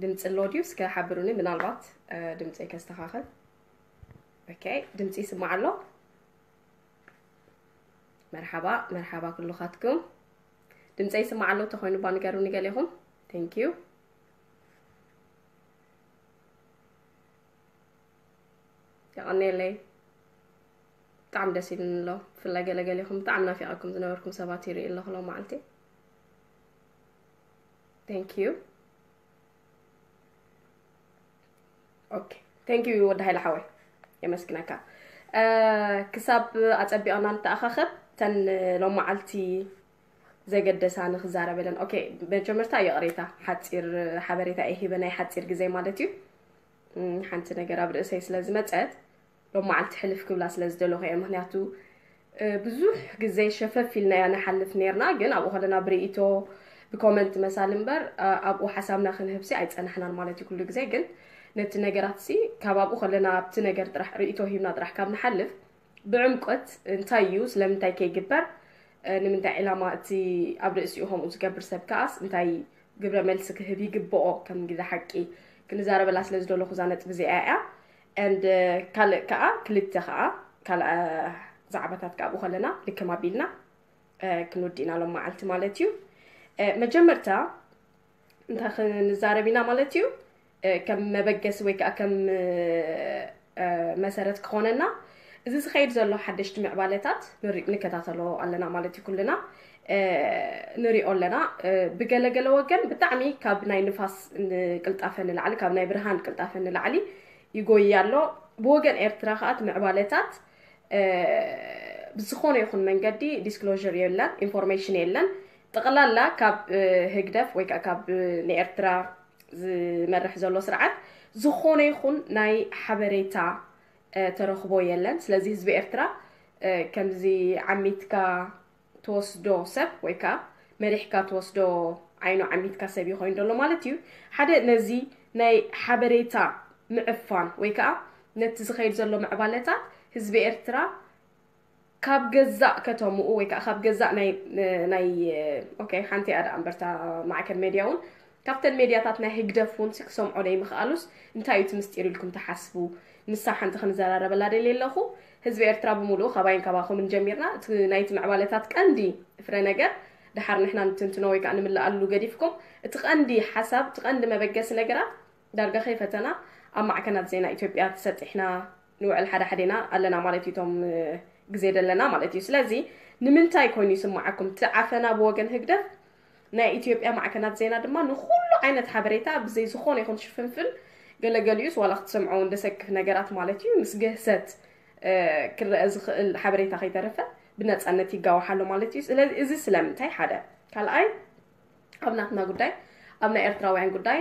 ድምፂ ኣሎ ድዩ? እስከ ሓብሩኒ፣ ምናልባት ድምፂ ከስተኻኸል። ኦኬ፣ ድምፂ ይስማዕ ኣሎ? መርሓባ፣ መርሓባ ኩሉኻትኩም። ድምፂ ይስማዕ ኣሎ ተኾይኑ ባ ንገሩኒ ገሌኹም። Thank you። የቐኔለይ። ብጣዕሚ ደስ ኢሉኒ ኣሎ። ብፍላይ ገለገሌኹም ብጣዕሚ ናፊቐኩም ዝነበርኩም ሰባት ይርኢ ኣለኹ ሎም መዓልቲ። Thank you። ኦኬ፣ thank you ወዲ ሃይለ ሓወይ፣ የመስግነካ። ክሳብ ኣጸቢቕና ንተኣኻኸብ፣ ተን ሎም መዓልቲ ዘገደሳ ንክዛረበለን። ኦኬ፣ መጀመርታ ይቕሬታ፣ ሓጺር ሓበሬታ እየ ሂበ፣ ናይ ሓጺር ግዜ ማለት እዩ። ሓንቲ ነገር ኣብ ርእሰይ ስለ ዝመጸት ሎም መዓልቲ ሕልፍ ክብላ ስለ ዝደለኹ እየ። ምክንያቱ ብዙሕ ግዜ ሸፈፍ ኢልናያ ንሓልፍ ነርና፣ ግን ኣብኡ ከለና ብርእይቶ ብኮመንት መሳል እምበር ኣብኡ ሓሳብና ክንህብሲ ኣይጸናሕናን ማለት እዩ። ኩሉ ግዜ ግን ነቲ ነገራት ሲ ካብ ኣብኡ ከለና ኣብቲ ነገር ጥራሕ ርእይቶ ሂብና ጥራሕ ካብ ንሓልፍ ብዕምቆት እንታይ እዩ፣ ስለምንታይ ከይግበር፣ ንምንታይ ዕላማ እቲ ኣብ ርእሲኡ ከምኡ ዝገብር ሰብ ከኣስ እንታይ ግብረ መልሲ ክህብ ይግብኦ፣ ከም ግዜ ሓቂ ክንዛረበላ ስለ ዝደለኹ እዛ ነጥቢ እዚኣ እያ። And ካልእ ከኣ ክልተ ከኣ ካልኣ ዛዕባታት ከኣ ብኡ ከለና ልክም ኣቢልና ክንወዲ ኢና ሎም መዓልቲ ማለት እዩ። መጀመርታ እንታይ ክንዛረብ ኢና ማለት እዩ፣ ከም መበገሲ ወይ ከዓ ከም መሰረት ክኾነና እዚ ዝኸይድ ዘሎ ሓደሽቲ ምዕባለታት ንከታተሎ ኣለና ማለት እዩ። ኩልና ንሪኦ ኣለና። ብገለገለ ወገን ብጣዕሚ ካብ ናይ ንፋስ ቅልጣፈ ንላዕሊ፣ ካብ ናይ ብርሃን ቅልጣፈ ንላዕሊ ይጎይ ኣሎ። ብወገን ኤርትራ ከዓ እቲ ምዕባለታት ብዝኾነ ይኹን መንገዲ ዲስክሎር የለን፣ ኢንፎርሜሽን የለን። ጠቕላላ ካብ ህግደፍ ወይ ከዓ ካብ ንኤርትራ ዝመርሕ ዘሎ ስርዓት ዝኾነ ይኹን ናይ ሓበሬታ ተረኽቦ የለን። ስለዚ ህዝቢ ኤርትራ ከምዚ ዓሚትካ ትወስዶ ሰብ ወይ ከዓ መሪሕካ ትወስዶ ዓይኑ ዓሚትካ ሰብ እዩ ኮይኑ ዘሎ ማለት እዩ። ሓደ ነዚ ናይ ሓበሬታ ምዕፋን ወይ ከዓ ነቲ ዝኸይድ ዘሎ ምዕባለታት ህዝቢ ኤርትራ ካብ ገዛእ ከተምኡ ወይ ከዓ ካብ ገዛእ ናይ ናይ ኦኬ፣ ሓንቲ እያ ደኣ እምበርታ ማዕከን ሜድያ እውን ካብተን ሜድያታት ናይ ህግደፍ እውን ክሰምዖ ደይምኽኣሉስ እንታይ እዩ እቲ ምስጢር ኢልኩም ትሓስቡ? ንሳ ሓንቲ ክንዘራረበላ ደልየ ኣለኹ። ህዝቢ ኤርትራ ብምሉኡ ካባይን ካባኹምን ጀሚርና እቲ ናይቲ ምዕባለታት ቀንዲ ፍረ ነገር ድሓር ንሕና ንትንትኖ ወይ ከዓ ንምልኣሉ ገዲፍኩም እቲ ቀንዲ ሓሳብ እቲ ቀንዲ መበገሲ ነገራት ዳርጋ ከይፈተና ኣብ ማዕከናት ዜና ኢትዮጵያ ተሰጢሕና ንውዕል ሓደ ሓደና ኣለና ማለት እዩ። እቶም ግዜ ደለና ማለት እዩ። ስለዚ ንምንታይ ኮይኑ ይስምዓኩም እቲ ዓፈና ብወገን ህግደፍ ናይ ኢትዮጵያ ማዕከናት ዜና ድማ ንኹሉ ዓይነት ሓበሬታ ብዘይ ዝኾነ ይኹን ሽፍንፍን ገለገሊኡስ ዋላ ክትሰምዖ እውን ደሰክፍ ነገራት ማለት እዩ ምስ ግህሰት ክረአ ዝኽእል ሓበሬታ ከይተረፈ ብነፃነት ይጋወሓሎ ማለት እዩ። ስለዚ እዚ ስለምንታይ ሓደ ካልኣይ ኣብ ናትና ጉዳይ ኣብ ናይ ኤርትራውያን ጉዳይ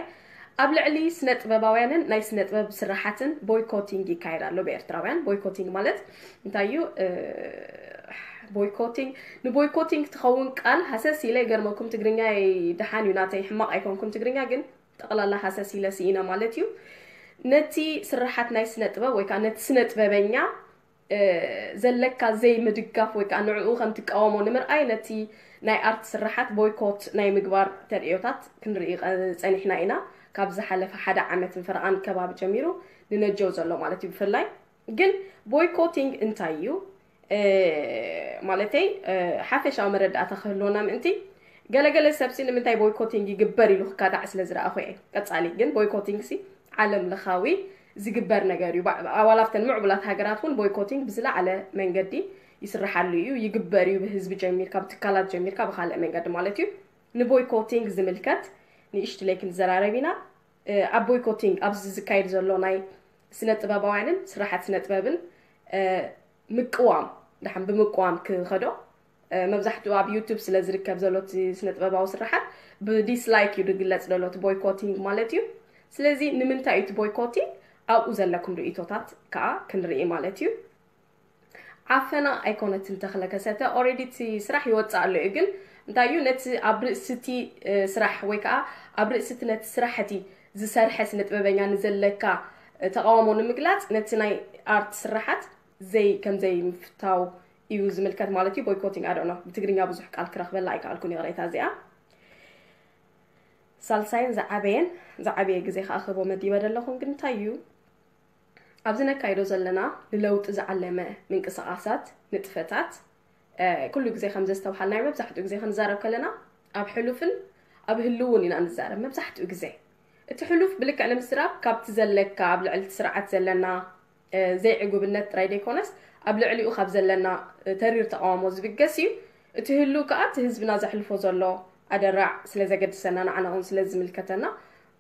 ኣብ ልዕሊ ስነ ጥበባውያንን ናይ ስነ ጥበብ ስራሓትን ቦይኮቲንግ ይካየድ ኣሎ ብኤርትራውያን። ቦይኮቲንግ ማለት እንታይ እዩ? ቦይኮቲንግ ንቦይኮቲንግ ትኸውን ቃል ሃሰስ ኢለ ይገርመኩም ትግርኛ ደሓን እዩ ናተይ ሕማቕ ኣይኮንኩን ትግርኛ ግን ጠቕላላ ሃሰስ ኢለ ስኢነ ማለት እዩ። ነቲ ስራሓት ናይ ስነ ጥበብ ወይ ከዓ ነቲ ስነ ጥበበኛ ዘለካ ዘይምድጋፍ ወይ ከዓ ንዕኡ ከም ትቃወሞ ንምርኣይ ነቲ ናይ ኣርት ስራሓት ቦይኮት ናይ ምግባር ተርእዮታት ክንርኢ ጸኒሕና ኢና። ካብ ዝሓለፈ ሓደ ዓመት ንፈረቓን ከባቢ ጀሚሩ ንነጀው ዘሎ ማለት እዩ። ብፍላይ ግን ቦይኮቲንግ እንታይ እዩ ማለተይ ሓፈሻዊ መረዳእታ ክህልወና ምእንቲ ገለገለ ሰብሲ ንምንታይ ቦይኮቲንግ ይግበር ኢሉ ክካታዕ ስለ ዝረኣኹ እየ። ቀጻሊ ግን ቦይኮቲንግ ሲ ዓለም ለኻዊ ዝግበር ነገር እዩ። ኣባል ኣብተን ምዕቡላት ሃገራት እውን ቦይኮቲንግ ብዝለዓለ መንገዲ ይስርሓሉ እዩ፣ ይግበር እዩ። ብህዝቢ ጀሚርካ፣ ብትካላት ጀሚርካ፣ ብካልእ መንገዲ ማለት እዩ። ንቦይኮቲንግ ዝምልከት ንእሽትለይ ክንዘራረብ ኢና። ኣብ ቦይኮቲንግ ኣብዚ ዝካየድ ዘሎ ናይ ስነ ጥበባውያንን ስራሓት ስነ ጥበብን ምቅዋም ድሓን ብምቅዋም ክኸዶ መብዛሕትኡ ኣብ ዩቱብ ስለ ዝርከብ ዘሎ እቲ ስነ ጥበባዊ ስራሓት ብዲስላይክ እዩ ዝግለፅ ዘሎ እቲ ቦይኮቲንግ ማለት እዩ። ስለዚ ንምንታይ እዩ እቲ ቦይኮቲንግ ኣብኡ ዘለኩም ርእቶታት ከዓ ክንርኢ ማለት እዩ። ዓፈና ኣይኮነትን ተኽለ ከሰተ ኦሬዲ እቲ ስራሕ ይወፅእ ኣሎ እዩ ግን እንታይ እዩ ነቲ ኣብ ርእሲ እቲ ስራሕ ወይ ከዓ ኣብ ርእሲ እቲ ነቲ ስራሕ እቲ ዝሰርሐ ስነ ጥበበኛ ንዘለካ ተቃውሞ ንምግላፅ ነቲ ናይ ኣርት ስራሓት ዘይ ከም ዘይምፍታው እዩ ዝምልከት ማለት እዩ። ቦይኮቲንግ ኣዶኖ ብትግርኛ ብዙሕ ቃል ክረኽበላ ኣይከኣልኩን ይቕሬታ እዚኣ። ሳልሳይን ዝዓበየን ዝዓበየ ግዜ ከኣ ክህቦ መዲበ ዘለኹን ግን እንታይ እዩ? ኣብዚ ነካይዶ ዘለና ንለውጢ ዝዓለመ ምንቅስቓሳት፣ ንጥፈታት፣ እ፣ ኩሉ ግዜ ከም ዘስተብሃልናዮ መብዛሕትኡ ግዜ ክንዛረብ ከለና ኣብ ሕሉፍን ኣብ ህልውን ኢና ንዛረብ። መብዛሕትኡ ግዜ እቲ ሕሉፍ ብልክዕ ንምዝራብ ካብቲ ዘለካ ኣብ ልዕሊ እቲ ስርዓት ዘለና እ፣ ዘይዕጉብነት ጥራይ ዘይኮነስ ኣብ ልዕሊኡ ካብ ዘለና እ፣ ተሪር ተቃውሞ ዝብገስ እዩ። እቲ ህልው ከኣ እቲ ህዝብና ዘሕልፎ ዘሎ ኣደራዕ ስለ ዘገድሰና ንዓና እውን ስለ ዝምልከተና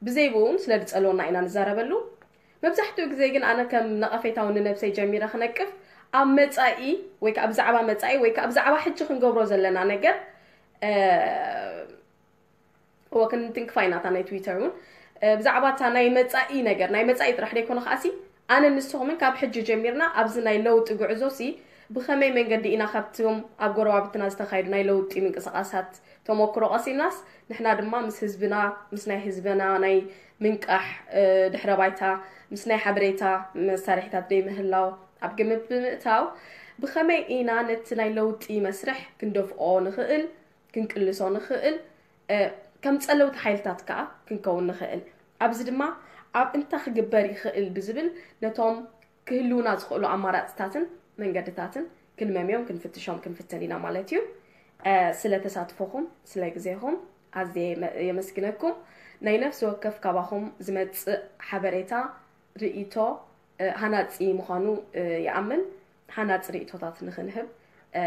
ብዘይ ብኡ እውን ስለ ዝጸልወና ኢና ንዛረበሉ። መብዛሕትኡ ግዜ ግን ኣነ ከም ነቐፌታ እውን ንነብሰይ ጀሚረ ክነቅፍ ኣብ መጻኢ ወይ ከኣ ብዛዕባ መጻኢ ወይ ከኣ ብዛዕባ ሕጂ ክንገብሮ ዘለና ነገር እ፣ እወ ክንትንክፋ ኢና እታ ናይ ትዊተር እውን እ፣ ብዛዕባ እታ ናይ መጻኢ ነገር ናይ መጻኢ ጥራሕ ደይኮነ ከኣሲ ኣነ ንስኹምን ካብ ሕጂ ጀሚርና ኣብዚ ናይ ለውጢ ጉዕዞ ሲ ብኸመይ መንገዲ ኢና ካብቶም ኣብ ጎረባብትና ዝተኻየዱ ናይ ለውጢ ምንቅስቃሳት ተመክሮ ቀሲምናስ ንሕና ድማ ምስ ህዝብና ምስ ናይ ህዝብና ናይ ምንቃሕ እ፣ ድሕረ ባይታ ምስ ናይ ሓበሬታ መሳርሒታት ደይ ምህላው ኣብ ግምት ብምእታው ብኸመይ ኢና ነቲ ናይ ለውጢ መስርሕ ክንደፍኦ ንኽእል ክንቅልሶ ንኽእል እ፣ ከም ጸለውቲ ሓይልታት ከኣ ክንከውን ንኽእል። ኣብዚ ድማ ኣብ እንታይ ክግበር ይኽእል ብዝብል ነቶም ክህልውና ዝኽእሉ ኣማራጽታትን መንገድታትን ክንመምዮም ክንፍትሾም ክንፍትን ኢና ማለት እዩ። እ፣ ስለ ተሳትፎኹም ስለ ግዜኹም ኣዝየ የመ- የመስግነኩም። ናይ ነፍሲ ወከፍ ካባኹም ዝመጽእ ሓበሬታ ርእይቶ እ፣ ሃናጺ ምዃኑ እ፣ ይኣምን። ሃናጺ ርእይቶታት ንኽንህብ እ፣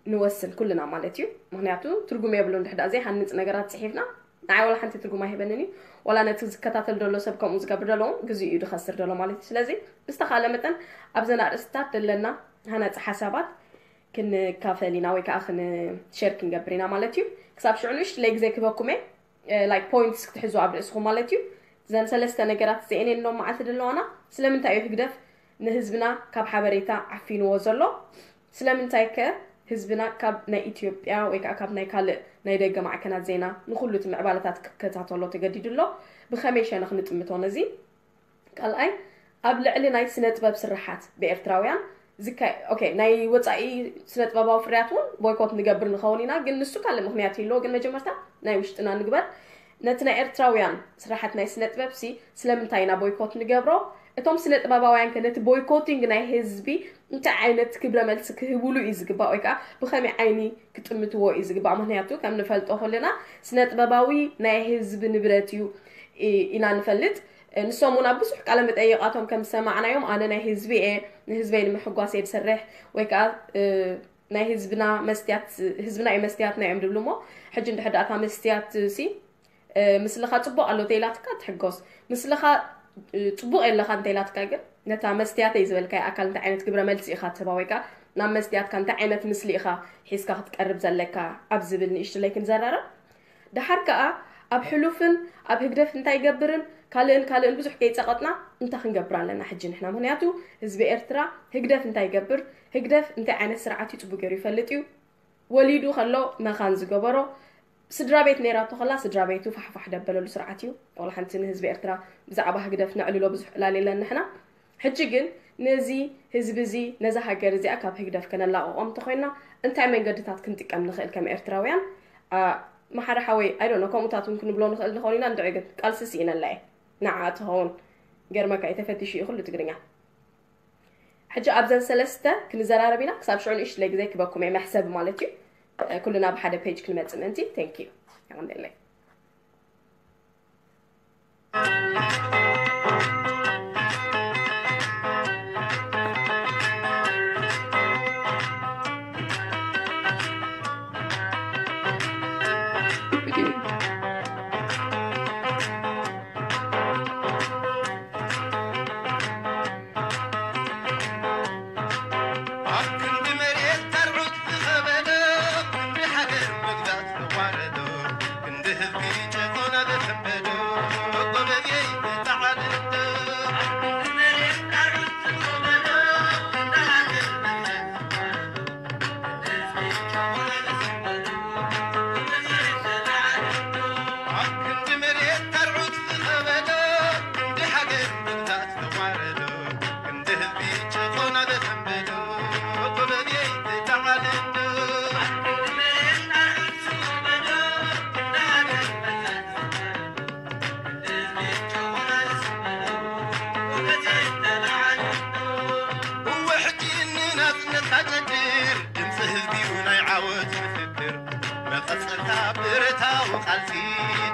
ንወስን ኩልና ማለት እዩ። ምክንያቱ ትርጉም የብሉን ድሕዳ ዘይሃንጽ ነገራት ጽሒፍና ንዓይ ዋላ ሓንቲ ትርጉም ኣይህበንን እዩ። ዋላ ነቲ ዝከታተል ዘሎ ሰብ ከምኡ ዝገብር ዘሎ እውን ግዜኡ እዩ ዝኸስር ዘሎ ማለት እዩ። ስለዚ ብዝተኻለ መጠን ኣብዘን ኣርእስትታት ዘለና ሃናጺ ሓሳባት ክንካፈል ኢና ወይ ከዓ ክንሸር ክንገብር ኢና ማለት እዩ። ክሳብ ሽዑ ንእሽትለይ ግዜ ክበኩም እየ ላይክ ፖይንትስ ክትሕዙ ኣብ ርእስኹም ማለት እዩ። እዘን ሰለስተ ነገራት እዚአን እየን ሎም መዓልቲ ዘለዋና። ስለምንታይ እዩ ህግደፍ ንህዝብና ካብ ሓበሬታ ዓፊንዎ ዘሎ? ስለምንታይ ከ ህዝብና ካብ ናይ ኢትዮጵያ ወይ ከዓ ካብ ናይ ካልእ ናይ ደገ ማዕከናት ዜና ንኩሉ እቲ ምዕባለታት ክከታተሎ ተገዲዱ ኣሎ? ብኸመይ ሸነኽ ንጥምቶ ነዚ? ካልኣይ ኣብ ልዕሊ ናይ ስነ ጥበብ ስርሓት ብኤርትራውያን ዝካ ኦኬ ናይ ወፃኢ ስነ ጥበባዊ ፍርያት እውን ቦይኮት ንገብር ንኸውን ኢና፣ ግን ንሱ ካልእ ምክንያት ይህልዎ። ግን መጀመርታ ናይ ውሽጥና ንግበር። ነቲ ናይ ኤርትራውያን ስራሓት ናይ ስነ ጥበብ ሲ ስለምንታይ ኢና ቦይኮት ንገብሮ? እቶም ስነ ጥበባውያን ከ ነቲ ቦይኮቲንግ ናይ ህዝቢ እንታይ ዓይነት ክብረ መልሲ ክህብሉ እዩ ዝግባእ ወይ ከዓ ብኸመይ ዓይኒ ክጥምትዎ እዩ ዝግባእ? ምክንያቱ ከም ንፈልጦ ከለና ስነ ጥበባዊ ናይ ህዝቢ ንብረት እዩ ኢ- ኢና ንፈልጥ። ንሶም እውን ኣብ ብዙሕ ቃለ መጠይቃቶም ከም ዝሰማዕናዮም ኣነ ናይ ህዝቢ እየ ንህዝበይ ንምሕጓስ እየ ዝሰርሕ ወይ ከዓ እ፣ ናይ ህዝብና መስትያት ህዝብና እዩ መስትያትና እዮም ድብሉ እሞ ሕጂ እንድሕር ዳእታ መስትያት ሲ እ፣ ምስልኻ ፅቡቅ ኣሎ ተይላትካ ትሕጎስ ምስልኻ እ፣ ፅቡቅ የለኻ እንተይላትካ ግን ነታ መስትያተይ ዝበልካይ ኣካል እንታይ ዓይነት ግብረ መልሲ ኢኻ ትህባ ወይ ከዓ ናብ መስትያትካ እንታይ ዓይነት ምስሊ ኢኻ ሒዝካ ክትቀርብ ዘለካ ኣብ ዝብል ንእሽትለይ ክንዘራረብ። ደሓር ከኣ ኣብ ሕሉፍን ኣብ ህግደፍ እንታይ ይገብርን ካልእን ካልእን ብዙሕ ከይጸቐጥና እንታይ ክንገብር ኣለና ሕጂ ንሕና? ምኽንያቱ ህዝቢ ኤርትራ ህግደፍ እንታይ ይገብር፣ ህግደፍ እንታይ ዓይነት ስርዓት እዩ ጽቡቅ ገይሩ ይፈልጥ እዩ። ወሊዱ ከሎ መኻን ዝገበሮ ስድራ ቤት ነይራቶ ከላ ስድራ ቤቱ ፋሕፋሕ ደበለሉ ስርዓት እዩ። ዋላ ሓንቲ ንህዝቢ ኤርትራ ብዛዕባ ህግደፍ ነዕልሎ ብዙሕ ዕላል የለን ንሕና። ሕጂ ግን ነዚ ህዝቢ እዚ ነዛ ሃገር እዚኣ ካብ ህግደፍ ከነላቕቖ እንተኾይና እንታይ መንገድታት ክንጥቀም ንኽእል ከም ኤርትራውያን? አ፣ መሓሪ ሓወይ ኣይዶኖ ከምኡታት እውን ክንብሎ ንኽእል ንኸውን ኢና። እንድዒ ግን ቃልሲ ስኢነላ እየ ንዓ ትኸውን ገርመካ እዩ ተፈቲሹ እዩ ኩሉ ትግርኛ። ሕጂ ኣብዘን ሰለስተ ክንዘራረብ ኢና። ክሳብ ሽዑ ንእሽትለይ ግዜ ክበኩም እየ መሕሰብ ማለት እዩ። ኩልና ብሓደ ፔጅ ክንመጽእ ምእንቲ። Thank you። የቐንደለይ።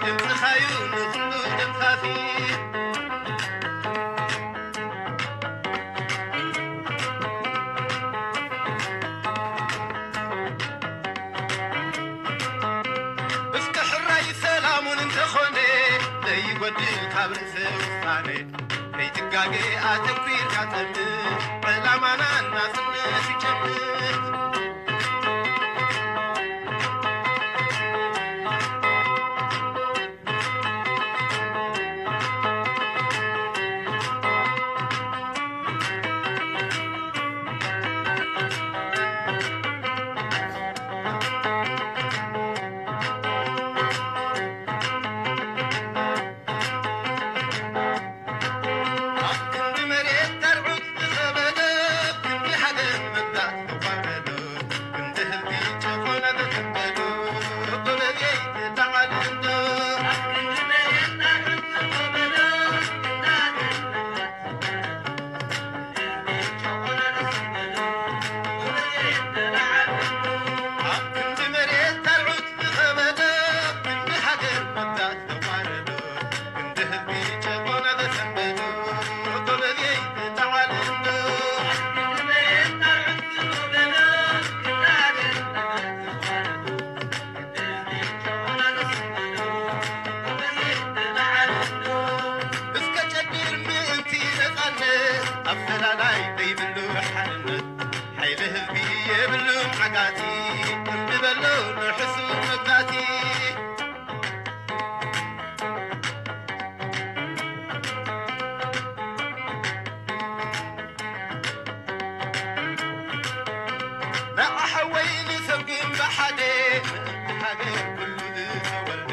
ድምፅኻዩ ንኹሉ ደምኻፊ። እስከ ሕራይ ሰላሙን እንተኾነ ዘይጎድል ካብ ርእሰ ውሳነ ከይትጋገ ኣተኲርካ ጠምት ዕላማና ናጽነት ይጨምት። እስከ ጨድር ምእንቲ ነፃነት ኣፈላላይ ዘይብሉ ሓርነት ሓይሊ ህዝቢ የብሉን ዓጋቲ እንብበሎ ንሕሱ መጋቲ። ንዓሓወይ ንሰጉም ብሓደ ምእንቲ ሃገር ኩሉ ዝተወልደ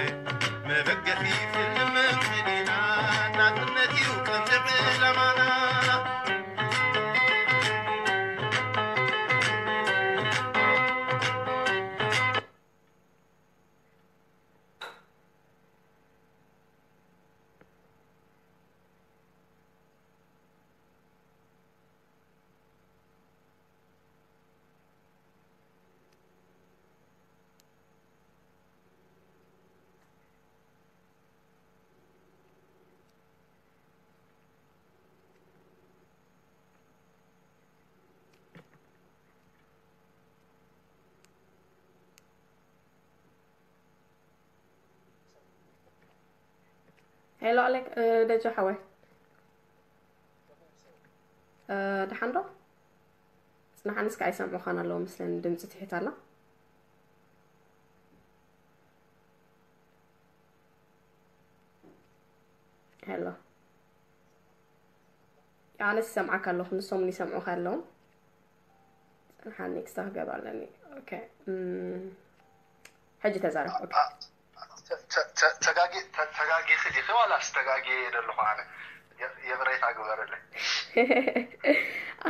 መበገሲ ስልምን ሕሊና ናጽነት እዩ ቀንዲ ዕላማና። ሄሎ ኣሌክ ደጆ ሓወይ ደሓን ዶ? ጽናሓንስ ከኣ ይሰምዑኻን ኣለዉ መስለኒ ድምጺ ትሒት ኣላ። ሄሎ ኣነስ ይሰምዓካ ኣለኹ ንሶም ይሰምዑኻ ኣለዉ። ጽንሓኒ ክስታ ክገብ ኣለኒ። ኦኬ ሕጂ ተዛረብ። ተጋጊኺ ዲኺ ዋላስ ተጋጊ ዘለኹ ኣነ? የቕሬታ ግበርለይ።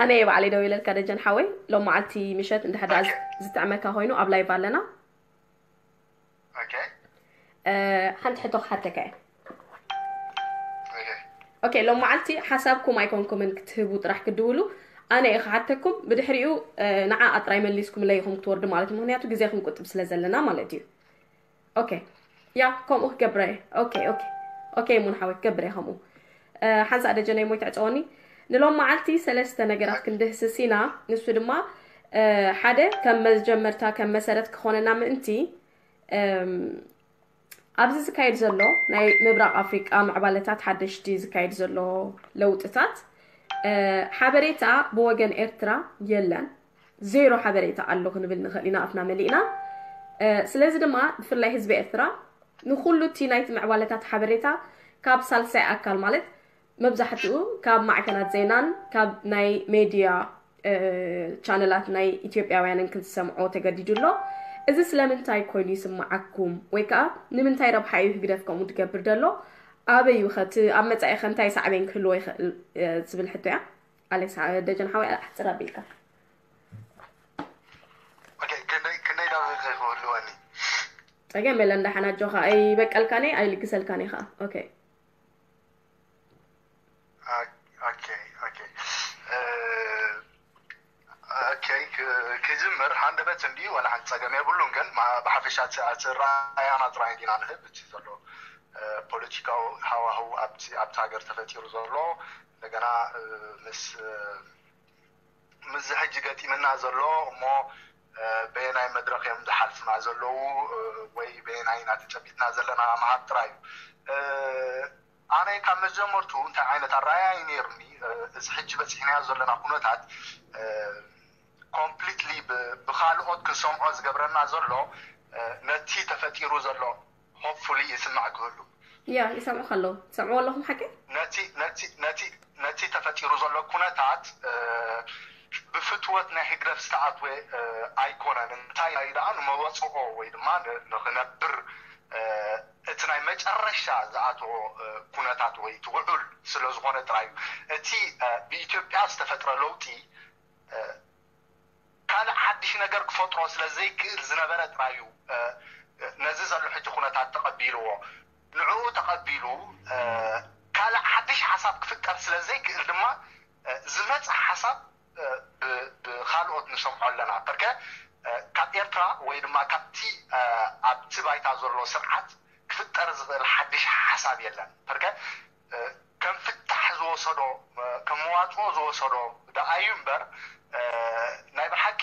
ኣነ እየ ባዕለይ ደው ኢለልካ ደጀን ሓወይ። ሎም መዓልቲ ምሸት እንድሕር ደኣ ዝጥዕመካ ኮይኑ ኣብ ላይቭ ኣለና። ሓንቲ ሕቶ ክሓተካ እየ። ኦኬ ሎም መዓልቲ ሓሳብኩም ኣይኮንኩምን ክትህቡ ጥራሕ ክድውሉ ኣነ እየ ክሓተኩም። ብድሕሪኡ ንዓ ኣጥራይ መሊስኩምለይ ኢኹም ክትወርዱ ማለት እዩ። ምክንያቱ ግዜ ክንቁጥብ ስለ ዘለና ማለት እዩ። ኦኬ ያ ከምኡ ክገብረ እየ። ኦኬ ኦኬ ኦኬ ሙን ሓወይ ክገብረ እየ ከምኡ። ሓንሳእ ደጀነይ ሞይ ትዕፀወኒ። ንሎም መዓልቲ ሰለስተ ነገራት ክንድህስስ ኢና። ንሱ ድማ ሓደ ከም መጀመርታ ከም መሰረት ክኾነና ምእንቲ ኣብዚ ዝካየድ ዘሎ ናይ ምብራቕ ኣፍሪቃ ምዕባለታት ሓደሽቲ ዝካየድ ዘሎ ለውጥታት ሓበሬታ ብወገን ኤርትራ የለን። ዜሮ ሓበሬታ ኣሎ ክንብል ንኽእል ኢና ኣፍና መሊእና። ስለዚ ድማ ብፍላይ ህዝቢ ኤርትራ ንኹሉ እቲ ናይቲ ምዕባለታት ሓበሬታ ካብ ሳልሳይ ኣካል ማለት መብዛሕትኡ ካብ ማዕከናት ዜናን ካብ ናይ ሜድያ ቻነላት ናይ ኢትዮጵያውያንን ክዝሰምዖ ተገዲዱ ኣሎ። እዚ ስለምንታይ ኮይኑ ይስምዓኩም ወይ ከዓ ንምንታይ ረብሓ እዩ ህግደፍ ከምኡ ዝገብር ዘሎ? ኣበይ እዩ ኸ እቲ ኣብ መጻኢ ኸ እንታይ ሳዕቤን ክህልዎ ይኽእል ዝብል ሕቶ እያ። ኣሌክስ ደጀን ሓወይ ኣሕፅር ኣቢልካ። ክንደይ ደቂቕ ክህልወኒ? ፀገም የለን ደሓን ኣጆኻ ኣይበቀልካን እየ ኣይልግሰልካን እየ ከዓ። ኦኬ ኦኬ ኦኬ ኦኬ ክጅምር ሃንደበት እንዲ ዋላ ሓንቲ ጸገም የብሉን። ግን ብሓፈሻ ኣራኣያና ጥራይ እንዲና ንህብ እቲ ዘሎ ፖለቲካዊ ሃዋህው ኣብቲ ኣብቲ ሃገር ተፈጢሩ ዘሎ እንደገና ምስ ምስዚ ሕጂ ገጢምና ዘሎ እሞ በየናይ መድረኽ እዮም ዝሓልፉና ዘለዉ ወይ በየናይ ኢና ተጨቢጥና ዘለና ምሃብ ጥራይ እዩ። ኣነ ካብ መጀመርቱ እንታይ ዓይነት ኣረኣያ እዩ ነይሩኒ፣ እዚ ሕጂ በፂሕናዮ ዘለና ኩነታት ኮምፕሊትሊ ብካልኦት ክንሰምዖ ዝገብረና ዘሎ ነቲ ተፈጢሩ ዘሎ ሆፕፉሊ ይስማዕ ክህሉ ያ ይሰምዑ ከለዉ ትሰምዑ ኣለኹም ሓቂ ነቲ ነቲ ነቲ ነቲ ተፈጢሩ ዘሎ ኩነታት ብፍትወት ናይ ህግደፍ ዝተኣትወ ኣይኮነን። እንታይ ደኣ ንመወፅኦ ወይ ድማ ንክነብር እቲ ናይ መጨረሻ ዝኣተዎ ኩነታት ወይ ትውዑል ስለ ዝኾነ ጥራይ እዩ። እቲ ብኢትዮጵያ ዝተፈጥረ ለውጢ ካልእ ሓድሽ ነገር ክፈጥሮ ስለ ዘይክእል ዝነበረ ጥራይ እዩ ነዚ ዘሎ ሕጂ ኩነታት ተቐቢልዎ። ንዕኡ ተቐቢሉ ካልእ ሓድሽ ሓሳብ ክፍጠር ስለ ዘይክእል ድማ ዝመፀ ሓሳብ ብካልኦት ንሰምዖ ኣለና። በርከ ካብ ኤርትራ ወይ ድማ ካብቲ ኣብቲ ባይታ ዘሎ ስርዓት ክፍጠር ዝኽእል ሓድሽ ሓሳብ የለን። በርከ ከም ፍታሕ ዝወሰዶ ከም መዋፅኦ ዝወሰዶ ደኣ እዩ እምበር ናይ ብሓቂ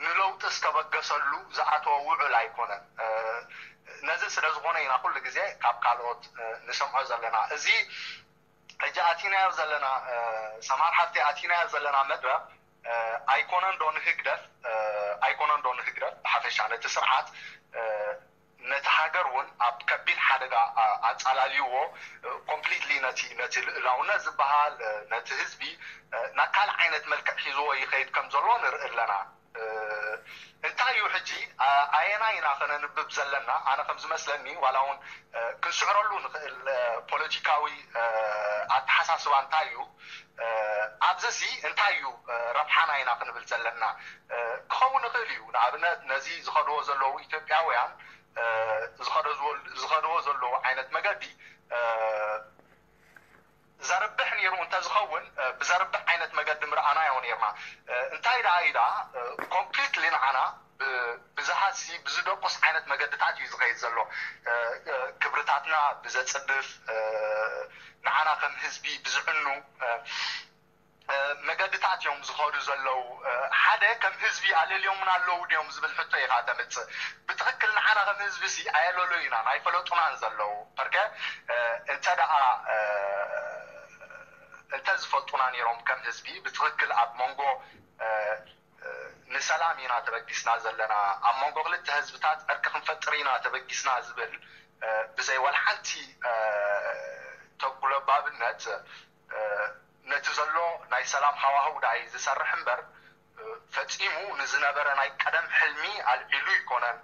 ንለውጢ ዝተበገሰሉ ዝኣተወ ውዕል ኣይኮነን። ነዚ ስለ ዝኾነ ኢና ኩሉ ግዜ ካብ ካልኦት ንሰምዖ ዘለና። እዚ ሕጂ ኣቲናዮ ዘለና ሰማር ሓፍቲ ኣቲናዮ ዘለና መድረኽ ኣይኮነን ዶ ንህግደፍ ኣይኮነን ዶ ንህግደፍ ብሓፈሻ ነቲ ስርዓት ነቲ ሃገር እውን ኣብ ከቢድ ሓደጋ ኣፃላልይዎ ኮምፕሊትሊ ነቲ ነቲ ልእላውነት ዝበሃል ነቲ ህዝቢ ናብ ካልእ ዓይነት መልክዕ ሒዝዎ ይኸይድ ከም ዘሎ ንርኢ ኣለና። እንታይ እዩ ሕጂ ኣየናይ ኢና ከነንብብ ዘለና? ኣነ ከም ዝመስለኒ ዋላ እውን ክንስዕረሉ ንኽእል ፖለቲካዊ ኣተሓሳስባ እንታይ እዩ? ኣብዚ እዚ እንታይ እዩ ረብሓና ኢና ክንብል ዘለና? ክኸውን ይኽእል እዩ። ንኣብነት ነዚ ዝኸድዎ ዘለዉ ኢትዮጵያውያን ዝኸድዎ ዘለዉ ዓይነት መገዲ ዘርብሕ ነይሩ እንተዝኸውን ብዘርብሕ ዓይነት መገዲ ምርኣናዮ ነይርና። እንታይ ደኣ ኢዳ ኮምፕሊትሊ ንዓና ብዝሃሲ ብዝደቁስ ዓይነት መገድታት እዩ ዝኸይድ ዘሎ። ክብርታትና ብዘፅድፍ ንዓና ከም ህዝቢ ብዝዕኑ መገድታት እዮም ዝኸዱ ዘለዉ። ሓደ ከም ህዝቢ ኣለልዮምና ኣለዉ ድዮም ዝብል ሕቶ ኢኻ ተምፅእ። ብትኽክል ንዓና ከም ህዝቢ ሲ ኣየለሎዩናን ኣይፈለጡናን ዘለዉ። በርከ እንተ ደኣ እንተ ዝፈልጡና ነይሮም ከም ህዝቢ ብትኽክል ኣብ መንጎ ንሰላም ኢና ተበጊስና ዘለና፣ ኣብ መንጎ ክልተ ህዝብታት ዕርቂ ክንፈጥር ኢና ተበጊስና ዝብል ብዘይ ዋላ ሓንቲ ተጉለባብነት ነቲ ዘሎ ናይ ሰላም ሃዋህው ደኣ እዩ ዝሰርሕ እምበር ፈፂሙ ንዝነበረ ናይ ቀደም ሕልሚ ኣልዒሉ ይኮነን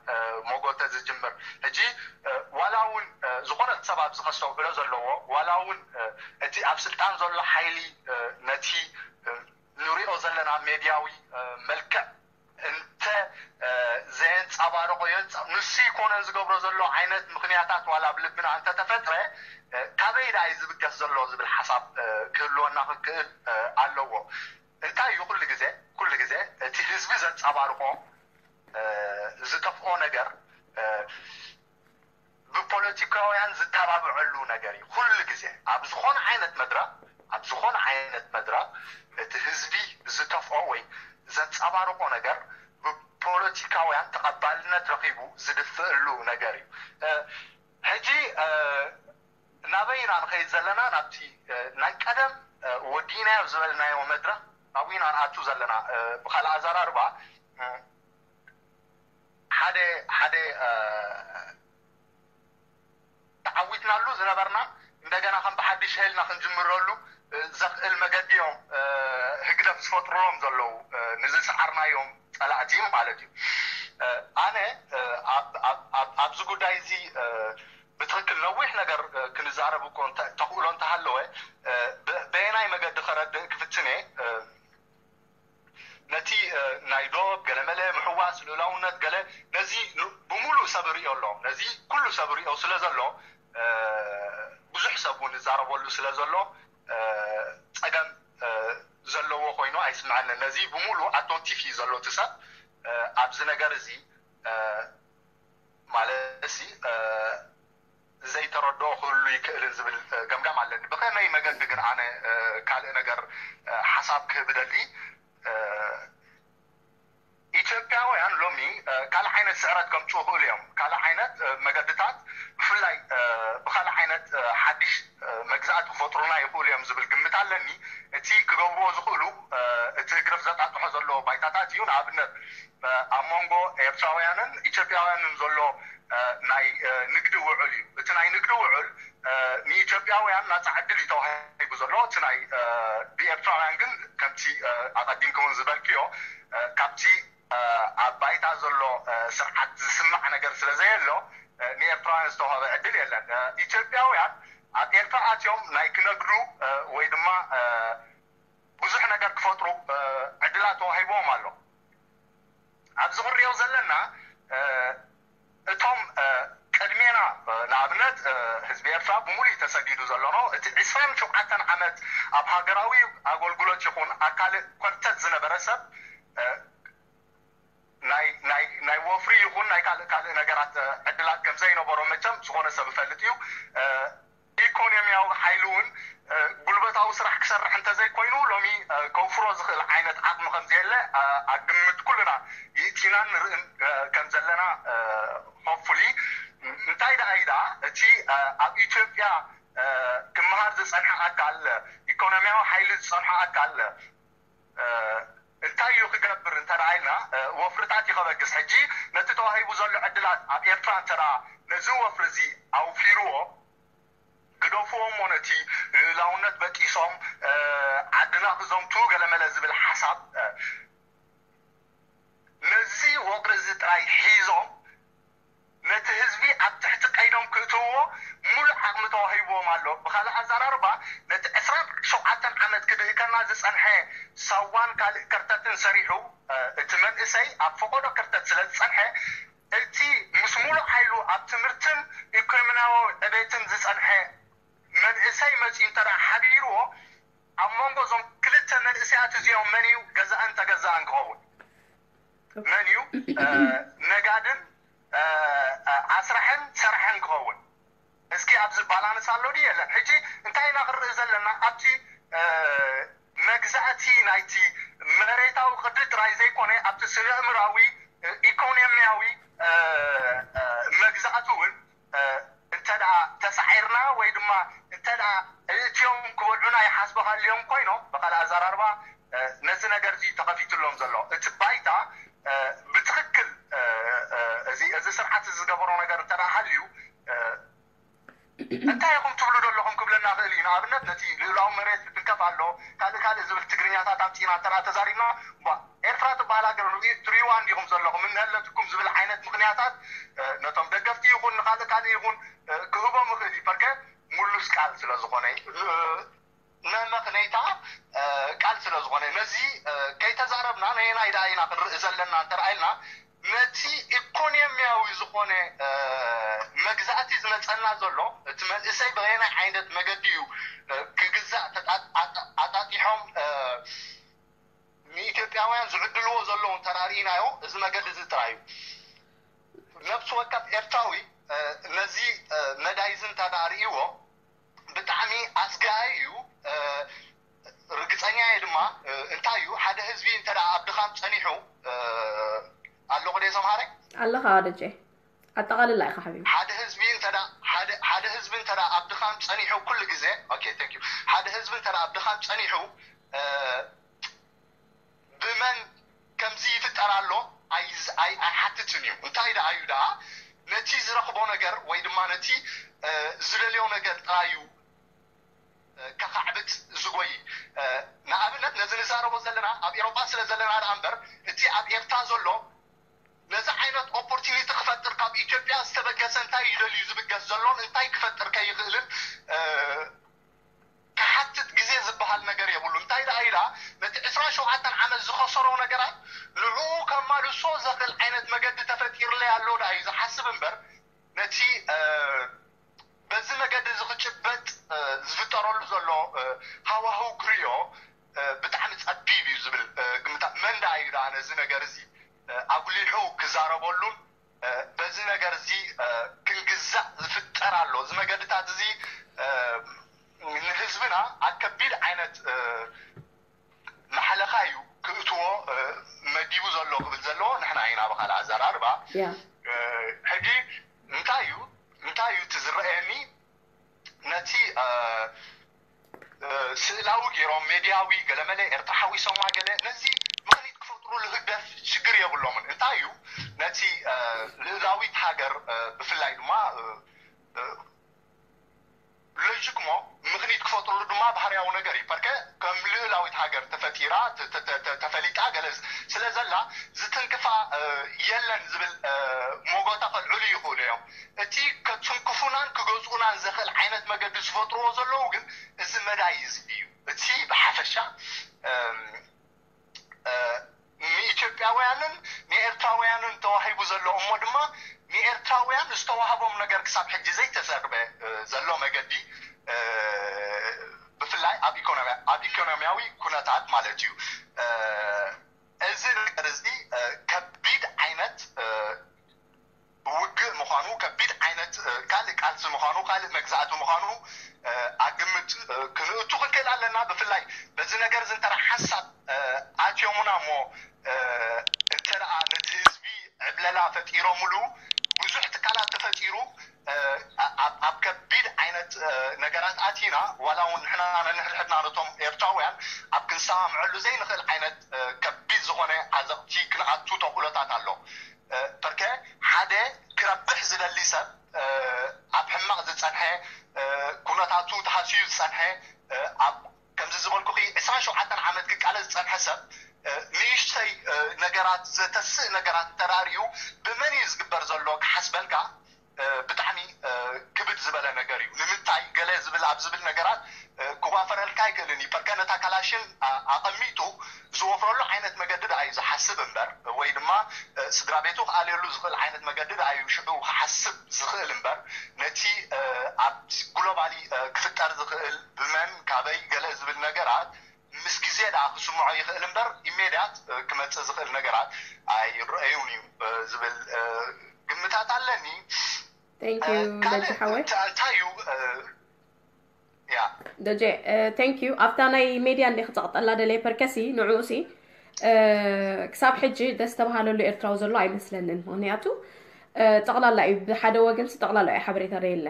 ሞጎተ ዝጅምር። ሕጂ ዋላ እውን ዝኾነ ሰብ ኣብዚ ከስተውዕሎ ዘለዎ ዋላ እውን እቲ ኣብ ስልጣን ዘሎ ሓይሊ ነቲ ንሪኦ ዘለና ሜድያዊ መልክዕ እንተ ዘየንፃባረቆ ንሱ ይኮነ ዝገብሮ ዘሎ ዓይነት ምክንያታት ዋላ ኣብ ልብና እንተተፈጥረ ካበይ ደኣ እዩ ዝብገስ ዘሎ ዝብል ሓሳብ ክህልወና ክክእል ኣለዎ። እንታይ እዩ ኩሉ ግዜ ኩሉ ግዜ እቲ ህዝቢ ዘንፃባርቆ ዝጠፍኦ ነገር ብፖለቲካውያን ዝተባብዐሉ ነገር እዩ። ኩሉ ግዜ ኣብ ዝኾነ ዓይነት መድረኽ ኣብ ዝኾነ ዓይነት መድረኽ እቲ ህዝቢ ዝተፍኦ ወይ ዘንፀባርቆ ነገር ብፖለቲካውያን ተቐባልነት ረኺቡ ዝድፍእሉ ነገር እዩ። ሕጂ ናበይ ኢና ንኸይድ ዘለና? ናብቲ ናይ ቀደም ወዲናዮ ዝበልናዮ መድረኽ ናብኡ ኢና ንኣቱ ዘለና። ብካልእ ኣዘራርባ ሓደ ሓደ ተዓዊትናሉ ዝነበርና እንደገና ከም ብሓድሽ ሀይልና ክንጅምረሉ ዘኽእል መገዲ እዮም ህግደፍ ዝፈጥርሎም ዘለዉ። ንዝሰዓርናዮም ፀላእቲ ማለት እዩ። ኣነ ኣብዚ ጉዳይ እዚ ብትክክል ነዊሕ ነገር ክንዛረብ እኮ ተኽእሎ እንተሃለወ በየናይ መገዲ ከረድእ ክፍትን እየ። ነቲ ናይ ዶብ ገለመለ ምሕዋስ ልኡላውነት ገለ ነዚ ብሙሉእ ሰብ ርእዮ ኣሎ። ነዚ ኩሉ ሰብ ርእዮ ስለ ዘሎ ብዙሕ ሰብ እውን ይዛረበሉ ስለ ዘሎ ፀገም ዘለዎ ኮይኑ ኣይስምዐንን። ነዚ ብምሉእ ኣቶንቲፍ እዩ ዘሎ እቲ ሰብ ኣብዚ ነገር እዚ ማለት ሲ ዘይተረድኦ ክህሉ ይክእልን ዝብል ገምጋም ኣለኒ። ብኸመይ መገዲ ግን ኣነ ካልእ ነገር ሓሳብ ክህብ ደሊ ኢትዮጵያውያን ሎሚ ካልእ ዓይነት ስዕረት ከምፅኡ ይኽእሉ እዮም። ካልእ ዓይነት መገድታት ብፍላይ ብካልእ ዓይነት ሓድሽ መግዛእቲ ክፈጥሩና ይኽእሉ እዮም ዝብል ግምት ኣለኒ። እቲ ክገብርዎ ዝኽእሉ እቲ ህግደፍ ዘጣጥሖ ዘሎ ባይታታት እዩ። ንኣብነት ኣብ መንጎ ኤርትራውያንን ኢትዮጵያውያንን ዘሎ ናይ ንግዲ ውዕል እዩ። እቲ ናይ ንግዲ ውዕል ንኢትዮጵያውያን ናፃ ዕድል እዩ ተዋሂቡ ዘሎ። እቲ ናይ ብኤርትራውያን ግን ከምቲ ኣቐዲምኩም ዝበልክዮ ካብቲ ኣብ ባይታ ዘሎ ስርዓት ዝስማዕ ነገር ስለ ዘየሎ ንኤርትራውያን ዝተዋሃበ ዕድል የለን። ኢትዮጵያውያን ኣብ ኤርትራ ኣትዮም ናይ ክነግዱ ወይ ድማ ብዙሕ ነገር ክፈጥሩ ዕድላት ተዋሂብዎም ኣሎ። ኣብዚ ክንሪኦ ዘለና እቶም ቅድሜና ንኣብነት ህዝቢ ኤርትራ ብምሉእ ተሰዲዱ ዘሎ ነው። እቲ ዕስራን ሸውዓተን ዓመት ኣብ ሃገራዊ ኣገልግሎት ይኹን ኣብ ካልእ ኮርተት ዝነበረ ሰብ ናይ ናይ ናይ ወፍሪ ይኹን ናይ ካልእ ካልእ ነገራት ዕድላት ከም ዘይነበሮ መቸም ዝኾነ ሰብ ይፈልጥ እዩ። ኢኮኖሚያዊ ሓይሊ እውን ጉልበታዊ ስራሕ ክሰርሕ እንተዘይኮይኑ ሎሚ ከውፍሮ ዝኽእል ዓይነት ዓቕሚ ከም ዘየለ ኣብ ግምት ኩልና ይእቲናን ንርእን ከም ዘለና ሆፕፉሊ እንታይ ደኣ እዩ ደኣ እቲ ኣብ ኢትዮጵያ ክመሃር ዝፀንሐ ኣካል ኢኮኖሚያዊ ሓይሊ ዝፀንሐ ኣካል እንታይ እዩ ክገብር እንተ ኢልና ወፍርታት እዩ ከበግስ። ሕጂ ነቲ ተዋሂቡ ዘሎ ዕድላት ኣብ ኤርትራ እንተ ነዚ ወፍሪ እዚ ኣውፊርዎ ግደፍዎ እሞ ነቲ ልእላውነት በጢሶም ዓድና ክዘምቱ ገለመለ ዝብል ሓሳብ ነዚ ወፍሪ እዚ ጥራይ ሒዞም ነቲ ህዝቢ ኣብ ትሕቲ ቀይዶም ክእትውዎ ሙሉእ ዓቕሚ ተዋሂብዎም ኣሎ። ብኻልእ ኣዘራርባ ነቲ ዕስራን ሸውዓተን ዓመት ክድህከና ዝጸንሐ ሳዋን ካልእ ከርተትን ሰሪሑ እቲ መንእሰይ ኣብ ፈቐዶ ከርተት ስለ ዝጸንሐ እቲ ምስ ሙሉእ ሓይሉ ኣብ ትምህርትን ኢኮኖሚያዊ ዕቤትን ዝጸንሐ መንእሰይ መጺኡ እንተ ሓቢርዎ ኣብ መንጎ እዞም ክልተ መንእሰያት እዚኦም መን እዩ ገዛእን ተገዛእን ክኸውን? መን እዩ ነጋድን ኣስራሕን ሰራሕን ክኸውን? እስኪ ኣብዚ ባላንስ ኣሎ ድዩ የለን? ሕጂ እንታይ ኢና ክንርኢ ዘለና? ኣብቲ መግዛእቲ ናይቲ መሬታዊ ቅዲ ጥራይ ዘይኮነ ኣብቲ ስነ እምራዊ ኢኮኖሚያዊ መግዛእቲ እውን እንተ ተሳዒርና ወይ ድማ እንተ እቲኦም ክበልዑና ይሓስቡ ሃልዮም ኮይኖም ብካልእ ኣዘራርባ ነዚ ነገር እዚ ተኸፊትሎም ዘሎ እቲ ባይታ ብትኽክል እዚ እዚ ስርዓት እዚ ዝገበሮ ነገር እንተ ሃልዩ እንታይ ኢኹም ትብሉ ዘለኹም ክብለና ክእል እዩ። ንኣብነት ነቲ ልእላዊ መሬት ትንከፍ ኣሎ ካልእ ካልእ ዝብል ትግርኛታት ኣምፂና እንተ ተዛሪብና ባ ኤርትራ ትበሃል ሃገር ሪዋ እንዲኹም ዘለኹም እንሀለትኩም ዝብል ዓይነት ምክንያታት ነቶም ደገፍቲ ይኹን ንካልእ ካልእ ይኹን ክህቦም ይኽእል እዩ። ፐርከ ሙሉስ ቃል ስለ ዝኾነ መመኽነይታ ቃል ስለ ዝኾነ ነዚ ከይተዛረብና ነየናይ ደኣ ኢና ክንርኢ ዘለና እንተረኣይልና ነቲ ኢኮኖሚያዊ ዝኾነ መግዛእቲ ዝመፀና ዘሎ እቲ መንእሰይ ብየናይ ዓይነት መገዲ እዩ ክግዛእ ኣጣጢሖም ንኢትዮጵያውያን ዝዕድልዎ ዘለዉ እንተራእናዮ እዚ መገዲ እዚ ጥራይ እዩ። ነብሲ ወከፍ ኤርትራዊ ነዚ መዳይ እዚ እንተዳርእዎ ብጣዕሚ ኣስጋኢ እዩ። ርግፀኛ እየ ድማ እንታይ እዩ ሓደ ህዝቢ እንተ ኣብ ድኻም ፀኒሑ ኣለኹ ደ ሰምሃረ ኣለኻ ደጀ ኣጠቓልላ ኢኻ ሓቢቢ ሓደ ህዝቢ እንተ ሓደ ህዝቢ እንተ ኣብ ድኻም ፀኒሑ ኩሉ ግዜ ኦኬ thank you ሓደ ህዝቢ እንተ ኣብ ድኻም ፀኒሑ ብመን ከምዚ ይፍጠር ኣሎ ኣይሓትትን እዩ። እንታይ ደኣ እዩ ደኣ ነቲ ዝረኽቦ ነገር ወይ ድማ ነቲ ዝደልዮ ነገር ጥራይ እዩ ከኻዕብት ዝጎይ። ንኣብነት ነዚ ንዛረቦ ዘለና ኣብ ኤሮጳ ስለ ዘለና ደኣ እምበር እቲ ኣብ ኤርትራ ዘሎ ነዚ ዓይነት ኦፖርቲኒቲ ክፈጥር ካብ ኢትዮጵያ ዝተበገሰ እንታይ ይደልዩ ዝብገስ ዘሎን እንታይ ክፈጥር ከይኽእልን ክሓትት ግዜ ዝበሃል ነገር የብሉ። እንታይ ደኣ ኢላ ነቲ ዕስራን ሸውዓተን ዓመት ዝኸሰሮ ነገራት ንዕኡ ከማልሶ ዘኽእል ዓይነት መገዲ ተፈጢርለይ ኣሎ ደኣ እዩ ዝሓስብ እምበር ነቲ በዚ መገዲ እዚ ክጭበጥ ዝፍጠረሉ ዘሎ ሃዋህው ክሪኦ ብጣዕሚ ጸቢብ እዩ ዝብል እዚ ነገር እዚ ኣጉሊሑ ክዛረበሉን በዚ ነገር እዚ ክንግዛእ ዝፍጠር ኣሎ። እዚ መገድታት እዚ ንህዝብና ኣብ ከቢድ ዓይነት ማሕለኻ እዩ ክእትዎ መዲቡ ዘሎ ክብል ዘለዎ ንሕና ኢና ብካልእ ኣዘራርባ። ሕጂ እንታይ እዩ እንታይ እዩ እቲ ዝረኣየኒ ነቲ ስእላዊ ገይሮም ሜድያዊ ገለመለ ኤርትራ ሓዊሶማ ገለ ነዚ ምኽኒት ክፈጥሩሉ ህግደፍ ሽግር የብሎምን። እንታይ እዩ ነቲ ልእላዊት ሃገር ብፍላይ ድማ ሎጂክሞ ምኽኒት ክፈጥሩሉ ድማ ባህርያዊ ነገር እዩ። ፐርከ ከም ልእላዊት ሃገር ተፈጢራ ተፈሊጣ ገለ ስለ ዘላ ዝትንክፋ የለን ዝብል ሞጎታ ከልዕሉ ይኽእሉ እዮም። እቲ ከትንክፉናን ክገዝኡናን ዘኽእል ዓይነት መገዲ ዝፈጥርዎ ዘለዉ ግን እዚ መዳይ እዚ እዩ። እቲ ብሓፈሻ ንኢትዮጵያውያንን ንኤርትራውያንን ተዋሂቡ ዘሎ እሞ ድማ ንኤርትራውያን ዝተዋህቦም ነገር ክሳብ ሕጂ ዘይተዘርበ ዘሎ መገዲ ብፍላይ ኣብ ኢኮኖሚያዊ ኩነታት ማለት እዩ። እዚ ነገር እዚ ከቢድ ዓይነት ውግእ ምዃኑ ከቢድ ዓይነት ካልእ ቃልሲ ምዃኑ ካልእ መግዛእቲ ምዃኑ ኣግምት ክንእቱ ክንክእል ኣለና። ብፍላይ በዚ ነገር እዚ እንተ ሓንሳብ ኣትዮሙና እሞ እንተ ነቲ ህዝቢ ዕብለላ ፈጢሮምሉ ብዙሕ ትካላት ተፈጢሩ ኣብ ከቢድ ዓይነት ነገራት ኣቲና ዋላ እውን ንሕና ነንሕድሕድና ነቶም ኤርትራውያን ኣብ ክንሰማምዐሉ ዘይንኽእል ዓይነት ከቢድ ዝኾነ ዓዘቕቲ ክንኣቱ ተኽእሎታት ኣሎ። በርከ ሓደ ክረብሕ ዝደሊ ሰብ ኣብ ሕማቕ ዝፀንሐ ኩነታቱ ተሃስዩ ዝፀንሐ ኣብ ከምዚ ዝበልኩኺ ዕስራን ሸውዓተን ዓመት ክቃለስ ዝፀንሐ ሰብ ንእሽተይ ነገራት ዘተስእ ነገራት እንተራርዩ ብመን እዩ ዝግበር ዘሎ ክሓስበልካ ብጣዕሚ ክብድ ዝበለ ነገር እዩ። ንምንታይ ገለ ዝብል ኣብ ዝብል ነገራት ክዋፈረልካ ኣይክእልን እዩ። ፐርከ ነታ ካላሽን ኣቐሚጡ ዝወፍረሉ ዓይነት መገዲ ደኣ እዩ ዝሓስብ እምበር ወይ ድማ ስድራ ቤቱ ክኣልየሉ ዝኽእል ዓይነት መገዲ ደኣ እዩ ሽዑ ክሓስብ ዝኽእል እምበር ነቲ ኣብ ግሎባሊ ክፍጠር ዝኽእል ብመን ካበይ ገለ ዝብል ነገራት ምስ ግዜ ደኣ ክስምዖ ይኽእል እምበር ኢሜድያት ክመፅእ ዝኽእል ነገራት ኣይረአዩን እዩ ዝብል ግምታት ኣለኒ። ደጀ ሓወይ እንታይ እዩ ያ ደጀ thank you ኣብታ ናይ ሜድያ እንደ ክፀቕጠላ ደለየ ፐርከሲ ንዕኡሲ ክሳብ ሕጂ ደስ ተባሃለሉ ኤርትራዊ ዘሎ ኣይመስለንን። ምክንያቱ ጠቕላላ እዩ ብሓደ ወገንሲ ጠቕላላ እዩ ሓበሬታ የለ።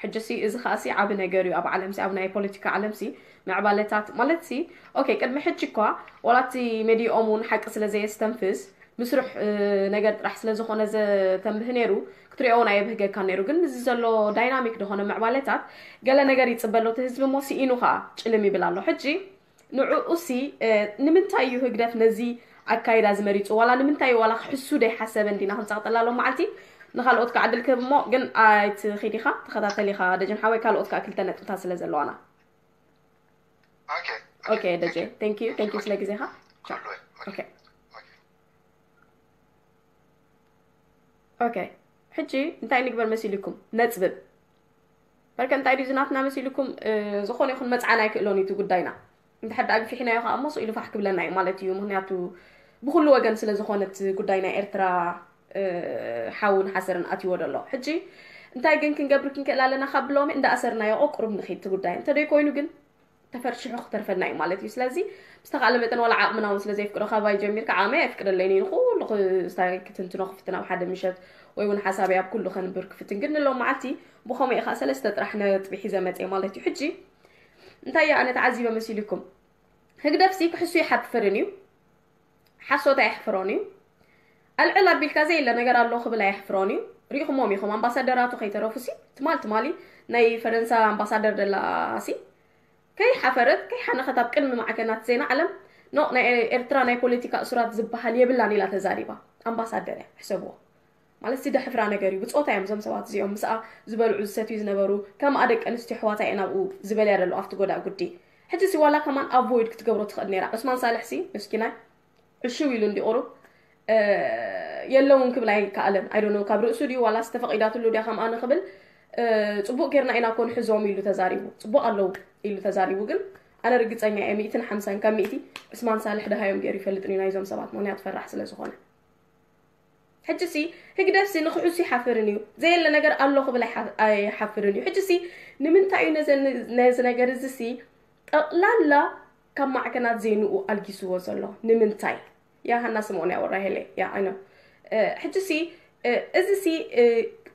ሕጂ ሲ እዚ ከዓ ሲ ዓቢ ነገር እዩ ኣብ ዓለም ሲ ኣብ ናይ ፖለቲካ ዓለም ሲ ምዕባለታት ማለት ሲ okay ቅድሚ ሕጂ እኳ ዋላ እቲ ሜድያኦም እውን ሓቂ ስለ ዘየስተንፍስ ምስርሕ ነገር ጥራሕ ስለ ዝኾነ ዘተንብህ ነይሩ ክትሪኦ እውን ኣየብህገካ ነይሩ። ግን እዚ ዘሎ ዳይናሚክ ዝኾነ ምዕባለታት ገለ ነገር ይፅበ ኣሎ እቲ ህዝቢ እሞ ስኢኑ ከዓ ጭልም ይብል ኣሎ። ሕጂ ንዕኡ ሲ ንምንታይ እዩ ህግደፍ ነዚ ኣካይዳ ዝመሪፁ ዋላ ንምንታይ ዋላ ክሕሱ ደይሓሰበ እንዲና ክንፀቕጠላ ኣሎ መዓልቲ ንካልኦት ክዓድል ክህብ እሞ ግን ኣይትኺድ ኢኻ ተኸታተል ኢኻ ደጀን ሓወይ ካልኦት ከዓ ክልተ ነጥብታት ስለ ዘለዋና okay okay ደጀ thank you thank you ስለ ግዜኻ okay okay ሕጂ እንታይ ንግበር መሲልኩም ነፅብብ በርከ እንታይ ድዩ ዝናትና መሲልኩም ዝኾነ ይኹን መፅዓን ኣይክእሎን እዩ እቲ ጉዳይና እንድሕር ዳኣ ግፊሕናዮ ከዓ እሞ ስኢሉ ፋሕ ክብለና እዩ ማለት እዩ ምክንያቱ ብኩሉ ወገን ስለ ዝኾነ እቲ ጉዳይ ናይ ኤርትራ ሓውን ሓሰርን ኣትይዎ ደሎ ሕጂ እንታይ ግን ክንገብር ክንክእል ኣለና ካብ ብሎሚ እንዳኣሰርናዮ ቁሩብ ንኺድ እቲ ጉዳይ እንተደይ ኮይኑ ግን ተፈርሽሑ ክተርፈና እዩ ማለት እዩ ስለዚ ብዝተኻእለ መጠን ዋላ ዓቕምና እውን ስለ ዘይፍቅዶ ካባይ ጀሚርካ ዓቕመይ ኣይፍቅደለይን እዩ ንኩሉ ክስታይ ክትንትኖ ክፍትን ኣብ ሓደ ምሸት ወይ እውን ሓሳበይ ኣብ ኩሉ ከንብር ክፍትን ግን ንሎም መዓልቲ ብኸምኡ ኢኻ ሰለስተ ጥራሕ ነጥቢ ሒዘ መፅየ ማለት እዩ ሕጂ እንታይ እየ ኣነ ተዓዚበ መሲልኩም ህግደፍሲ ክሕሱ ይሓፍርን እዩ ሓሶት ኣየሕፍሮን እዩ ኣልዕል ኣቢልካ ዘየለ ነገር ኣሎ ክብል ኣየሕፍሮን እዩ ሪኢኹሞም ኢኹም ኣምባሳደራቱ ከይተረፉሲ ትማል ትማሊ ናይ ፈረንሳ ኣምባሳደር ደላሲ ከይሓፈረት ከይሓነኸት ኣብ ቅድሚ ማዕከናት ዜና ዓለም ኖ ናይ ኤርትራ ናይ ፖለቲካ እሱራት ዝበሃል የብላን ኢላ ተዛሪባ ኣምባሳደር እያ ሕሰብዎ ማለት ሲ ደሕፍራ ነገር እዩ ብፆታ እዮም እዞም ሰባት እዚኦም ምስኣ ዝበልዑ ዝሰትዩ ዝነበሩ ከምኣ ደቂ ኣንስትዮ ኣሕዋታ እየን ኣብኡ ዝበልያ ደለዋ ኣብቲ ጎዳእ ጉዲ ሕጂ ሲ ዋላ ከማን ኣቮይድ ክትገብሮ ትኽእል ነይራ ዑስማን ሳልሕ ሲ ምስኪናይ ዕሽው ኢሉ እንዲ ቁሩብ የለውን ክብል ኣይከኣለን ኣይዶነ ካብ ርእሱ ድዩ ዋላ ዝተፈቒዳትሉ ድያ ከምኣ ንኽብል ፅቡቅ ጌርና ኢና ኮን ሕዞም ኢሉ ተዛሪቡ ፅቡቅ ኣለዉ ኢሉ ተዛሪቡ ግን ኣነ ርግፀኛ እየ፣ ሚእትን ሓምሳን ካብ ሚእቲ ዑስማን ሳልሕ ደሃዮም ገይሩ ይፈልጥን እዩ ናይዞም ሰባት፣ ምክንያቱ ፈራሕ ስለ ዝኾነ። ሕጂ ሲ ህግደፍ ሲ ንክሑስ ይሓፍርን እዩ፣ ዘየለ ነገር ኣሎ ክብል ኣይሓ- ኣይሓፍርን እዩ። ሕጂ ሲ ንምንታይ እዩ ነዘ- ነዚ ነገር እዚ ሲ ጠቕላላ ካብ ማዕከናት ዜንኡ ኣልጊስዎ ዘሎ? ንምንታይ? ያ ሃና ስምኦን ያወራሄለ ያ ኣይኖ። ሕጂ ሲ እዚ ሲ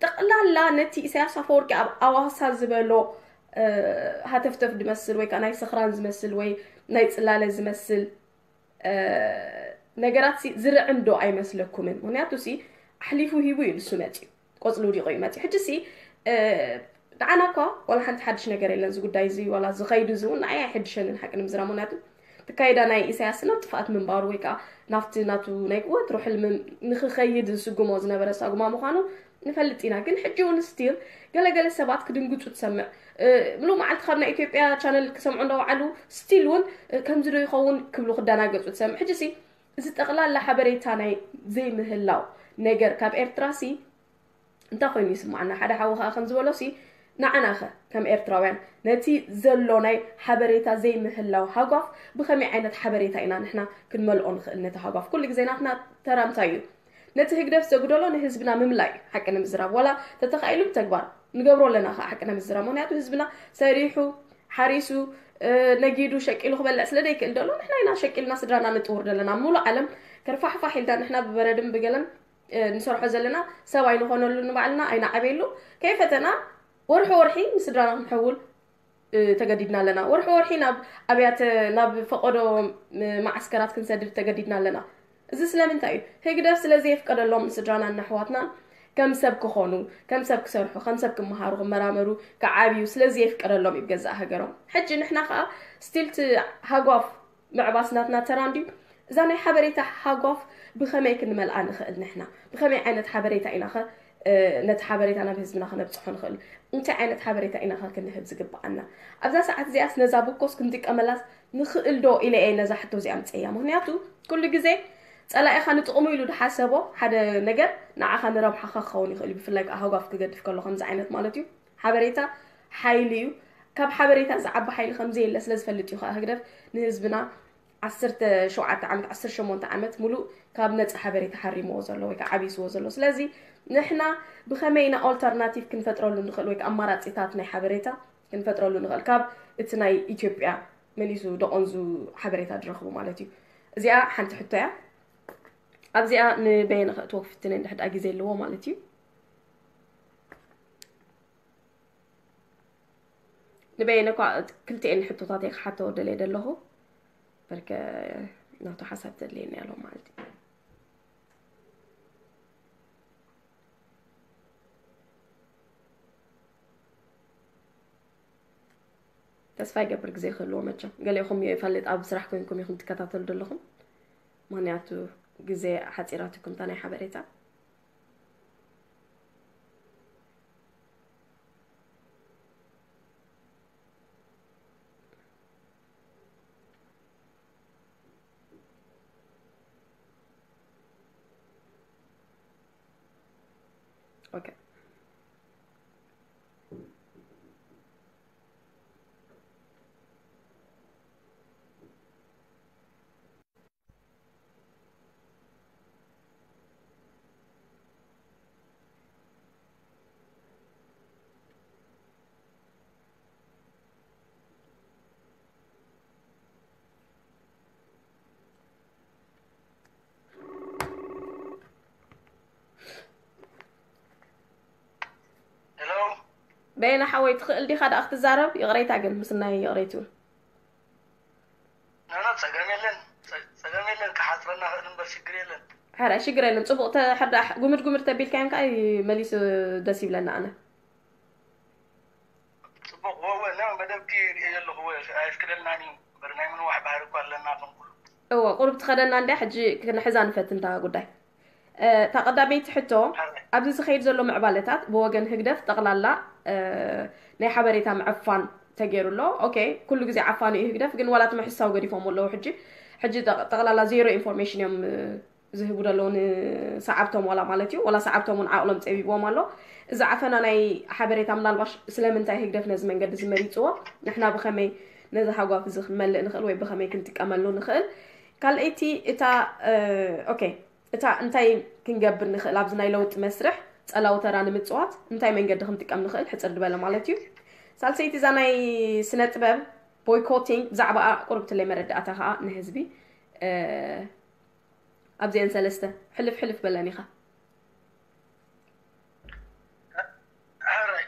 ጠቕላላ ነቲ ኢሳያስ ኣፈወርቂ ኣብ ኣዋሳ ዝበሎ ሃተፍተፍ ዝመስል ወይ ከዓ ናይ ስኽራን ዝመስል ወይ ናይ ፅላለ ዝመስል ነገራት ሲ ዝርዕም ዶ ኣይመስለኩምን? ምክንያቱ ሲ ኣሕሊፉ ሂቡ እዩ ንሱ መፅዩ፣ ቆፅሊ ውዲቑ እዩ መፅዩ። ሕጂ ሲ ንዓና እኳ ዋላ ሓንቲ ሓድሽ ነገር የለን። እዚ ጉዳይ እዚ ዋላ ዝኸይዱ እዚ እውን ንዓይ ኣይሕድሸንን ሓቂ ንምዝራብ። ምክንያቱ ትካይዳ ናይ ኢሳያስ ናብ ጥፍኣት ምንባሩ ወይ ከዓ ናብቲ ናቱ ናይ ወትሩ ሕልሚ ንክኸይድ ዝስጉሞ ዝነበረ ሳጉማ ምዃኑ ንፈልጥ ኢና። ግን ሕጂ እውን ስቲል ገለገለ ሰባት ክድንግፁ ትሰምዕ። ምሉእ መዓልቲ ካብ ናይ ኢትዮጵያ ቻነል ክሰምዑ እንዳወዓሉ ስቲል እውን ከምዚ ዶ ይኸውን ክብሉ ክደናገፁ ትሰምዕ። ሕጂ ሲ እዚ ጠቕላላ ሓበሬታ ናይ ዘይምህላው ነገር ካብ ኤርትራ ሲ እንታይ ኮይኑ ይስማዓና? ሓደ ሓዊ ከዓ ከም ዝበሎ ሲ ንዓና ኸ ከም ኤርትራውያን ነቲ ዘሎ ናይ ሓበሬታ ዘይምህላው ሃጓፍ ብኸመይ ዓይነት ሓበሬታ ኢና ንሕና ክንመልኦ ንኽእል? ነቲ ሃጓፍ ኩሉ ግዜ ናትና ተራ እንታይ እዩ? ነቲ ህግደፍ ዘጉደሎ ንህዝብና ምምላይ እዩ። ሓቂ ንምዝራብ ዋላ ተተኻኢሉ ብተግባር ንገብሮ ኣለና ከዓ ሓቂ ንምዝራብ። ምክንያቱ ህዝብና ሰሪሑ ሓሪሱ ነጊዱ ሸቂሉ ክበልዕ ስለ ዘይክእል ደሎ ንሕና ኢና ሸቂልና ስድራና ንጥውር ዘለና። ሙሉእ ዓለም ከርፋሕፋሕ ኢልና ንሕና ብበረድን ብገለን ንሰርሖ ዘለና ሰብ ኣይንኾነሉ፣ ንባዕልና ኣይንዓበየሉ። ከይፈተና ወርሒ ወርሒ ንስድራና ክንሕውል ተገዲድና ኣለና። ወርሒ ወርሒ ናብ ኣብያተ ናብ ፈቐዶ መዓስከራት ክንሰድድ ተገዲድና ኣለና። እዚ ስለምንታይ እዩ? ህግደፍ ስለ ዘየፍቀደሎም ንስድራናን ንኣሕዋትናን ከም ሰብ ክኾኑ፣ ከም ሰብ ክሰርሑ፣ ከም ሰብ ክመሃሩ፣ ክመራመሩ፣ ክዓብዩ ስለ ዘየፍቀደሎም እዩ ብገዛእ ሃገሮም። ሕጂ ንሕና ከዓ ስቲል እቲ ሃጓፍ ምዕባስ ናትና ተራ እንድዩ። እዛ ናይ ሓበሬታ ሃጓፍ ብኸመይ ክንመልኣ ንኽእል ንሕና? ብኸመይ ዓይነት ሓበሬታ ኢናኸ ነቲ ሓበሬታ ናብ ህዝብና ክነብፅሖ ንኽእል? እንታይ ዓይነት ሓበሬታ ኢናኸ ክንህብ ዝግብኣና? ኣብዛ ሰዓት እዚኣስ ነዛ ብኮስ ክንጥቀመላስ ንኽእል ዶ ኢለ እየ ነዛ ሕቶ እዚኣ ምፀያ። ምክንያቱ ኩሉ ግዜ ፀላኢኻ ንጥቕሙ ኢሉ ድሓሰቦ ሓደ ነገር ንዓኻ ንረብሓኻ ክኸውን ይኽእል እዩ። ብፍላይ ከዓ ሃጓፍ ክገድፍ ከሎ ከምዚ ዓይነት ማለት እዩ። ሓበሬታ ሓይሊ እዩ። ካብ ሓበሬታ ዝዓቢ ሓይሊ ከምዘየለ ስለ ዝፈልጥ እዩ ከዓ ህግደፍ ንህዝብና ዓሰርተ ሸውዓተ ዓመት፣ ዓሰርተ ሸሞንተ ዓመት ሙሉእ ካብ ነፃ ሓበሬታ ሓሪምዎ ዘሎ ወይ ከዓ ዓቢስዎ ዘሎ። ስለዚ ንሕና ብኸመይ ኢና ኦልተርናቲቭ ክንፈጥረሉ ንኽእል ወይ ከዓ ኣማራፂታት ናይ ሓበሬታ ክንፈጥረሉ ንኽእል ካብ እቲ ናይ ኢትዮጵያ መሊሱ ደቐንዙ ሓበሬታ ዝረኽቡ ማለት እዩ። እዚኣ ሓንቲ ሕቶ እያ። ኣብዚኣ ንበየነ ከእትዎ ክፍትን እንድሕር ደኣ ግዜ ኣለዎ ማለት እዩ። ንበየነ እኳ ክልቲኤን ሕቶታት እየ ክሓቶ ደልየ ደለኹ። በርከ ናቱ ሓሳብ ተድልየኒ ኣሎ ማለት እዩ። ተስፋ ይገብር ግዜ ክህልዎ መቸም። ገሊኹም ይፈልጥ ኣብ ስራሕ ኮይንኩም ኢኹም ትከታተሉ ዘለኹም። ምክንያቱ ግዜ ሓፂራትኩም እታ ናይ ሓበሬታ። ኦኬ። ሄሎ። በየነ ሓወይ ትኽእል ዲኻ ደኣ ክትዛረብ? ይቕሬታ ግን ምስናይ ይቕሬት ይብል። ኖ፣ ኖ፣ ጸገም የለን። ጸ-፣ ጸገም የለን። ክሓጽረና ክእል እምበር ሽግር የለን። ሕራይ ሽግር የለን። ጽቡቕ ተ-፣ ሕርዳእ ጉምድ ጉምድ ተቢልካዮም ከኣ መሊሱ ደስ ይብለና ኣነ። ጽቡቕ፣ ወ-፣ ወ-፣ ኖ፣ መደብኪ ርእየ ዘለኹ፣ ወ-፣ ኣየፍቅደልናን እዩ እምበር ናይ ምንዋሕ ባህሪ እኳ ኣለና ከም ኩሉ። እወ፣ ቁሩብ ትኸደና እንድያ፣ ሕጂ ክንሕዛ ንፈትን እታ ጉዳይ። እ፣ እታ ቀዳመይቲ ሕቶ፣ ኣብዚ ዝኸይድ ዘሎ ምዕባለታት ብወገን ህግደፍ ጠቕላላ፣ እ፣ ናይ ሓበሬታ ምዕፋን ተገይሩ ኣሎ። ኦኬ፣ ኩሉ ግዜ ዓፋኒ እዩ ህግደፍ፣ ግን ዋላ እቲ ምሕሳው ገዲፎም ኣለዉ። ሕጂ፣ ሕጂ ጠቕ-፣ ጠቕላላ ዜሮ ኢንፎርሜሽን እዮም፣ እ፣ ዝህቡ ዘለዉ ንሰዓብቶም ዋላ ማለት እዩ። ዋላ ሰዓብቶም እውን ዓቕሎም ጸቢብዎም ኣሎ። እዚ ዓፈና ናይ ሓበሬታ ምናልባሽ ስለምንታይ ህግደፍ ነዚ መንገዲ እዚ መሪጽዎ? ንሕና ብኸመይ ነዚ ሃጓፍ እዚ ክንመልእ ንኽእል ወይ ብኸመይ ክንጥቀመሉ ንኽእል? ካልኣይቲ እታ ኦኬ እታ እንታይ ክንገብር ንኽእል ኣብዚ ናይ ለውጢ መስርሕ ጸላዊ ተራ ንምጽዋት እንታይ መንገዲ ክንጥቀም ንኽእል ሕጽር ዝበለ ማለት እዩ። ሳልሰይቲ እዛ ናይ ስነ ጥበብ boycotting ብዛዕባኣ ቁርብትለይ መረዳእታ ከዓ ንህዝቢ ኣብዚአን ሰለስተ ሕልፍ ሕልፍ በለን ኢኻ። ሕራይ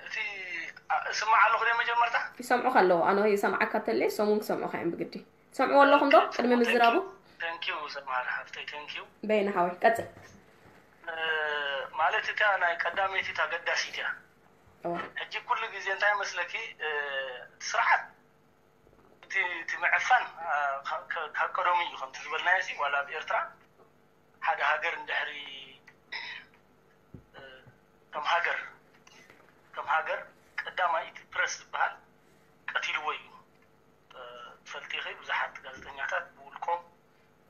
እቲ እስማዕ ኣለኹ ደ መጀመርታ ይሰምዑኻ ኣለዉ ኣነ ይሰምዓካ ተለይ እሶም እውን ክሰምዑኻ እዮም ብግዲ ትሰምዕዎ ኣለኹም ዶ ቅድሚ ምዝራቡ ተንኪዩ ሰማር ሓፍተይ ተንኪዩ በይነ ሓወይ ቀፅል ማለት እታ ናይ ቀዳመይቲ እታ ገዳሲት እያ ሕጂ ኩሉ ግዜ እንታይ መስለኪ እቲ ስርዓት እቲ ምዕፋን ካብ ቀደሙ እዩ ከምቲ ዝበልናዮ ዋላ ኣብ ኤርትራ ሓደ ሃገር እንድሕሪ ከም ሃገር ከም ሃገር ቀዳማይ እቲ ፕረስ ዝበሃል ቀቲልዎ እዩ ትፈልጢ ኢኺ ብዙሓት ጋዜጠኛታት ብውልቆም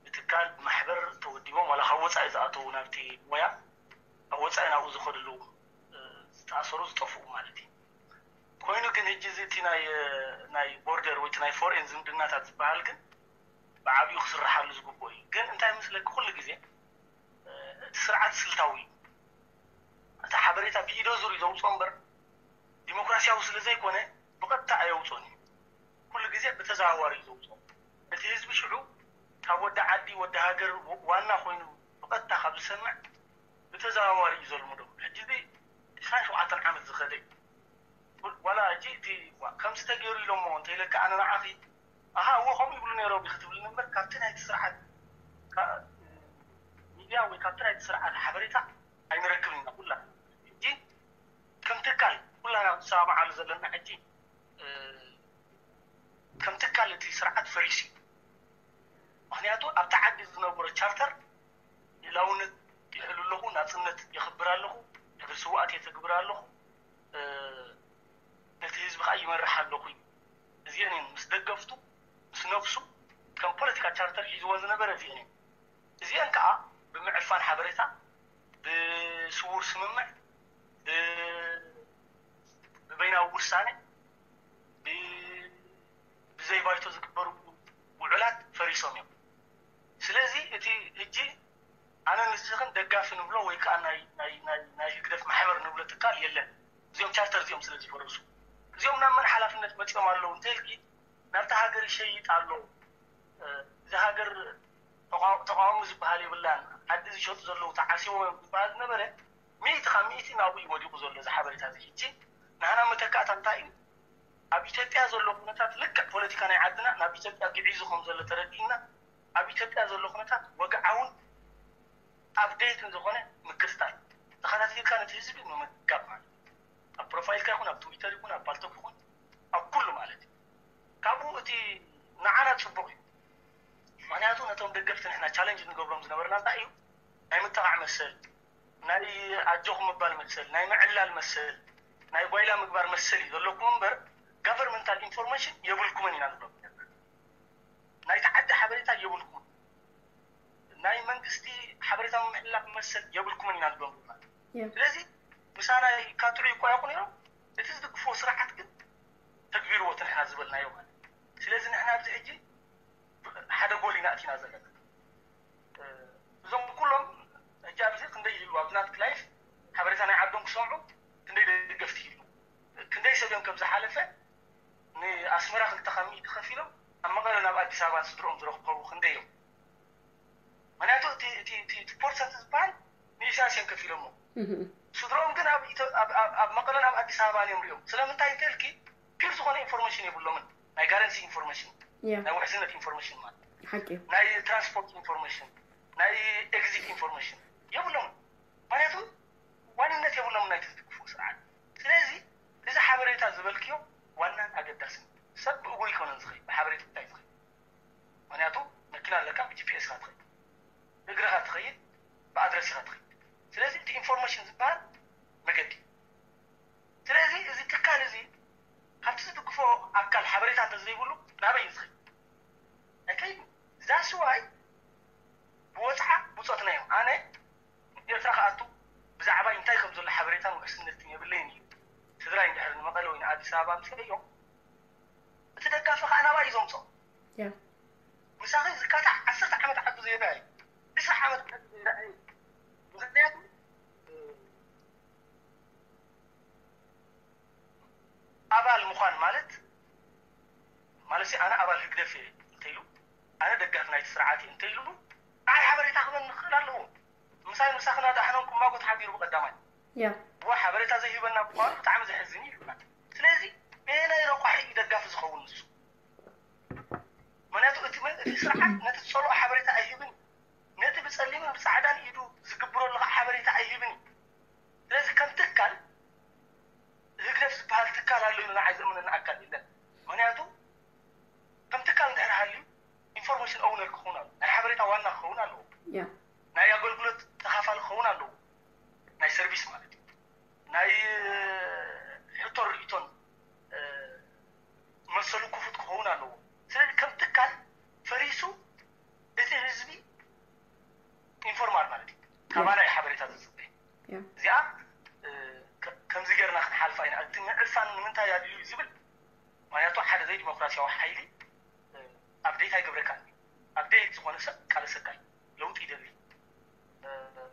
ብትካል ብማሕበር ተወዲቦም ዋላ ካብ ወፃኢ ዝኣተዉ ናብቲ ሞያ ኣብ ወፃኢ ናብኡ ዝኸድሉ ዝተኣሰሩ ዝጠፍኡ ማለት እዩ ኮይኑ ግን ሕጂ እዚ እቲ ናይ ናይ ቦርደር ወይ ናይ ፎሬን ዝምድናታት ዝበሃል ግን ብዓብዩ ክስርሓሉ ዝግብኦ እዩ ግን እንታይ ምስለኪ ኩሉ ግዜ እቲ ስርዓት ስልታዊ እዩ እቲ ሓበሬታ ብኢዶ ዙር እዩ ዘውፅኦ እምበር ዲሞክራሲያዊ ስለ ዘይኮነ ብቐጥታ ኣየውፅኦን እዩ ኩሉ ግዜ ብተዘዋዋሪ እዩ ዘውፅኦ እቲ ህዝቢ ሽዑ ካብ ወዲ ዓዲ ወዲ ሃገር ዋና ኮይኑ ብቐጥታ ካብ ዝሰምዕ ብተዘዋዋሪ እዩ ዘልምዶ ሕጂ እዚ ዕስራን ሸውዓተን ዓመት ዝኸደ እዩ ዋላ ሕጂ እቲ ከምዚ ተገይሩ ኢሎሞ እንተኢለካ ኣነ ንዓኺ ኣሃ እዎ ከምኡ ይብሉ ነይሮም እዩ ክትብልኒ እምበር ካብቲ ናይቲ ስርዓት ሚድያ ወይ ካብቲ ናይቲ ስርዓት ሓበሬታ ኣይንረክብን ኢና ኩላ ሕጂ ከም ትካል ኩላና ንሰማማዓሉ ዘለና ሕጂ ከም ትካል እቲ ስርዓት ፈሪሱ እዩ ምክንያቱ ኣብቲ ዓዲ ዝነበረ ቻርተር ልእላውነት ይሕሉ ኣለኹ ናፅነት የኽብር ኣለኹ ድሕሪ ስውኣት የተግብር ኣለኹ ነቲ ህዝቢ ከዓ ይመርሕ ኣለኹ እዩ እዚአን እየን ምስ ደገፍቱ ምስ ነፍሱ ከም ፖለቲካ ቻርተር ሒዝዎ ዝነበረ እዚአን እየን እዚአን ከዓ ብምዕፋን ሓበሬታ ብስውር ስምምዕ ብበይናዊ ውሳነ ብዘይ ባይቶ ዝግበሩ ውዕላት ፈሪሶም እዮም ስለዚ እቲ ሕጂ ኣነ ንስኽን ደጋፊ ንብሎ ወይ ከዓ ናይ ህግደፍ ማሕበር ንብሎ ትካል የለን እዚኦም ቻርተር እዚኦም ስለ ዝፈረሱ እዚኦም ናብ መን ሓላፍነት መፂኦም ኣለዉ እንተልኪ ናብቲ ሃገር ይሸይጥ ኣሎ እዚ ሃገር ተቃውሞ ዝበሃል የብላን ዓዲ ዝሸጡ ዘለዉ ተዓሲቦም እዮም ዝበሃል ዝነበረ ሚእቲ ካብ ሚእቲ ናብኡ እዩ ወዲቁ ዘሎ እዚ ሓበሬታ እዚ ሕጂ ንሃና መተካእታ እንታይ እዩ ኣብ ኢትዮጵያ ዘሎ ኩነታት ልክዕ ፖለቲካ ናይ ዓድና ናብ ኢትዮጵያ ግዒዙ ከም ዘሎ ተረዲእና ኣብ ኢትዮጵያ ዘሎ ኩነታት ወግዓውን ኣፕዴትን ዝኾነ ምክትታል ተኸታቲልካ ነቲ ህዝቢ ምምጋብ ማለት ኣብ ፕሮፋይልካ ይኹን ኣብ ትዊተር ይኹን ኣብ ፓልቶክ ይኹን ኣብ ኩሉ ማለት እዩ ካብኡ እቲ ንዓና ፅቡቅ እዩ ምክንያቱ ነቶም ደገፍቲ ንሕና ቻለንጅ ንገብሮም ዝነበርና እንታይ እዩ ናይ ምጥቃዕ መሰል ናይ ኣጆኹም ምባል መሰል ናይ ምዕላል መሰል ናይ ጓይላ ምግባር መሰል እዩ ዘለኩም እምበር ጋቨርንመንታል ኢንፎርሜሽን የብልኩምን ኢና ንብሎም ናይቲ ዓዲ ሓበሬታ የብልኩም ናይ መንግስቲ ሓበሬታ ምምሕልላፍ መሰል የብልኩምን ኢና ንብሎም ስለዚ ምሳና ይካትዑ ይቋየቁ ነይሮም እቲ ዝድግፍዎ ስርዓት ግን ተግቢርዎ እቲ ንሕና ዝበልናዮ ማለት ስለዚ ንሕና ኣብዚ ሕጂ ሓደ ጎል ኢና ኣቲና ዘለና እዞም ኩሎም ሕጂ ኣብዚ ክንደይ ይህሉ ኣብዚ ናትክ ላይፍ ሓበሬታ ናይ ዓዶም ክሰምዑ ክንደይ ደገፍቲ ይህሉ ክንደይ ሰብ እዮም ከም ዝሓለፈ ንኣስመራ ክልተ ካብ ሚእቲ ከፊሎም ኣብ መቐለ ናብ ኣዲስ ኣበባ ስድሮኦም ዝረከቡ ክንደይ እዮም ምክንያቱ እቲ ፖርሰንት ዝበሃል ንኢሳያስ እዮም ከፊሎሞ ስድሮኦም ግን ኣብ መቐለን ኣብ ኣዲስ ኣበባ እዮም ሪኦም ስለምንታይ እንተልኪ ፒር ዝኾነ ኢንፎርሜሽን የብሎምን ናይ ጋረንሲ ኢንፎርሜሽን ናይ ውሕስነት ኢንፎርሜሽን ማለት ናይ ትራንስፖርት ኢንፎርሜሽን ናይ ኤግዚት ኢንፎርሜሽን የብሎምን ምክንያቱ ዋንነት የብሎምን ናይ ትዝግፉ ስርዓት ስለዚ እዚ ሓበሬታ ዝበልክዮ ዋናን ኣገዳስን ሰብ ብእግሩ ይኮነን ዝኸይ ብሓበሬታ ይዝኸይ ምክንያቱ መኪና ኣለካ ብጂፒኤስ ካ ትኸይ ብእግርኻ ትኸይድ ብኣድረስ ኢኻ ትኸይድ ስለዚ እቲ ኢንፎርሜሽን ዝበሃል መገዲ ስለዚ እዚ ትካል እዚ ካብቲ ዝድግፎ ኣካል ሓበሬታ እንተዘይብሉ ናበይ ዝኸይድ ኣይከይድ ዛስዋይ ብወፅዓ ብፆትና እዮም ኣነ ኤርትራ ክኣቱ ብዛዕባይ እንታይ ከም ዘሎ ሓበሬታን ውሕስነትን የብለይን እዩ ስድራይ እንድሕር ንመቐለ ወይ ንኣዲስ ኣበባ ምስ እዮም እቲ ደጋፊ ከዓ ናባይ እዩ ዘምፅኦ። ምሳኺ ዝካታዕ ዓሰርተ ዓመት ዓዱ ዘይረኣዩ፣ ዕስራ ዓመት ዓዱ ዘይረኣዩ። ምክንያቱ ኣባል ምዃን ማለት ማለት ኣነ ኣባል ህግደፍ እየ እንተኢሉ፣ ኣነ ደጋፊ ናይቲ ስርዓት እየ እንተኢሉ፣ ንዓይ ሓበሬታ ክበን ንኽእል ኣለዎ። ምሳይ ምሳኽና ዳሕኖም ክማጎት ሓቢሩ ብቀዳማይ ዋ ሓበሬታ ዘይህበና ምዃኑ ብጣዕሚ ዘሕዝን እዩ። ስለዚ በየናይ ረቋሒ እዩ ደጋፊ ዝኸውን ንሱ? ምክንያቱ እቲ መ- እቲ ስርዓት ነቲ ዝፀልኦ ሓበሬታ ኣይህብን። ነቲ ብፀሊምን ብፃዕዳን ኢዱ ዝግብረሉ ከዓ ሓበሬታ ኣይህብን እዩ። ስለዚ ከም ትካል ህግደፍ ዝበሃል ትካል ኣሎ ኢሉ ንዓይ ዘእምነኒ ኣካል የለን። ምክንያቱ ከም ትካል እንድሕር ሃልዩ ኢንፎርሜሽን ኦውነር ክኸውን ኣሎ፣ ናይ ሓበሬታ ዋና ክኸውን ኣለዎ፣ ናይ ኣገልግሎት ተኻፋሊ ክኸውን ኣለዎ፣ ናይ ሰርቪስ ማለት እዩ፣ ናይ ሕቶ ርእቶን መሰሉ ክፉት ክኸውን ኣለዎ። ስለዚ ከም ትካል ፈሪሱ እቲ ህዝቢ ኢንፎርማር ማለት እዩ፣ ካባና እዩ ሓበሬታ ዝፅበ። እዚኣ ከምዚ ገርና ክንሓልፋ ኢና። እቲ ምዕፋን ንምንታይ ኣድልዩ ዝብል ምክንያቱ ሓደ ዘይዲሞክራሲያዊ ሓይሊ ኣብዴት ኣይገብረካን። ኣብዴት ዝኾነ ሰብ ቃለሰካ እዩ፣ ለውጢ ይደሊ፣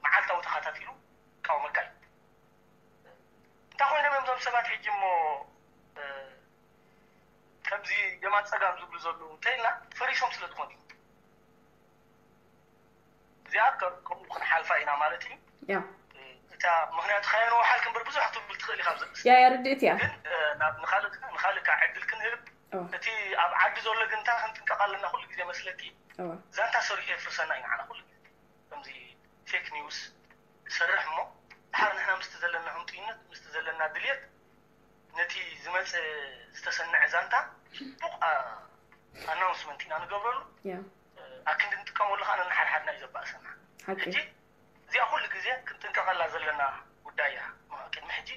መዓልታዊ ተኸታቲሉ ይቃወመካ እዩ። እንታይ ኮይኖም እዮም እዞም ሰባት ሕጂ እሞ ከምዚ የማን ፀጋም ዝብሉ ዘለዉ እንተኢልና ፈሪሶም ስለ ዝኾኑ እዩ። እዚኣ ከምኡ ክንሓልፋ ኢና ማለት እዩ። እታ ምክንያቱ ከየንውሓል ክንበር ብዙሕ ክትብል ትኽእል ኢኻ ኣብዚ ርእሲ። ያ ያ ርድእት እያ። ግን ንኻልእ ዕድል ክንህብ እቲ ኣብ ዓዲ ዘሎ ግን እንታይ ክንጥንቀቕ ኣለና ኩሉ ግዜ መስለኪ ዛንታ ሰሪሑ የፍርሰና እዩ ንዓና ኩሉ ግዜ። ከምዚ ፌክ ኒውስ ሰርሕ እሞ ድሓር ንሕና ምስቲ ዘለና ህንጡይነት ምስቲ ዘለና ድልየት ነቲ ዝመፀ ዝተሰነዐ ዛንታ ፅቡቕ ኣናውንስመንት ኢና ንገብረሉ። ኣክንዲ ንጥቀመሉ ከዓ ነንሓድሓድና እዩ ዘባእሰና። ሕጂ እዚኣ ኩሉ ግዜ ክንጥንቀቐላ ዘለና ጉዳይ እያ። ቅድሚ ሕጂ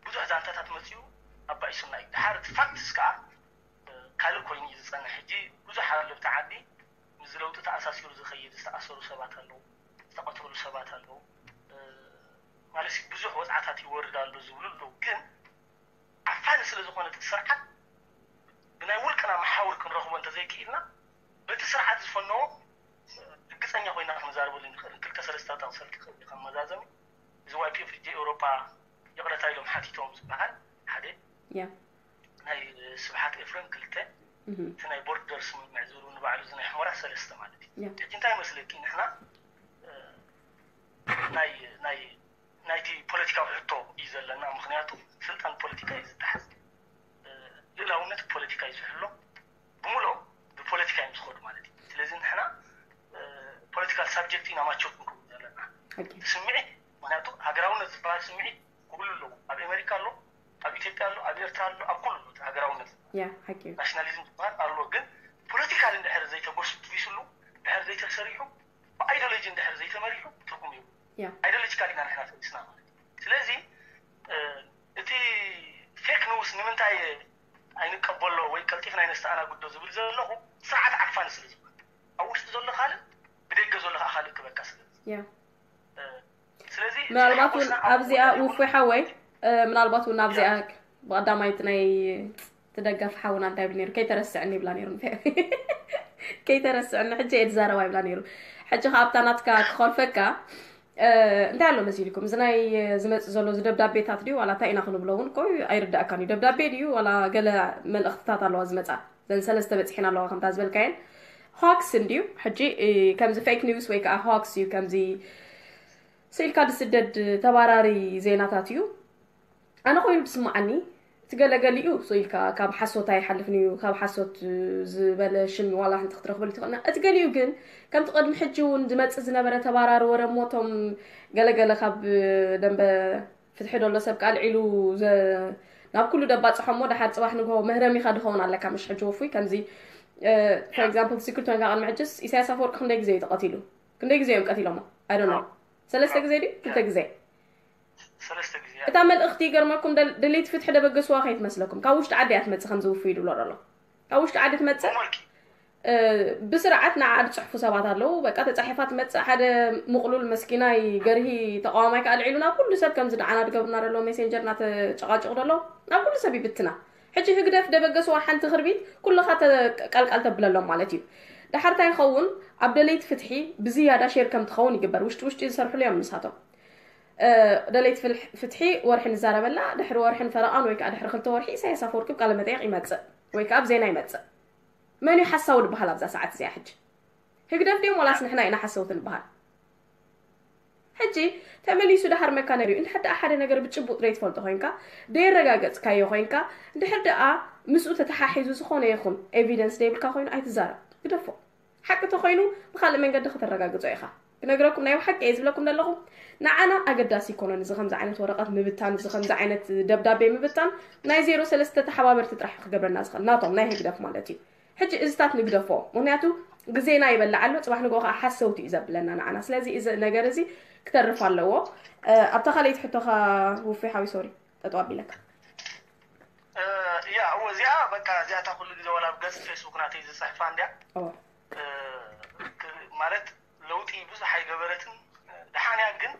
ብዙሕ ዛንታታት መፅኡ ኣባኢሱና እዩ። ድሓር እቲ ፋክትስ ከዓ ካልእ ኮይኑ እዩ ዝፀንሕ። ሕጂ ብዙሕ ኣሎ ኣብቲ ዓዲ ምስዚ ለውጢ ተኣሳሲሩ ዝኸይድ ዝተኣሰሩ ሰባት ኣለዉ፣ ዝተቐተሉ ሰባት ኣለዉ። ማለት ብዙሕ ወፅዓታት ይወርድ ኣሎ ዝብሉ ኣለዉ። ግን ዓፋኒ ስለ ዝኾነ እቲ ስርዓት ብናይ ውልቅና መሓውር ክንረኽቦ እንተዘይክኢልና በቲ ስርዓት ዝፈነዎ ርግፀኛ ኮይና ክንዛረበሉ ንኽእል። ክልተ ሰለስተ ጠቕሰልኪ ክእል ከም መዛዘሚ እዚ ዋይፒኤፍ ሕጂ ኤውሮጳ ይቕረታ ኢሎም ሓቲቶም ዝበሃል ሓደ ናይ ስብሓት ኤፍረም ክልተ እቲ ናይ ቦርደር ስምምዕ ዝብሉ ንባዕሉ እዚ ናይ ሕሞራ ሰለስተ ማለት እዩ። ሕጂ እንታይ መስለኪ ንሕና ናይ ናይ ናይቲ ፖለቲካዊ ሕቶ እዩ ዘለና። ምክንያቱ ስልጣን ፖለቲካ እዩ ዝተሓዝ፣ ልእላውነት ፖለቲካ እዩ ዝሕሎ፣ ብምልኦም ብፖለቲካ እዮም ዝኸዱ ማለት እዩ። ስለዚ ንሕና ፖለቲካል ሳብጀክት ኢና ማቸር ክንከውን ዘለና። ስምዒት ምክንያቱ ሃገራውነት ዝበሃል ስምዒት ኩሉ ኣለዎ። ኣብ ኣሜሪካ ኣሎ፣ ኣብ ኢትዮጵያ ኣሎ፣ ኣብ ኤርትራ ኣሎ፣ ኣብ ኩሉ ኣሎ ሃገራውነት ናሽናሊዝም ዝበሃል ኣሎ። ግን ፖለቲካል እንድሕር ዘይተጎስቢስሉ እንድሕር ዘይተሰሪሑ ብኣይዲዮሎጂ እንድሕር ዘይተመሪሑ ትርጉም እዩ። ኣይዲዮሎጂካል ኢና ንሕና ተሊስና ማለት እዩ። ስለዚ እቲ ፌክ ኒውስ ንምንታይ ኣይንቀበሎ ወይ ቀልጢፍና ኣይነስተኣናግዶ ዝብል ዘለኹ ስርዓት ዓፋኒ ስለ ዝኾነ ኣብ ውሽጢ ዘሎ ካልእ ብደገ ዘሎ ከዓ ካልእ ክበካ ስለ ስለዚ ምናልባት እውን ኣብዚኣ ውፉይ ሓወይ ምናልባት እውን ኣብዚኣ ብቐዳማይቲ ናይ ትደገፍ ሓውና እንታይ ይብል ነይሩ ከይተረስዕኒ ይብላ ነይሩ ከይተረስዕኒ ሕጂ እየ ዝዛረባ ይብላ ነይሩ ሕጂ ከኣብታ ናትካ ክኸልፈካ እንታይ ኣሎ መሲልኩም እዚ ናይ ዝመፅእ ዘሎ እዚ ደብዳቤታት ድዩ ዋላ እንታይ ኢና ክንብሎ እውን ኮ ኣይርዳእካን እዩ ደብዳቤ ድዩ ዋላ ገለ መልእኽትታት ኣለዋ ዝመፃ ዘን ሰለስተ በፂሒን ኣለዋ ከምታ ዝበልካየን ሆክስ እንድዩ ሕጂ ከምዚ ፌክ ኒውስ ወይ ከዓ ሆክስ እዩ ከምዚ ስኢልካ ዝስደድ ተባራሪ ዜናታት እዩ ኣነ ኮይኑ ዝስምዓኒ እቲ ገለገሊኡ ስኢልካ ካብ ሓሶት ኣይሓልፍን እዩ ካብ ሓሶት ዝበለ ሽም ዋላ ሓንቲ ክትረኽበሉ ትኽእልና እቲ ገሊኡ ግን ከምቲ ቅድሚ ሕጂ እውን ዝመፅእ ዝነበረ ተባራሪ ወረ እሞ እቶም ገለገለ ካብ ደንበ ፍትሒ ደሎ ሰብ ቃልዒሉ ናብ ኩሉ ደባፅሖ እሞ ደሓር ፅባሕ ንግሆ መህረሚኻ ድኸውን ኣለካ ምሽ ሕጂ ወፉይ ከምዚ for example secret ኮይንካ ቅድሚ ሕጅስ ኢሳያስ ኣፈወርቂ ክንደይ ግዜ እዩ ተቐቲሉ ክንደይ ግዜ እዮም ቀቲሎሞ I don't know ሰለስተ ግዜ ድዩ ክልተ ግዜ ሰለስተ ግዜ እታ መልእኽቲ ይገርመኩም ደል- ደለይቲ ፍትሒ ደበገስዋ ከይትመስለኩም ካብ ውሽጢ ዓዲ እያ ትመፅእ ከምዚ ውፉይ ይብሎ ዘሎ ካብ ውሽጢ ዓዲ ትመፅእ እ፣ ብስርዓት ንዓ ዝፅሕፉ ሰባት ኣለዉ በቃ ተፃሒፋ ትመፅእ ሓደ ምቕሉል መስኪናይ ገርሂ ተቃዋማይ ከዓ ልዒሉ ናብ ኩሉ ሰብ ከምዚ ንዓና ዝገብርና ዘሎ ሜሴንጀር እናተጨቃጭቁ ዘሎ ናብ ኩሉ ሰብ ይብትና ሕጂ ህግደፍ ደበገስዋ ሓንቲ ክርቢት ኩልኻ ተ- ቃልቃል ተብለሎም ማለት እዩ። ድሓር እንታይ ይኸውን? ኣብ ደለይቲ ፍትሒ ብዝያዳ ሼር ከም ትኸውን ይግበር። ውሽጢ ውሽጢ ዝሰርሕሉ እዮም ንሳቶም። እ፣ ደለይቲ ፍልሕ- ፍትሒ ወርሒ ንዛረበላ፣ ድሕሪ ወርሕን ፈረቓን ወይ ከዓ ድሕሪ ክልተ ወርሒ ኢሳያስ ኣፈወርቂ ቃለ መጠየቕ ይመፅእ ወይ ከዓ ኣብ ዜና ይመፅእ። መን እዩ ሓሳዊ ዝበሃል ኣብዛ ሰዓት እዚኣ? ሕጂ ህግደፍ ድዮም ዋላስ ንሕና ኢና ሓሰውቲ ንበሃል? ሕጂ ተመሊሱ ድሓር መካነር እዩ። እንድሕር ደኣ ሓደ ነገር ብጭቡጥ ዘይትፈልጦ ኮይንካ፣ ደየረጋገጽካዮ ኮይንካ፣ እንድሕር ደኣ ምስኡ ተተሓሒዙ ዝኾነ ይኹን ኤቪደንስ ዘይብልካ ኮይኑ ኣይትዛረብ። ግደፎ። ሓቂ ተኾይኑ ብኻልእ መንገዲ ከተረጋግጾ ኢኻ። ክነግረኩም ናይ ብሓቂ እየ ዝብለኩም ዘለኹ። ንዓና ኣገዳሲ ይኮነን እዚ ከምዚ ዓይነት ወረቐት ምብታን፣ እዚ ከምዚ ዓይነት ደብዳቤ ምብታን። ናይ ዜሮ ሰለስተ ተሓባበርቲ ጥራሕ ክገብረና ዝኽእል ናቶም ናይ ህግደፍ ማለት እዩ። ሕጂ እዚታት ንግደፎ፣ ምክንያቱ ግዜና ይበልዕ ኣሎ፣ ፅባሕ ንግሆ ከዓ ሓሰውቲ እዩ ዘብለና ንዓና። ስለዚ እዚ ነገር እዚ ክተርፍ ኣለዎ። እ፣ ኣብታ ካልኣይቲ ሕቶኻ ውፌ ሓዊ ሶሪ ጠጠው ኣቢለካ። እ፣ ያ እወ፣ እዚኣ በቃ እዚኣታ ኩሉ ግዜ ዋላ ኣብ ገጽ ፌስቡክ ናተይ ዝጽሕፋ እንድያ። እወ። እ፣ ክ- ማለት ለውጢ ብዙሕ ኣይገበረትን። ደሓንያ ግን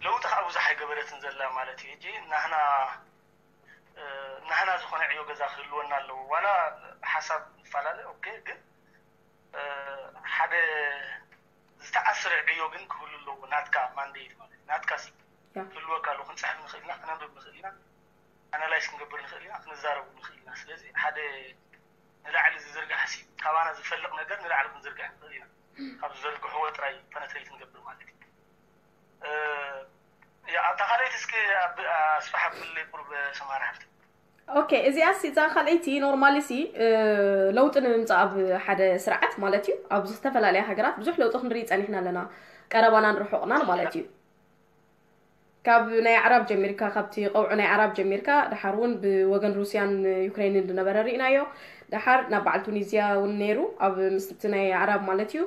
ለውጢ ከዓ ብዙሕ ኣይገበረትን ዘላ ማለት እዩ። ሕጂ ናህና እ፣ ናህና ዝኾነ ዕዮ ገዛ ክህልወና ኣለዎ። ዋላ ሓሳብ ንፈላለ ኦኬ፣ ግን እ፣ ሓደ ዝተኣስረ ዕዮ ግን ክህሉ ኣለዎ። ናትካ ማንዴት ማለት ናትካ ሲ ያ። ክህልወካ ኣለዎ። ክንፅሕፍ ንኽእል ኢና፣ ክነንብብ ንኽእል ኢና፣ ኣናላይዝ ክንገብር ንኽእል ኢና፣ ክንዛረቡ ንኽእል ኢና። ስለዚ ሓደ ንላዕሊ ዝዝርጋሕ ሲ ካባና ዝፈልቕ ነገር ንላዕሊ ክንዝርግሕ ንኽእል ኢና። ካብ ዝዘርግሕዎ ጥራይ ፐነትሬት ንገብር ማለት እዩ። እ፣ ያ፣ ኣብታ ካልኣይቲ እስኪ ኣብ- ኣስፍሕ ኣብልለይ ቁሩብ ሰማራ ሓፍቲ። ኦኬ፣ እዚኣ ሲ እዛ ካልኣይቲ ኖርማሊ ሲ እ፣ ለውጢ ንምምፃእ ኣብ ሓደ ስርዓት ማለት እዩ። ኣብ ዝተፈላለያ ሃገራት ብዙሕ ለውጢ ክንርኢ ፀኒሕና ኣለና፣ ቀረባናን ርሑቕናን ማለት እዩ። ካብ ናይ ኣዕራብ ጀሚርካ፣ ካብቲ ቀውዒ ናይ ኣዕራብ ጀሚርካ፣ ድሓር እውን ብወገን ሩስያን ዩክሬንን ዝነበረ ርኢናዮ። ድሓር ናብ በዓል ቱኒዝያ እውን ነይሩ፣ ኣብ ምስቲ ናይ ኣዕራብ ማለት እዩ።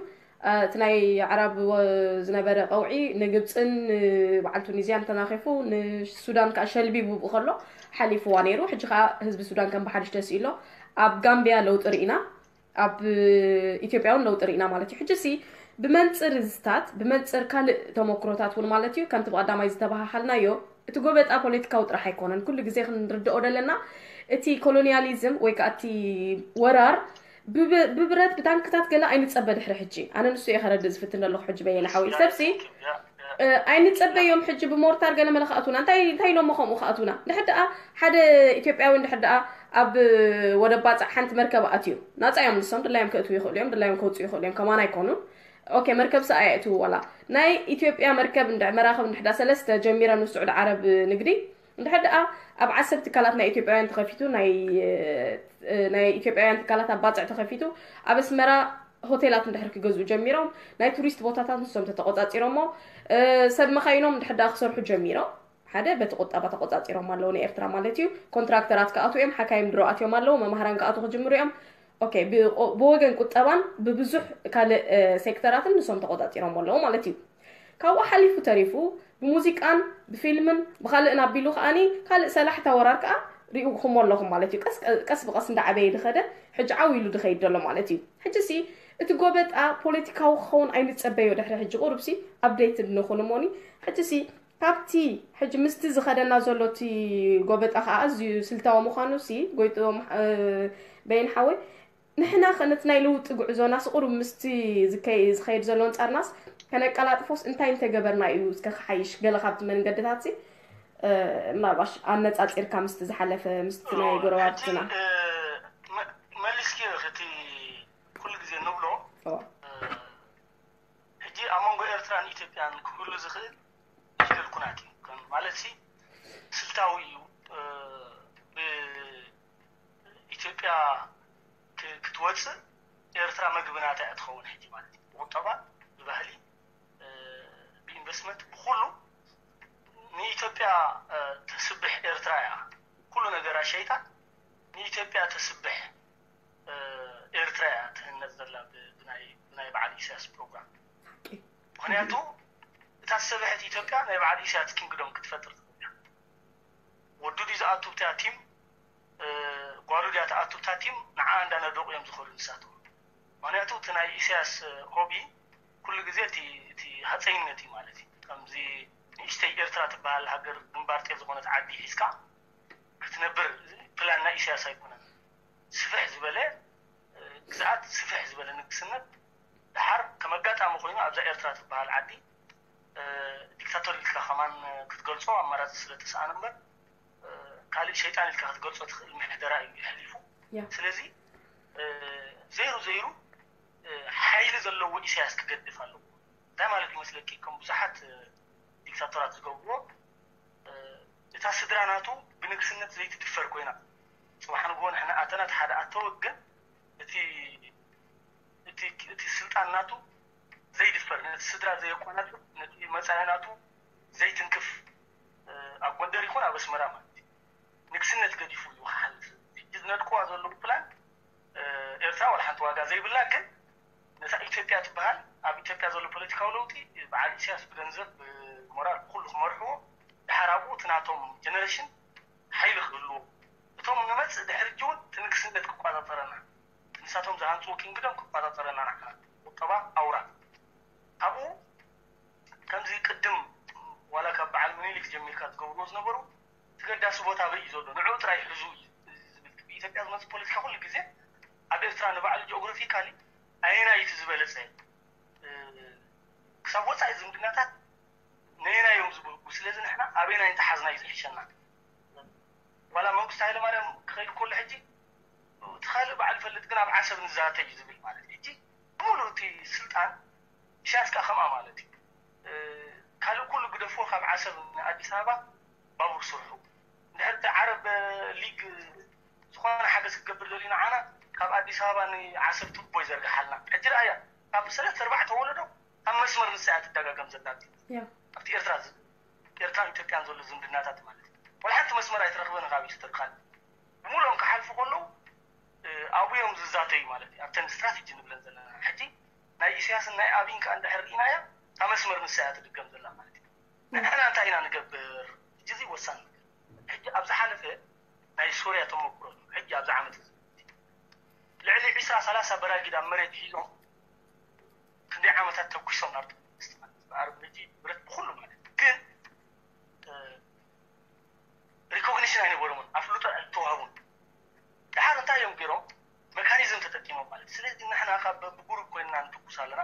እ፣ እቲ ናይ ኣዕራብ ወ- ዝነበረ ቀውዒ ንግብፅን ንበዓል ቱኒዝያን ተናኺፉ፣ ንሱዳን ከዓ ሸልቢቡ ብኡ ከሎ ሓሊፍዋ ነይሩ። ሕጂ ከዓ ህዝቢ ሱዳን ከም ብሓድሽ ተስኢሎ። ኣብ ጋምቢያ ለውጢ ርኢና፣ ኣብ ኢትዮጵያ እውን ለውጢ ርኢና ማለት እዩ። ሕጂ ሲ ብመንፅር እዝታት፣ ብመንፅር ካልእ ተመክሮታት እውን ማለት እዩ፣ ከምቲ ብቐዳማይ ዝተባሃሃልናዮ፣ እቲ ጎበጣ ፖለቲካዊ ጥራሕ ኣይኮነን። ኩሉ ግዜ ክንርድኦ ደለና፣ እቲ ኮሎኒያሊዝም ወይ ከዓ እቲ ወራር ብብ- ብብረት ብታንክታት ገለ ኣይንፀበ ድሕሪ ሕጂ። ኣነ ንሱ እየ ከረድእ ዝፍትን ዘለኹ ሕጂ በየነ ሓወይ። ሰብሲ እ፣ ኣይንፀበዮም ሕጂ ብሞርታር ገለ መለ ክኣትውና። እንታይ እንታይ ኢሎሞ ከምኡ ክኣትውና? ድሕር ደኣ ሓደ ኢትዮጵያዊ እንድሕር ደኣ ኣብ ወደብ ባፅዕ ሓንቲ መርከብ ኣትዩ፣ ናፃ እዮም ንሶም፣ ድላዮም ከእትዉ ይኽእሉ እዮም፣ ድላዮም ከውፅኡ ይኽእሉ እዮም፣ ከማን ኣይኮኑን። ኦኬ፣ መርከብ ሰኣ የእትዉ ዋላ ናይ ኢትዮጵያ መርከብ እንድሕ መራኽብ እንድሕዳ ሰለስተ ጀሚረን ምስ ስዑዲ ዓረብ ንግዲ እንድሕር ደኣ ኣብ ዓሰብ ትካላት ናይ ኢትዮጵያውያን ተኸፊቱ፣ ናይ እ፣ ናይ ኢትዮጵያውያን ትካላት ኣብ ባፅዕ ተኸፊቱ፣ ኣብ ኣስመራ ሆቴላት እንድሕር ክገዝኡ ጀሚሮም፣ ናይ ቱሪስት ቦታታት ንሶም ተተቆፃፂሮሞ፣ እ፣ ሰብ መኻይኖም እንድሕር ደኣ ክሰርሑ ጀሚሮም፣ ሓደ በቲ ቁጠባ ተቆፃፂሮም ኣለዉ ንኤርትራ ማለት እዩ። ኮንትራክተራት ክኣትዉ እዮም፣ ሓካይም ድሮ ኣትዮም ኣለዉ፣ መማህራን ክኣትዉ ክጅምሩ እዮም። ኦኬ፣ ብቆ- ብወገን ቁጠባን ብብዙሕ ካልእ እ፣ ሴክተራትን ንሶም ተቆፃፂሮም ኣለዉ ማለት እዩ። ካብኡ ሓሊፉ ተሪፉ ብሙዚቃን ብፊልምን ብኻልእን ኣቢሉ ከኣኒ ካልእ ሰላሕታ ወራር ከኣ ሪእኹሞ ኣለኹም ማለት እዩ። ቀስ ቀስ ብቐስ እንዳዓበየ ድኸደ ሕጂ ዓው ኢሉ ድኸይድ ዘሎ ማለት እዩ። ሕጂ ሲ እቲ ጎበጣ ፖለቲካዊ ክኸውን ኣይንጸበዮ። ድሕሪ ሕጂ ቁሩብ ሲ ኣፕዴት ንኹን እሞኒ። ሕጂ ሲ ካብቲ ሕጂ ምስቲ ዝኸደና ዘሎ እቲ ጎበጣ ከኣ ኣዝዩ ስልታዊ ምዃኑ ሲ ጎይጥዎም እ፣ በይን ሓወይ ንሕና ከ ነቲ ናይ ለውጢ ጉዕዞና ስቑሩብ ምስቲ ዝከይ- ዝኸይድ ዘሎ ኣንጻርናስ ከነቀላጥፎስ እንታይ እንተገበርና እዩ እስከ ክሓይሽ? ገለ ካብቲ መንገድታት ሲ እ፣ ምናልባሽ ኣነጻጺርካ ምስቲ ዝሓለፈ ምስቲ ናይ ጎረባብትና መሊስኪ እቲ ኩሉ ግዜ ንብሎ ኦ፣ ሕጂ ኣብ መንጎ ኤርትራን ኢትዮጵያን ክህሉ ዝኽእል ይደል ኩናት እዩ ከም ማለት ሲ ስልታዊ እዩ። እ፣ ብኢትዮጵያ ክ- ክትወፅእ ኤርትራ መግቢ ናታ እያ ትኸውን ሕጂ ማለት እዩ። ብቁጠባ፣ ብባህሊ፣ እ፣ ብኢንቨስትመንት፣ ብኩሉ ንኢትዮጵያ እ፣ ተስብሕ ኤርትራ እያ። ኩሉ ነገራ ሸይጣን ንኢትዮጵያ ተስብሕ እ፣ ኤርትራ እያ ትህነፅ ዘላ ብ- ብናይ ብናይ በዓል ኢሳያስ ፕሮግራም። ምክንያቱ እታ ዝሰበሐት ኢትዮጵያ ናይ በዓል ኢሳያስ ኪንግዶም ክትፈጥር ትኽእል እያ። ወዱ ድዩ ዝኣቱ ብታ ቲም እ፣ ጓሉ ድያ ትኣቱ ብታ ቲም ንዓ እንዳነደቑ እዮም ዝኸዱ ንሳቶም። ምክንያቱ እቲ ናይ ኢሳያስ እ፣ ሆቢ ኩሉ ግዜ እቲ እቲ ሃፀይነት እዩ ማለት እዩ። ከምዚ ንእሽተይ ኤርትራ ትበሃል ሃገር ግንባር ጤል ዝኾነት ዓዲ ሒዝካ ክትነብር ፕላን ናይ ኢሳያስ ኣይኮነን። ስፍሕ ዝበለ ግዝኣት፣ ስፍሕ ዝበለ ንግስነት፣ ድሓር ከም ኣጋጣሚ ኮይኑ ኣብዛ ኤርትራ ትበሃል ዓዲ ዲክታቶር ኢልካ ከማን ክትገልጾ ኣማራፂ ስለ ተሰኣነ እምበር ካልእ ሸይጣን ኢልካ ክትገልጾ ትኽእል ምሕደራ እዩ የሕሊፉ። ስለዚ ዘይሩ ዘይሩ ሓይሊ ዘለዎ ኢሳያስ ክገድፍ ኣለዎ። እንታይ ማለት ይመስለኪ? ከም ብዙሓት ዲክታቶራት ዝገብርዎ እታ ስድራ ናቱ ብንግስነት ዘይትድፈር ኮይና፣ ጽባሕ ንግሆ ንሕና ኣተና እቲ ሓደ ኣተወ ግን እቲ እቲ እቲ ስልጣን ናቱ ዘይድፈር፣ ነቲ ስድራ ዘየቆናጽብ፣ ነቲ መጻኢ ናቱ ዘይትንክፍ ኣብ ጎንደር ይኹን ኣብ ኣስመራ ማለት እዩ። ንግስነት ገዲፉ እዩ ክሓልፍ። ሕጂ ዝነድቅዋ ዘለዉ ፕላን ኤርትራ ዋላ ሓንቲ ዋጋ ዘይብላ፣ ግን ነታ ኢትዮጵያ ትበሃል ኣብ ኢትዮጵያ ዘሎ ፖለቲካዊ ለውጢ በዓል ኢሳያስ ብገንዘብ ብሞራል ብኩሉ ክመርሕዎ፣ ድሓር ኣብኡ እቲ ናቶም ጀነሬሽን ሓይሊ ክህልዎ፣ እቶም ንመጽእ ድሕሪ ሕጂ እውን እቲ ንግስነት ክቆጻጸረና፣ ንሳቶም ዝሃንጽዎ ኪንግደም ክቆጻጸረና ንዓና ቁጠባ ኣውራ ካብኡ ከምዚ ቅድም ዋላ ካብ በዓል ምኒልክ ጀሚርካ ዝገብርዎ ዝነበሩ እቲ ገዳሲ ቦታ ኣበይ እዩ ዘሎ ንዕኡ ጥራይ ሕዙ እዩ ዝብል ኢትዮጵያ ዝመፅእ ፖለቲካ ኩሉ ግዜ ኣብ ኤርትራ ንባዕሉ ጂኦግራፊካሊ ኣየናይ እቲ ዝበለፀ ክሳብ ወፃኢ ዝምድናታት ነየናይ እዮም ዝብህጉ ስለዚ ንሕና ኣበየናይ እንተሓዝና እዩ ዝሕሸና ዋላ መንግስቲ ሃይለማርያም ክኸይድ ከሎ ሕጂ እቲ ካልእ በዓል ፈልጥ ግን ኣብ ዓሰብ ንዛተ እዩ ዝብል ማለት እዩ ሕጂ ሙሉ እቲ ስልጣን ኢሳያስ ከዓ ከምኣ ማለት እዩ ካልእ ኩሉ ግደፍዎ ካብ ዓሰብ ንኣዲስ ኣበባ ባቡር ስርሑ እንድሕር እቲ ዓረብ ሊግ ዝኾነ ሓገዝ ክገብር ደልዩ ንዓና ካብ ኣዲስ ኣበባ ንዓሰብ ቱቦ ይዘርግሓልና ሕጂ ረኣያ ካብ ሰለስተ ኣርባዕተ ወለዶ ኣብ መስመር ንሳ እያ ትደጋገም ዘላ ኣብቲ ኤርትራ ኤርትራን ኢትዮጵያን ዘሎ ዝምድናታት ማለት እዩ ወላ ሓንቲ መስመር ኣይትረኽበን ካብ ኢስተርካል ብምሎም ክሓልፉ ከለዉ ኣብኡ እዮም ዝዛተዩ ማለት እዩ ኣብተን ስትራቴጂ ንብለን ዘለና ሕጂ ናይ ኢሳያስን ናይ ኣብይን ከዓ እንድሕር ርኢናያ እታ መስመር ንሳ እያ ትድገም ዘላ ማለት እዩ ንሕና እንታይ ኢና ንገብር ሕጂ እዚ ወሳኒ ነገር ሕጂ ኣብ ዝሓለፈ ናይ ሶርያ ተመክሮ እዩ ሕጂ ኣብዚ ዓመት እዚ ልዕሊ ዕስራ ሰላሳ በራጊድ ኣብ መሬት ሒዞም ክንደይ ዓመታት ተኩሶም ናብቲ መንግስቲ ማለት ብኣረብ ሕጂ ብረት ብኩሉ ማለት ግን ሪኮግኒሽን ኣይነበሮምን ኣፍልጦ ኣይተዋህቡን ድሓር እንታይ እዮም ገይሮም መካኒዝም ተጠቂሞም ማለት ስለዚ ንሕና ካብ ብጉሩብ ኮይንና ንትኩስ ኣለና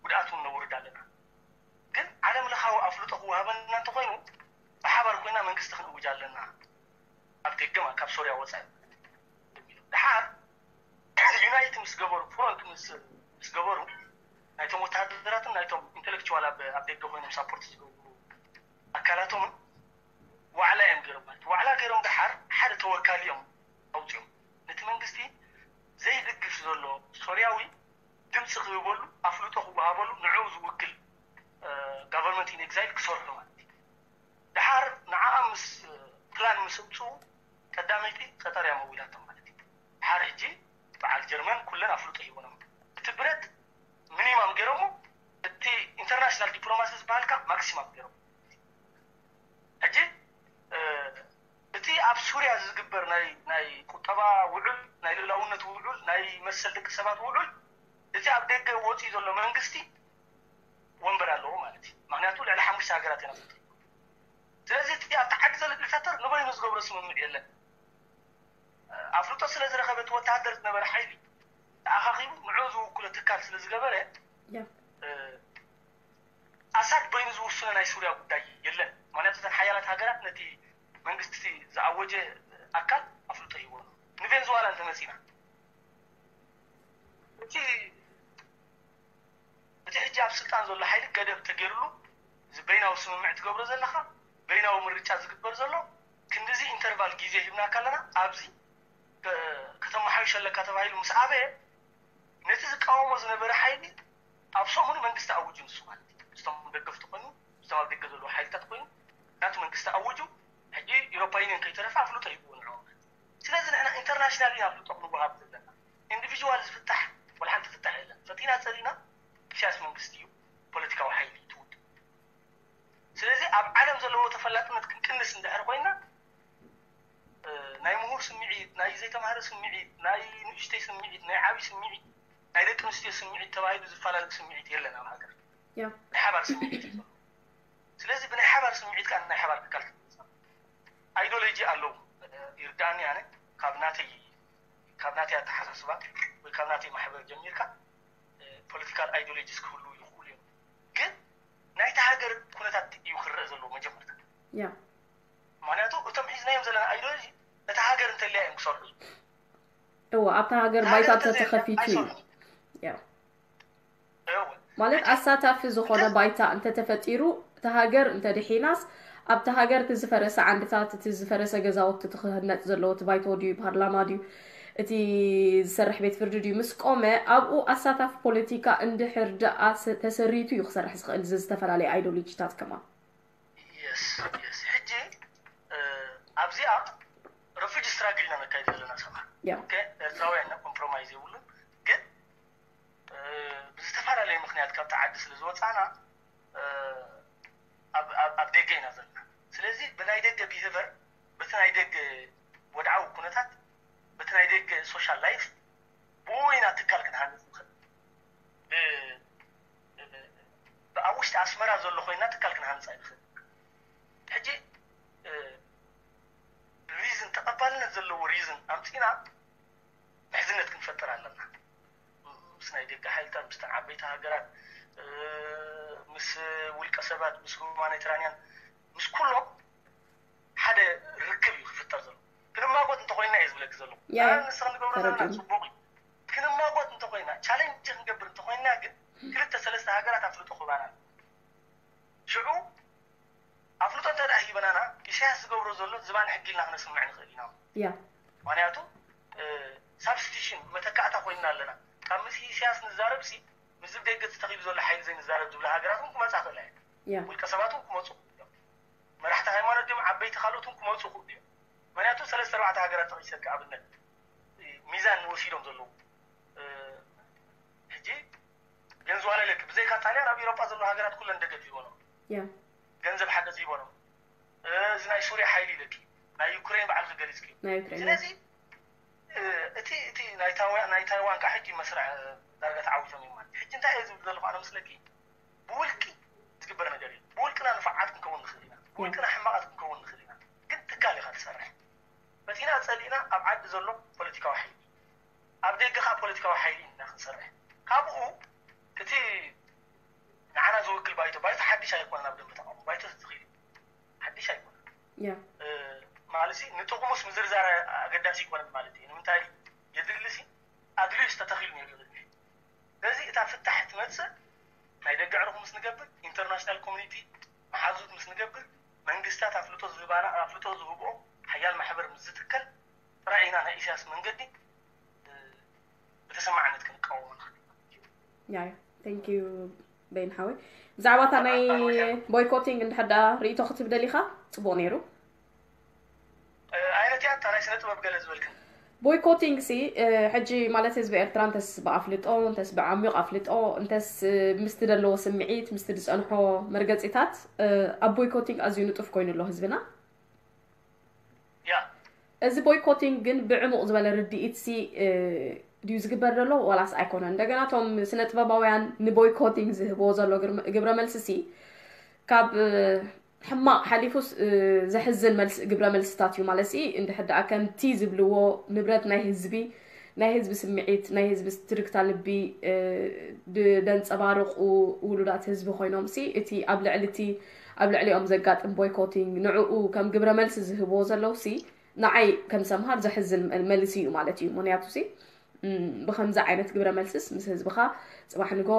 ጉድኣት እውን ነውርድ ኣለና ግን ዓለም ለኻዊ ኣፍልጦ ክወሃበና እንተኮይኑ ብሓባር ኮይና መንግስቲ ክንእውጅ ኣለና ኣብ ደገ ካብ ሶርያ ወፃኢ ድሓር ዩናይት ምስ ገበሩ ፍሮንት ምስ ገበሩ ናይቶም ወተሃደራትን ናይቶም ኢንቴሌክቹዋል ኣብ ደገ ኮይኖም ሳፖርት ዝገብሩ ኣካላቶምን ዋዕላ እዮም ገይሮም ማለት ዋዕላ ገይሮም ድሓር ሓደ ተወካሊ እዮም ኣውፅኦም ነቲ መንግስቲ ዘይድግፍ ዘሎ ሶርያዊ ድምፂ ክህበሉ ኣፍልጦ ክወሃበሉ ንዕኡ ዝውክል ጋቨርንመንት ኢን ኤግዛይል ክሰርሑ ማለት እዩ ድሓር ንዓኣ ምስ ፕላን ምስ ኣምፅኡ ቀዳመይቲ ቀጠር እያ መዊላቶም ማለት እዩ ድሓር ሕጂ በዓል ጀርመን ኩለን ኣፍልጦ ሂቦኖም እቲ ብረት ሚኒማም ገይሮሞ እቲ ኢንተርናሽናል ዲፕሎማሲ ዝበሃልካ ማክሲማም ገይሮም ሕጂ እቲ ኣብ ሱርያ ዝግበር ናይ ቁጠባ ውዑል ናይ ልእላውነት ውዑል ናይ መሰል ደቂ ሰባት ውዑል እቲ ኣብ ደገ ወፂኡ ዘሎ መንግስቲ ወንበር ኣለዎ ማለት እዩ ምክንያቱ ልዕሊ ሓሙሽተ ሃገራት ኢና ስለዚ እቲ ኣብቲ ዓዲ ዘሎ ዲክታተር ንበይኑ ዝገብሮ ስምምዕ የለን ኣፍልጦ ስለ ዝረኸበ እቲ ወተሃደር ዝነበረ ሓይሊ ተኣኻኺቡ ንዑ ዝውክሎ ትካል ስለ ዝገበረ ኣሳድ በይኑ ዝውስኖ ናይ ሱርያ ጉዳይ የለን ምክንያቱ እተን ሓያላት ሃገራት ነቲ መንግስቲ ዝኣወጀ ኣካል ኣፍልጦ ሂቦ ንቬንዙዋላ እንተመፂና እቲ እቲ ሕጂ ኣብ ስልጣን ዘሎ ሓይሊ ገደብ ተገይርሉ እዚ በይናዊ ስምምዕ ትገብሮ ዘለኻ በይናዊ ምርጫ ዝግበር ዘሎ ክንዲዚ ኢንተርቫል ግዜ ሂብናካ ኣለና ኣብዚ ከተመሓይሸለካ ተባሂሉ ምስ ኣበየ ነቲ ዝቃወሞ ዝነበረ ሓይሊ ኣብ ሰሙኑ መንግስቲ ኣውጁ ንሱ ማለት እዩ ምስቶም ደገፍቲ ኮይኑ ምስቶም ኣብ ደገ ዘለዉ ሓይልታት ኮይኑ ናቱ መንግስቲ ኣውጁ ሕጂ ኢሮፓ ዩኒየን ከይተረፈ ኣፍልጦ ሂብዎ ንዕኦም ስለዚ ንሕና ኢንተርናሽናል ኢና ኣፍልጦ ክንወሃብ ዘለና ኢንዲቪጅዋል ዝፍታሕ ወላ ሓንቲ ፍታሕ የለን ፈቲና ፀሊና ኢሳያስ መንግስቲ እዩ ፖለቲካዊ ሓይሊ ትውድ ስለዚ ኣብ ዓለም ዘለዎ ተፈላጥነት ክንቅንስ እንድሕር ኮይና ናይ ምሁር ስምዒት ናይ ዘይተማህረ ስምዒት ናይ ንእሽተይ ስምዒት ናይ ዓብይ ስምዒት ናይ ደቂ ኣንስትዮ ስምዒት ተባሂሉ ዝፈላለ ስምዒት የለን ኣብ ሃገር ናይ ሓባር ስምዒት እዩ ስለዚ ብናይ ሓባር ስምዒት ከዓ ናይ ሓባር ትካል ኣይዶሎጂ ኣለዉ ይርዳእኒ ኣነ ካብ ናተይ ካብ ናተይ ኣተሓሳስባ ወይ ካብ ናተይ ማሕበር ጀሚርካ ፖለቲካል ኣይዲዮሎጂስ ክህሉ ይኽእሉ እዮም። ግን ናይቲ ሃገር ኩነታት እዩ ክረአ ዘለዎ መጀመርታ። ያ ምክንያቱ እቶም ሒዝናዮም ዘለና ኣይዲዮሎጂ እታ ሃገር እንተልያ እዮም ክሰርሑ። እዎ፣ ኣብታ ሃገር እታ ባይታ ሃገር እንተዘይልያ ተተኸፊቱ እዩ። ኣይሰርሑን። ያ እወ። ማለት ሕጂ ኣሳታፊ ዝኾነ እንተ- ባይታ እንተተፈጢሩ፣ እቲ ሃገር እንተድሒናስ፣ ኣብቲ ሃገር እቲ ዝፈረሰ ዓንድታት፣ እቲ ዝፈረሰ ገዛውቲ፣ እቲ ክህነፅ ዘለዎ እቲ ባይቶ ድዩ ፓርላማ ድዩ እቲ ዝሰርሕ ቤት ፍርዲ ድዩ ምስ ቆመ፣ ኣብኡ ኣሳታፊ ፖለቲካ እንድሕር ደኣ ስ- ተሰሪቱ እዩ ክሰርሕ ዝኽእል። እዚ ዝተፈላለየ ኣይዲዮሎጂታት ከማን የስ የስ። ሕጂ ኣብዚኣ ሪፊጂ ስትራግል ኢና ነካይድ ዘለና ሰባት። ያ ኦኬ፣ ኤርትራውያን ኢና፣ ኮምፕሮማይዝ የብሉን። ግን ብዝተፈላለየ ምክንያት ካብቲ ዓዲ ስለ ዝወፃና ኣብ ደገ ኢና ዘለና። ስለዚ ብናይ ደገ ቢሄቨር፣ በቲ ናይ ደገ ወድዓዊ ኩነታት፣ በቲ ናይ ደገ ሶሻል ላይፍ፣ ብኡ ኢና ትካል ክንሃንፅ ንኽእል። ብ- ብ- ኣብ ውሽጢ ኣስመራ ዘሎ ኮይና ትካል ክንሃንፅ ኣይንኽእል። ሕጂ ሪዝን፣ ተቐባልነት ዘለዎ ሪዝን ኣምፂና ምሕዝነት ክንፈጥር ኣለና። ምስ ናይ ደገ ሓይልታት፣ ምስ ዓበይቲ ሃገራት፣ ምስ ውልቀ ሰባት፣ ምስ ሁማኒታሪያን፣ ምስ ኩሎም ሓደ ርክብ እዩ ክፍጠር ዘሎ። ክንማጎት እንተኮይና እየ ዝብለክ ዘለኹ። ያ፣ ያ። ንስኻ ንገብሮ ዘለና ተረዲእኒ። ፅቡቅ እዩ። ክንማጎት እንተኮይና፣ ቻሌንጅ ክንገብር እንተኮይና ግን ክልተ ሰለስተ ሃገራት ኣፍልጦ ክህባና ኣለዎ። ሽዑ ኣፍልጦ እንተ ደኣ ሂበናና፣ ኢሳያስ ዝገብሮ ዘሎ ዝባን ሕጊ ኢልና ክነስምዕ ንኽእል ኢና። ያ ምክንያቱ ሳብስቲሽን፣ መተካእታ ኮይንና ኣለና። ካብ ምስ ኢሳያስ ንዛረብ ሲ፣ ምስ ደገ ተተኺሉ ዘሎ ሓይሊ ዘይንዛረብ ዝብላ ሃገራት እውን ክመፃ ክእላ እየን። ያ ውልቀ ሰባት እውን ክመፁ ክእሉ እዮም። መራሕቲ ሃይማኖት ድዮም፣ ዓበይቲ ካልኦት እውን ክመፁ ክእሉ እዮም። ምክንያቱ ሰለስተ ኣርባዕተ ሃገራት ተጠቂሰልካ ኣብነት ሚዛን ወሲዶም ዘለዉ። ሕጂ ቬንዙዋላ ኢለኪ፣ ብዘይካ ጣልያን ኣብ ኤውሮጳ ዘለዉ ሃገራት ኩለን ደገፍ ሂቦም፣ ያ ገንዘብ ሓገዝ ሂቦም። እዚ ናይ ሱርያ ሓይሊ ኢለኪ፣ ናይ ዩክሬን ባዕልኪ ገሊፅኪ። ናይ ዩክሬን ስለዚ እቲ እቲ ናይ ታይዋን ናይ ታይዋን ከዓ ሕጂ መስርዕ ዳርጋ ተዓዊቶም እዮም ማለት። ሕጂ እንታይ እየ ዝብል ዘለኹ ኣነ ምስለኪ፣ ብውልቂ ዝግበር ነገር እዩ። ብውልቅና ንፉዓት ክንከውን ንኽእል ኢና፣ ብውልቅና ሕማቓት ክንከውን ንኽእል ኢና። ግን ትካል ኢኻ ትሰርሕ። ፈቲና ጸሊእና ኣብ ዓዲ ዘሎ ፖለቲካዊ ሓይሊ፣ ኣብ ደገ ከዓ ፖለቲካዊ ሓይሊ ኢና ክንሰርሕ። ካብኡ እቲ ንዓና ዝውክል ባይቶ፣ ባይቶ ሓድሽ ኣይኮነን፣ ኣብ ደንበ ተቃውሞ ባይቶ ተተኺሉ ሓድሽ ኣይኮነን። ያ ማለት ንጥቕሙስ ምዝርዛር ኣገዳሲ ኣይኮነን ማለት እዩ። ንምንታይ የድሊ ሲ ኣድልዩስ ተተኺሉ ነይሩ እዩ። ስለዚ እታ ፍታሕ ትመፅእ ናይ ደገ ዕርኹ ምስ ንገብር፣ ኢንተርናሽናል ኮሚኒቲ መሓዙት ምስ ንገብር፣ መንግስታት ኣፍልጦ ዝህባና ኣፍልጦ ዝህብኦ ሓያል ማሕበር ምስ ዝትከል ጥራይ ኢና ናይ ኢሳያስ መንገዲ ብተሰማዕነት ክንቃወሞ ንኽእል። ያ ያ thank you በይን ሓወይ። ብዛዕባ እታ ናይ ቦይኮቲንግ እንድሕር ደኣ ርእይቶ ክትብ ደሊኻ ጽቡቕ ነይሩ። ዓይነት እያ እታ ናይ ስነ ጥበብ ገለ ዝበልክን ቦይኮቲንግ ሲ ሕጂ ማለት ህዝቢ ኤርትራ እንተስ ብኣፍልጦ እንተስ ብዓሚቕ ኣፍልጦ እንተስ ምስቲ ዘለዎ ስምዒት ምስቲ ዝጸንሖ መርገጺታት ኣብ ቦይኮቲንግ ኣዝዩ ንጡፍ ኮይኑ ኣሎ ህዝብና። ያ እዚ ቦይኮቲንግ ግን ብዕሙቕ ዝበለ ርድኢት ሲ ድዩ ዝግበር ዘሎ ዋላስ ኣይኮነን? እንደገና እቶም ስነ ጥበባውያን ንቦይኮቲንግ ዝህብዎ ዘሎ ግርመ- ግብረ መልሲ ሲ ካብ ሕማቕ ሓሊፉስ ዘሕዝን መልሲ ግብረ መልስታት እዩ ማለት ሲ እንድሕር ደኣ ከምቲ ዝብልዎ ንብረት ናይ ህዝቢ ናይ ህዝቢ ስምዒት ናይ ህዝቢ ትርግታ ልቢ ደንፀባርቁ ውሉዳት ህዝቢ ኮይኖም ሲ እቲ ኣብ ልዕሊ እቲ ኣብ ልዕሊኦም ዘጋጥም ቦይኮቲንግ ንዕኡ ከም ግብረ መልሲ ዝህብዎ ዘለዉ ሲ ንዓይ ከም ሰምሃር ዘሕዝን መልሲ እዩ ማለት እዩ። ምክንያቱ ሲ ብከምዚ ዓይነት ግብረ መልስስ ምስ ህዝብኻ ፅባሕ ንጎ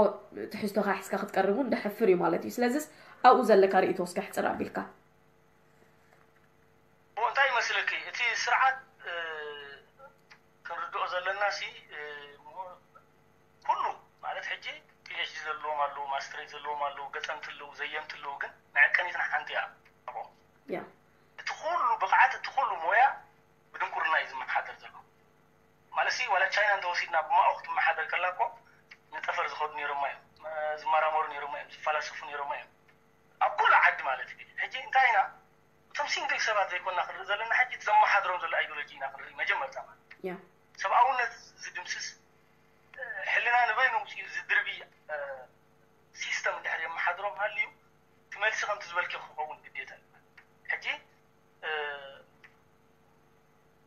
ትሕዝቶኻ ሒዝካ ክትቀርብ እውን ደሕፍር እዩ ማለት እዩ። ስለዚስ ኣብኡ ዘለካ ርእይቶ እስከ ሕፅር ኣቢልካ እንታይ ይመስለኪ እቲ ስርዓት ክንርድኦ ዘለና ሲ ኩሉ ማለት ሕጂ ፒኤችዲ ዘለዎም ኣለዉ፣ ማስትሬት ዘለዎም ኣለዉ፣ ገጠምቲ ኣለዉ፣ ዘየምቲ ኣለዉ፣ ግን መዐቀኒትና ሓንቲ እያ። ያ እቲ ኩሉ ብቕዓት እቲ ኩሉ ሞያ ብድንቁርና እዩ ዝመሓደር ዘሎ ማለት ሲ ዋላ ቻይና እንተወሲድና ብማኦ ክትመሓደር ከላ እኮ ንጠፈር ዝኸዱ ነይሮማ እዮም፣ ዝመራመሩ ነይሮማ እዮም፣ ዝፈላሰፉ ነይሮማ እዮም ኣብ ኩሉ ዓዲ ማለት እዩ። ሕጂ እንታይ ኢና እቶም ሲንግል ሰባት ዘይኮና ክንርኢ ዘለና ሕጂ ዘመሓድሮም ዘሎ ኣይዲዮሎጂ ኢና ክንርኢ መጀመርታ ማለት ያ ሰብኣውነት ዝድምስስ ሕልና ንበይኑ ውፅኡ ዝድርቢ ሲስተም እንድሕር የመሓድሮም ሃልዩ እቲ መልሲ ከምቲ ዝበልኪ ክኸውን ግዴታ እዩ። ሕጂ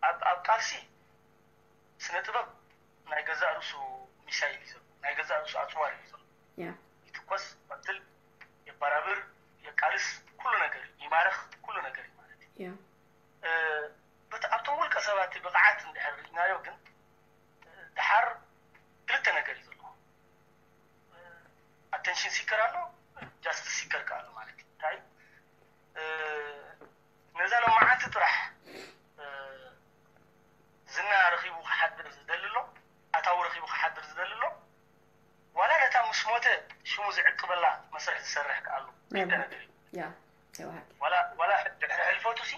ኣብ ኣብ ቃልሲ ያ ይትኮስ፣ ይቐትል፣ የባራብር፣ የቃልስ፣ ኩሉ ነገር ይማረኽ፣ ኩሉ ነገር እዩ ማለት እዩ። ያ እ፣ በት ኣብቶም ውልቀ ሰባት ብቕዓት እንድሕር ርኢናዮ ግን፣ እ፣ ድሓር ክልተ ነገር እዩ ዘለዎ። ኣተንሽን ሲከር ኣሎ፣ ጃስቲስ ሲከር ከ ኣሎ ማለት እዩ። እንታይ እ፣ ነዛ ሎማዓንቲ ጥራሕ እ፣ ዝና ረኺቡ ክሓድር ዝደሊ ኣሎ፣ ኣታዊ ረኺቡ ክሓድር ዝደሊ ኣሎ፣ ዋላ ነታ ምስ ሞተ ሽሙ ዝዕቅበላ መስርሕ ዝሰርሕ ከ ኣሎ። ናይ ክልተ ነገር እዩ። ያ ናይ ብሓቂ ዋላ ዋላ ድሕሪ ሕልፈቱ ሲ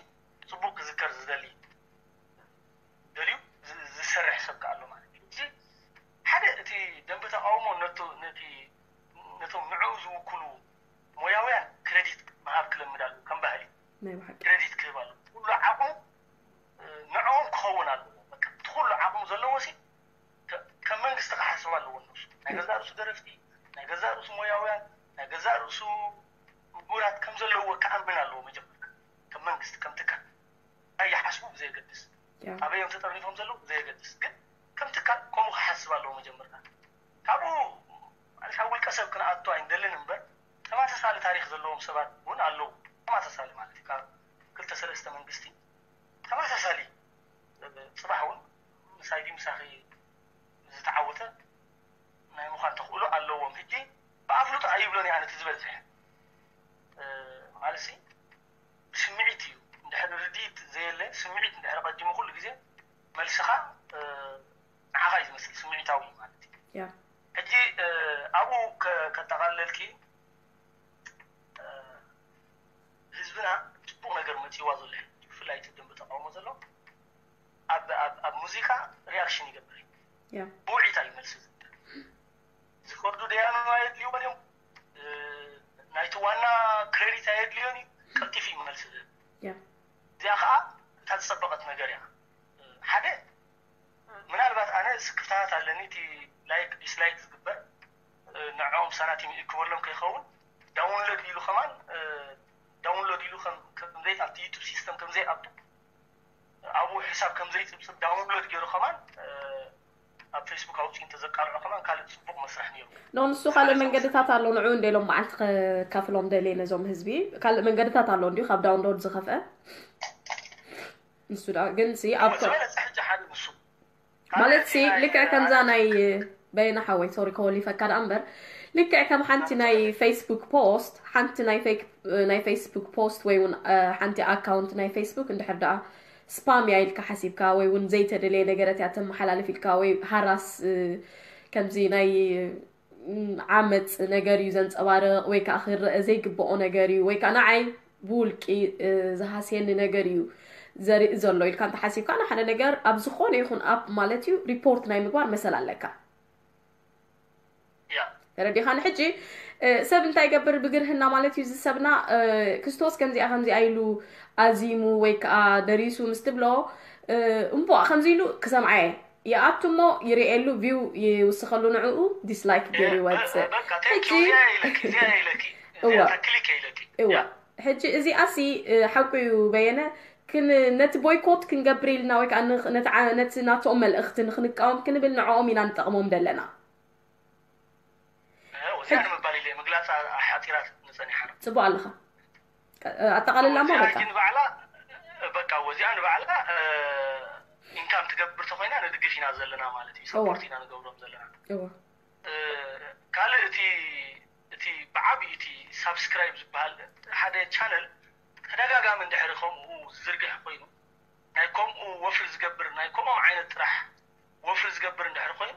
ጽቡቅ ክዝከር ዝደሊ ደልዩ ዝ- ዝሰርሕ ሰብ ከ ኣሎ ማለት እዩ። እዚ ሓደ እቲ ደንበ ተቃውሞ ነቶ ነቲ ነቶም ንዕኡ ዝውክሉ ሞያውያን ክረዲት ምሃብ ክለምድ ኣለዎ ከም ባህሊ። ናይ ብሓቂ ክረዲት ክህብ ኣለዎ። ኩሉ ዓቕሙ እ፣ ንዕኦም ክኸውን ኣለዎ። በቃ እቲ ኩሉ ዓቕሙ ዘለዎ ሲ ከ- ከም መንግስቲ ክሓስብ ኣለዎ። እነሱ ናይ ገዛ ርእሱ ደረፍቲ፣ ናይ ገዛ ርእሱ ሞያውያን፣ ናይ ገዛ ርእሱ ምሁራት ከም ዘለዎ ክኣምን ኣለዎ። መጀመርታ ከም መንግስቲ ከም ትካል እንታይ ይሓስቡ ብዘየገድስ፣ ያ ኣበይ እዮም ተጠርኒፎም ዘለዉ ብዘየገድስ፣ ግን ከም ትካል ከምኡ ክሓስብ ኣለዎ መጀመርታ። ካብኡ ማለት ኣብ ውልቀ ሰብ ክንኣቱ ኣይንደልን እምበር ተመሳሳሊ ታሪክ ዘለዎም ሰባት እውን ኣለዉ። ተመሳሳሊ ማለት ካብ ክልተ ሰለስተ መንግስቲ ተመሳሳሊ ጽባሕ እውን ምሳይ ድዩ ምሳኺ ዝተዓወተ ናይ ምዃን ተኽእሎ ኣለዎም። ሕጂ ብኣፍልጦ ኣይብሎን እየ ኣነ እቲ ዝበዝሕ እ፣ ማለት ሲ ብስምዒት እዩ። እንድሕር ርድኢት ዘየለ ስምዒት እንድሕር ቀዲሙ ኩሉ ግዜ መልስኻ እ፣ ንዓኻ እዩ ዝመስል፣ ስምዒታዊ እዩ ማለት እዩ። ያ ሕጂ እ፣ ኣብኡ ከ- ከጠቓለልኪ እ፣ ህዝብና ጽቡቕ ነገር መጺዋ ዘሎ እዩ። ብፍላይ እቲ ደንበ ተቃውሞ ዘሎ ኣብ ኣብ ኣብ ሙዚቃ ሪያክሽን ይገብር እዩ። ያ ብውዒታ እዩ መልሲ ዝህብ። ዝፈርዱ ደያኑ ኣየድልይዎን እዮም። እ፣ ናይቲ ዋና ክሬዲት ኣየድልዮን እዩ። ቀልጢፉ እዩ መልሲ ዝህብ። ያ እዚኣ ከዓ እታ ዝጸበቐት ነገር እያ። ሓደ ምናልባት ኣነ ስክፍታታት ኣለኒ፣ እቲ ላይክ ዲስላይክ ዝግበር እ፣ ንዕኦም ሳናቲም ይእክበሎም ከይኸውን ዳውንሎድ ኢሉ ከማን እ፣ ዳውንሎድ ኢሉ ከም ከም ዘይኣቱ፣ ዩቱብ ሲስተም ከም ዘይኣቱ፣ ኣብኡ ሕሳብ ከም ዘይጽብጽብ ዳውንሎድ ገይሩ ከማን እ፣ ኣብ ፌስቡክ ኣውፅኡ እንተዘቃልዖ ከማን ካልእ ጽቡቕ መስርሕ ነይሩ። ኖ ንሱ ካልእ መንገድታት ኣሎ። ንዑ እንደ ኢሎም መዓልቲ ከካፍሎም ደልየ ነዞም ህዝቢ ካልእ መንገድታት ኣሎ እንዲዩ ካብ ዳውንሎድ ዝኸፍአ ንሱ ዳ ግን ሲ ኣብ ዝበለፀ ሕጂ ሓደ ንሱ ማለት ሲ ልክዕ ከምዛ ናይ በየነ ሓወይ ሶሪ ከወሊፈካ ደኣ እምበር ልክዕ ከም ሓንቲ ናይ ፌስቡክ ፖስት ሓንቲ ናይ ፌክ ናይ ፌስቡክ ፖስት ወይ እውን እ፣ ሓንቲ ኣካውንት ናይ ፌስቡክ እንድሕር ደኣ ስፓም እያ ኢልካ ሓሲብካ ወይ እውን ዘይተደለየ ነገረት እያ ተመሓላልፍ ኢልካ ወይ ሃራስ እ፣ ከምዚ ናይ ም፣ ዓመፅ ነገር እዩ ዘንፀባርቕ ወይ ከዓ ክረአ ዘይግብኦ ነገር እዩ ወይ ከዓ ንዓይ ብውልቂ እ፣ ዝሃስየኒ ነገር እዩ ዘርኢ ዘሎ ኢልካ እንተሓሲብካ ንሓደ ነገር ኣብ ዝኾነ ይኹን ኣፕ ማለት እዩ ሪፖርት ናይ ምግባር መሰል ኣለካ። ያ ተረዲኻኒ? ሕጂ እ፣ ሰብ እንታይ ይገብር ብግርህና ማለት እዩ እዚ ሰብና እ፣ ክርስቶስ ከምዚኣ ከምዚኣ ኢሉ ኣዚሙ ወይ ከዓ ደሪሱ ምስ ትብሎ እ፣ እምቦ ከምዚ ኢሉ ክሰምዓየ ይኣቱ እሞ ይርእየሉ ቪው ይውስኸሉ ንዕኡ ዲስላይክ ገይሩ ይወፅእ። በቃ ሕጂ እዚኣ ኢለኪ እዚኣ ኢለኪ እዋ። ክሊክ ኢለኪ እዋ ሕጂ እዚኣሲ እ፣ ሓቁ እዩ በየነ ክን ነቲ ቦይኮት ክንገብር ኢልና ወይ ከዓ ን- ነቲ ዓ- ነቲ ናቶም መልእኽቲ ንክንቃወም ክንብል ንዕኦም ኢና ንጠቕሞም ዘለና። እዚኣ ንምባል ኢለ ምግላፅ ሓፂራት ንፀኒሓ ነው። ፅቡቅ ኣለኻ። ቀ- ኣጠቃልላሞ እዚኣ በቃ ሕጂ ንባዕላ በቃ እዚኣ ንባዕላ ኢንካም ትገብር ተኮይና ንድግፍ ኢና ዘለና ማለት እዩ። ሰፖርት ኢና ንገብሮም ዘለና። እወ ካልእ እቲ እቲ ብዓብዩ እቲ ሳብስክራይብ ዝበሃል ሓደ ቻነል ተደጋጋሚ እንድሕሪ ከምኡ ዝዝርግሕ ኮይኑ ናይ ከምኡ ወፍሪ ዝገብር ናይ ከምኦም ዓይነት ጥራሕ ወፍሪ ዝገብር እንድሕሪ ኮይኑ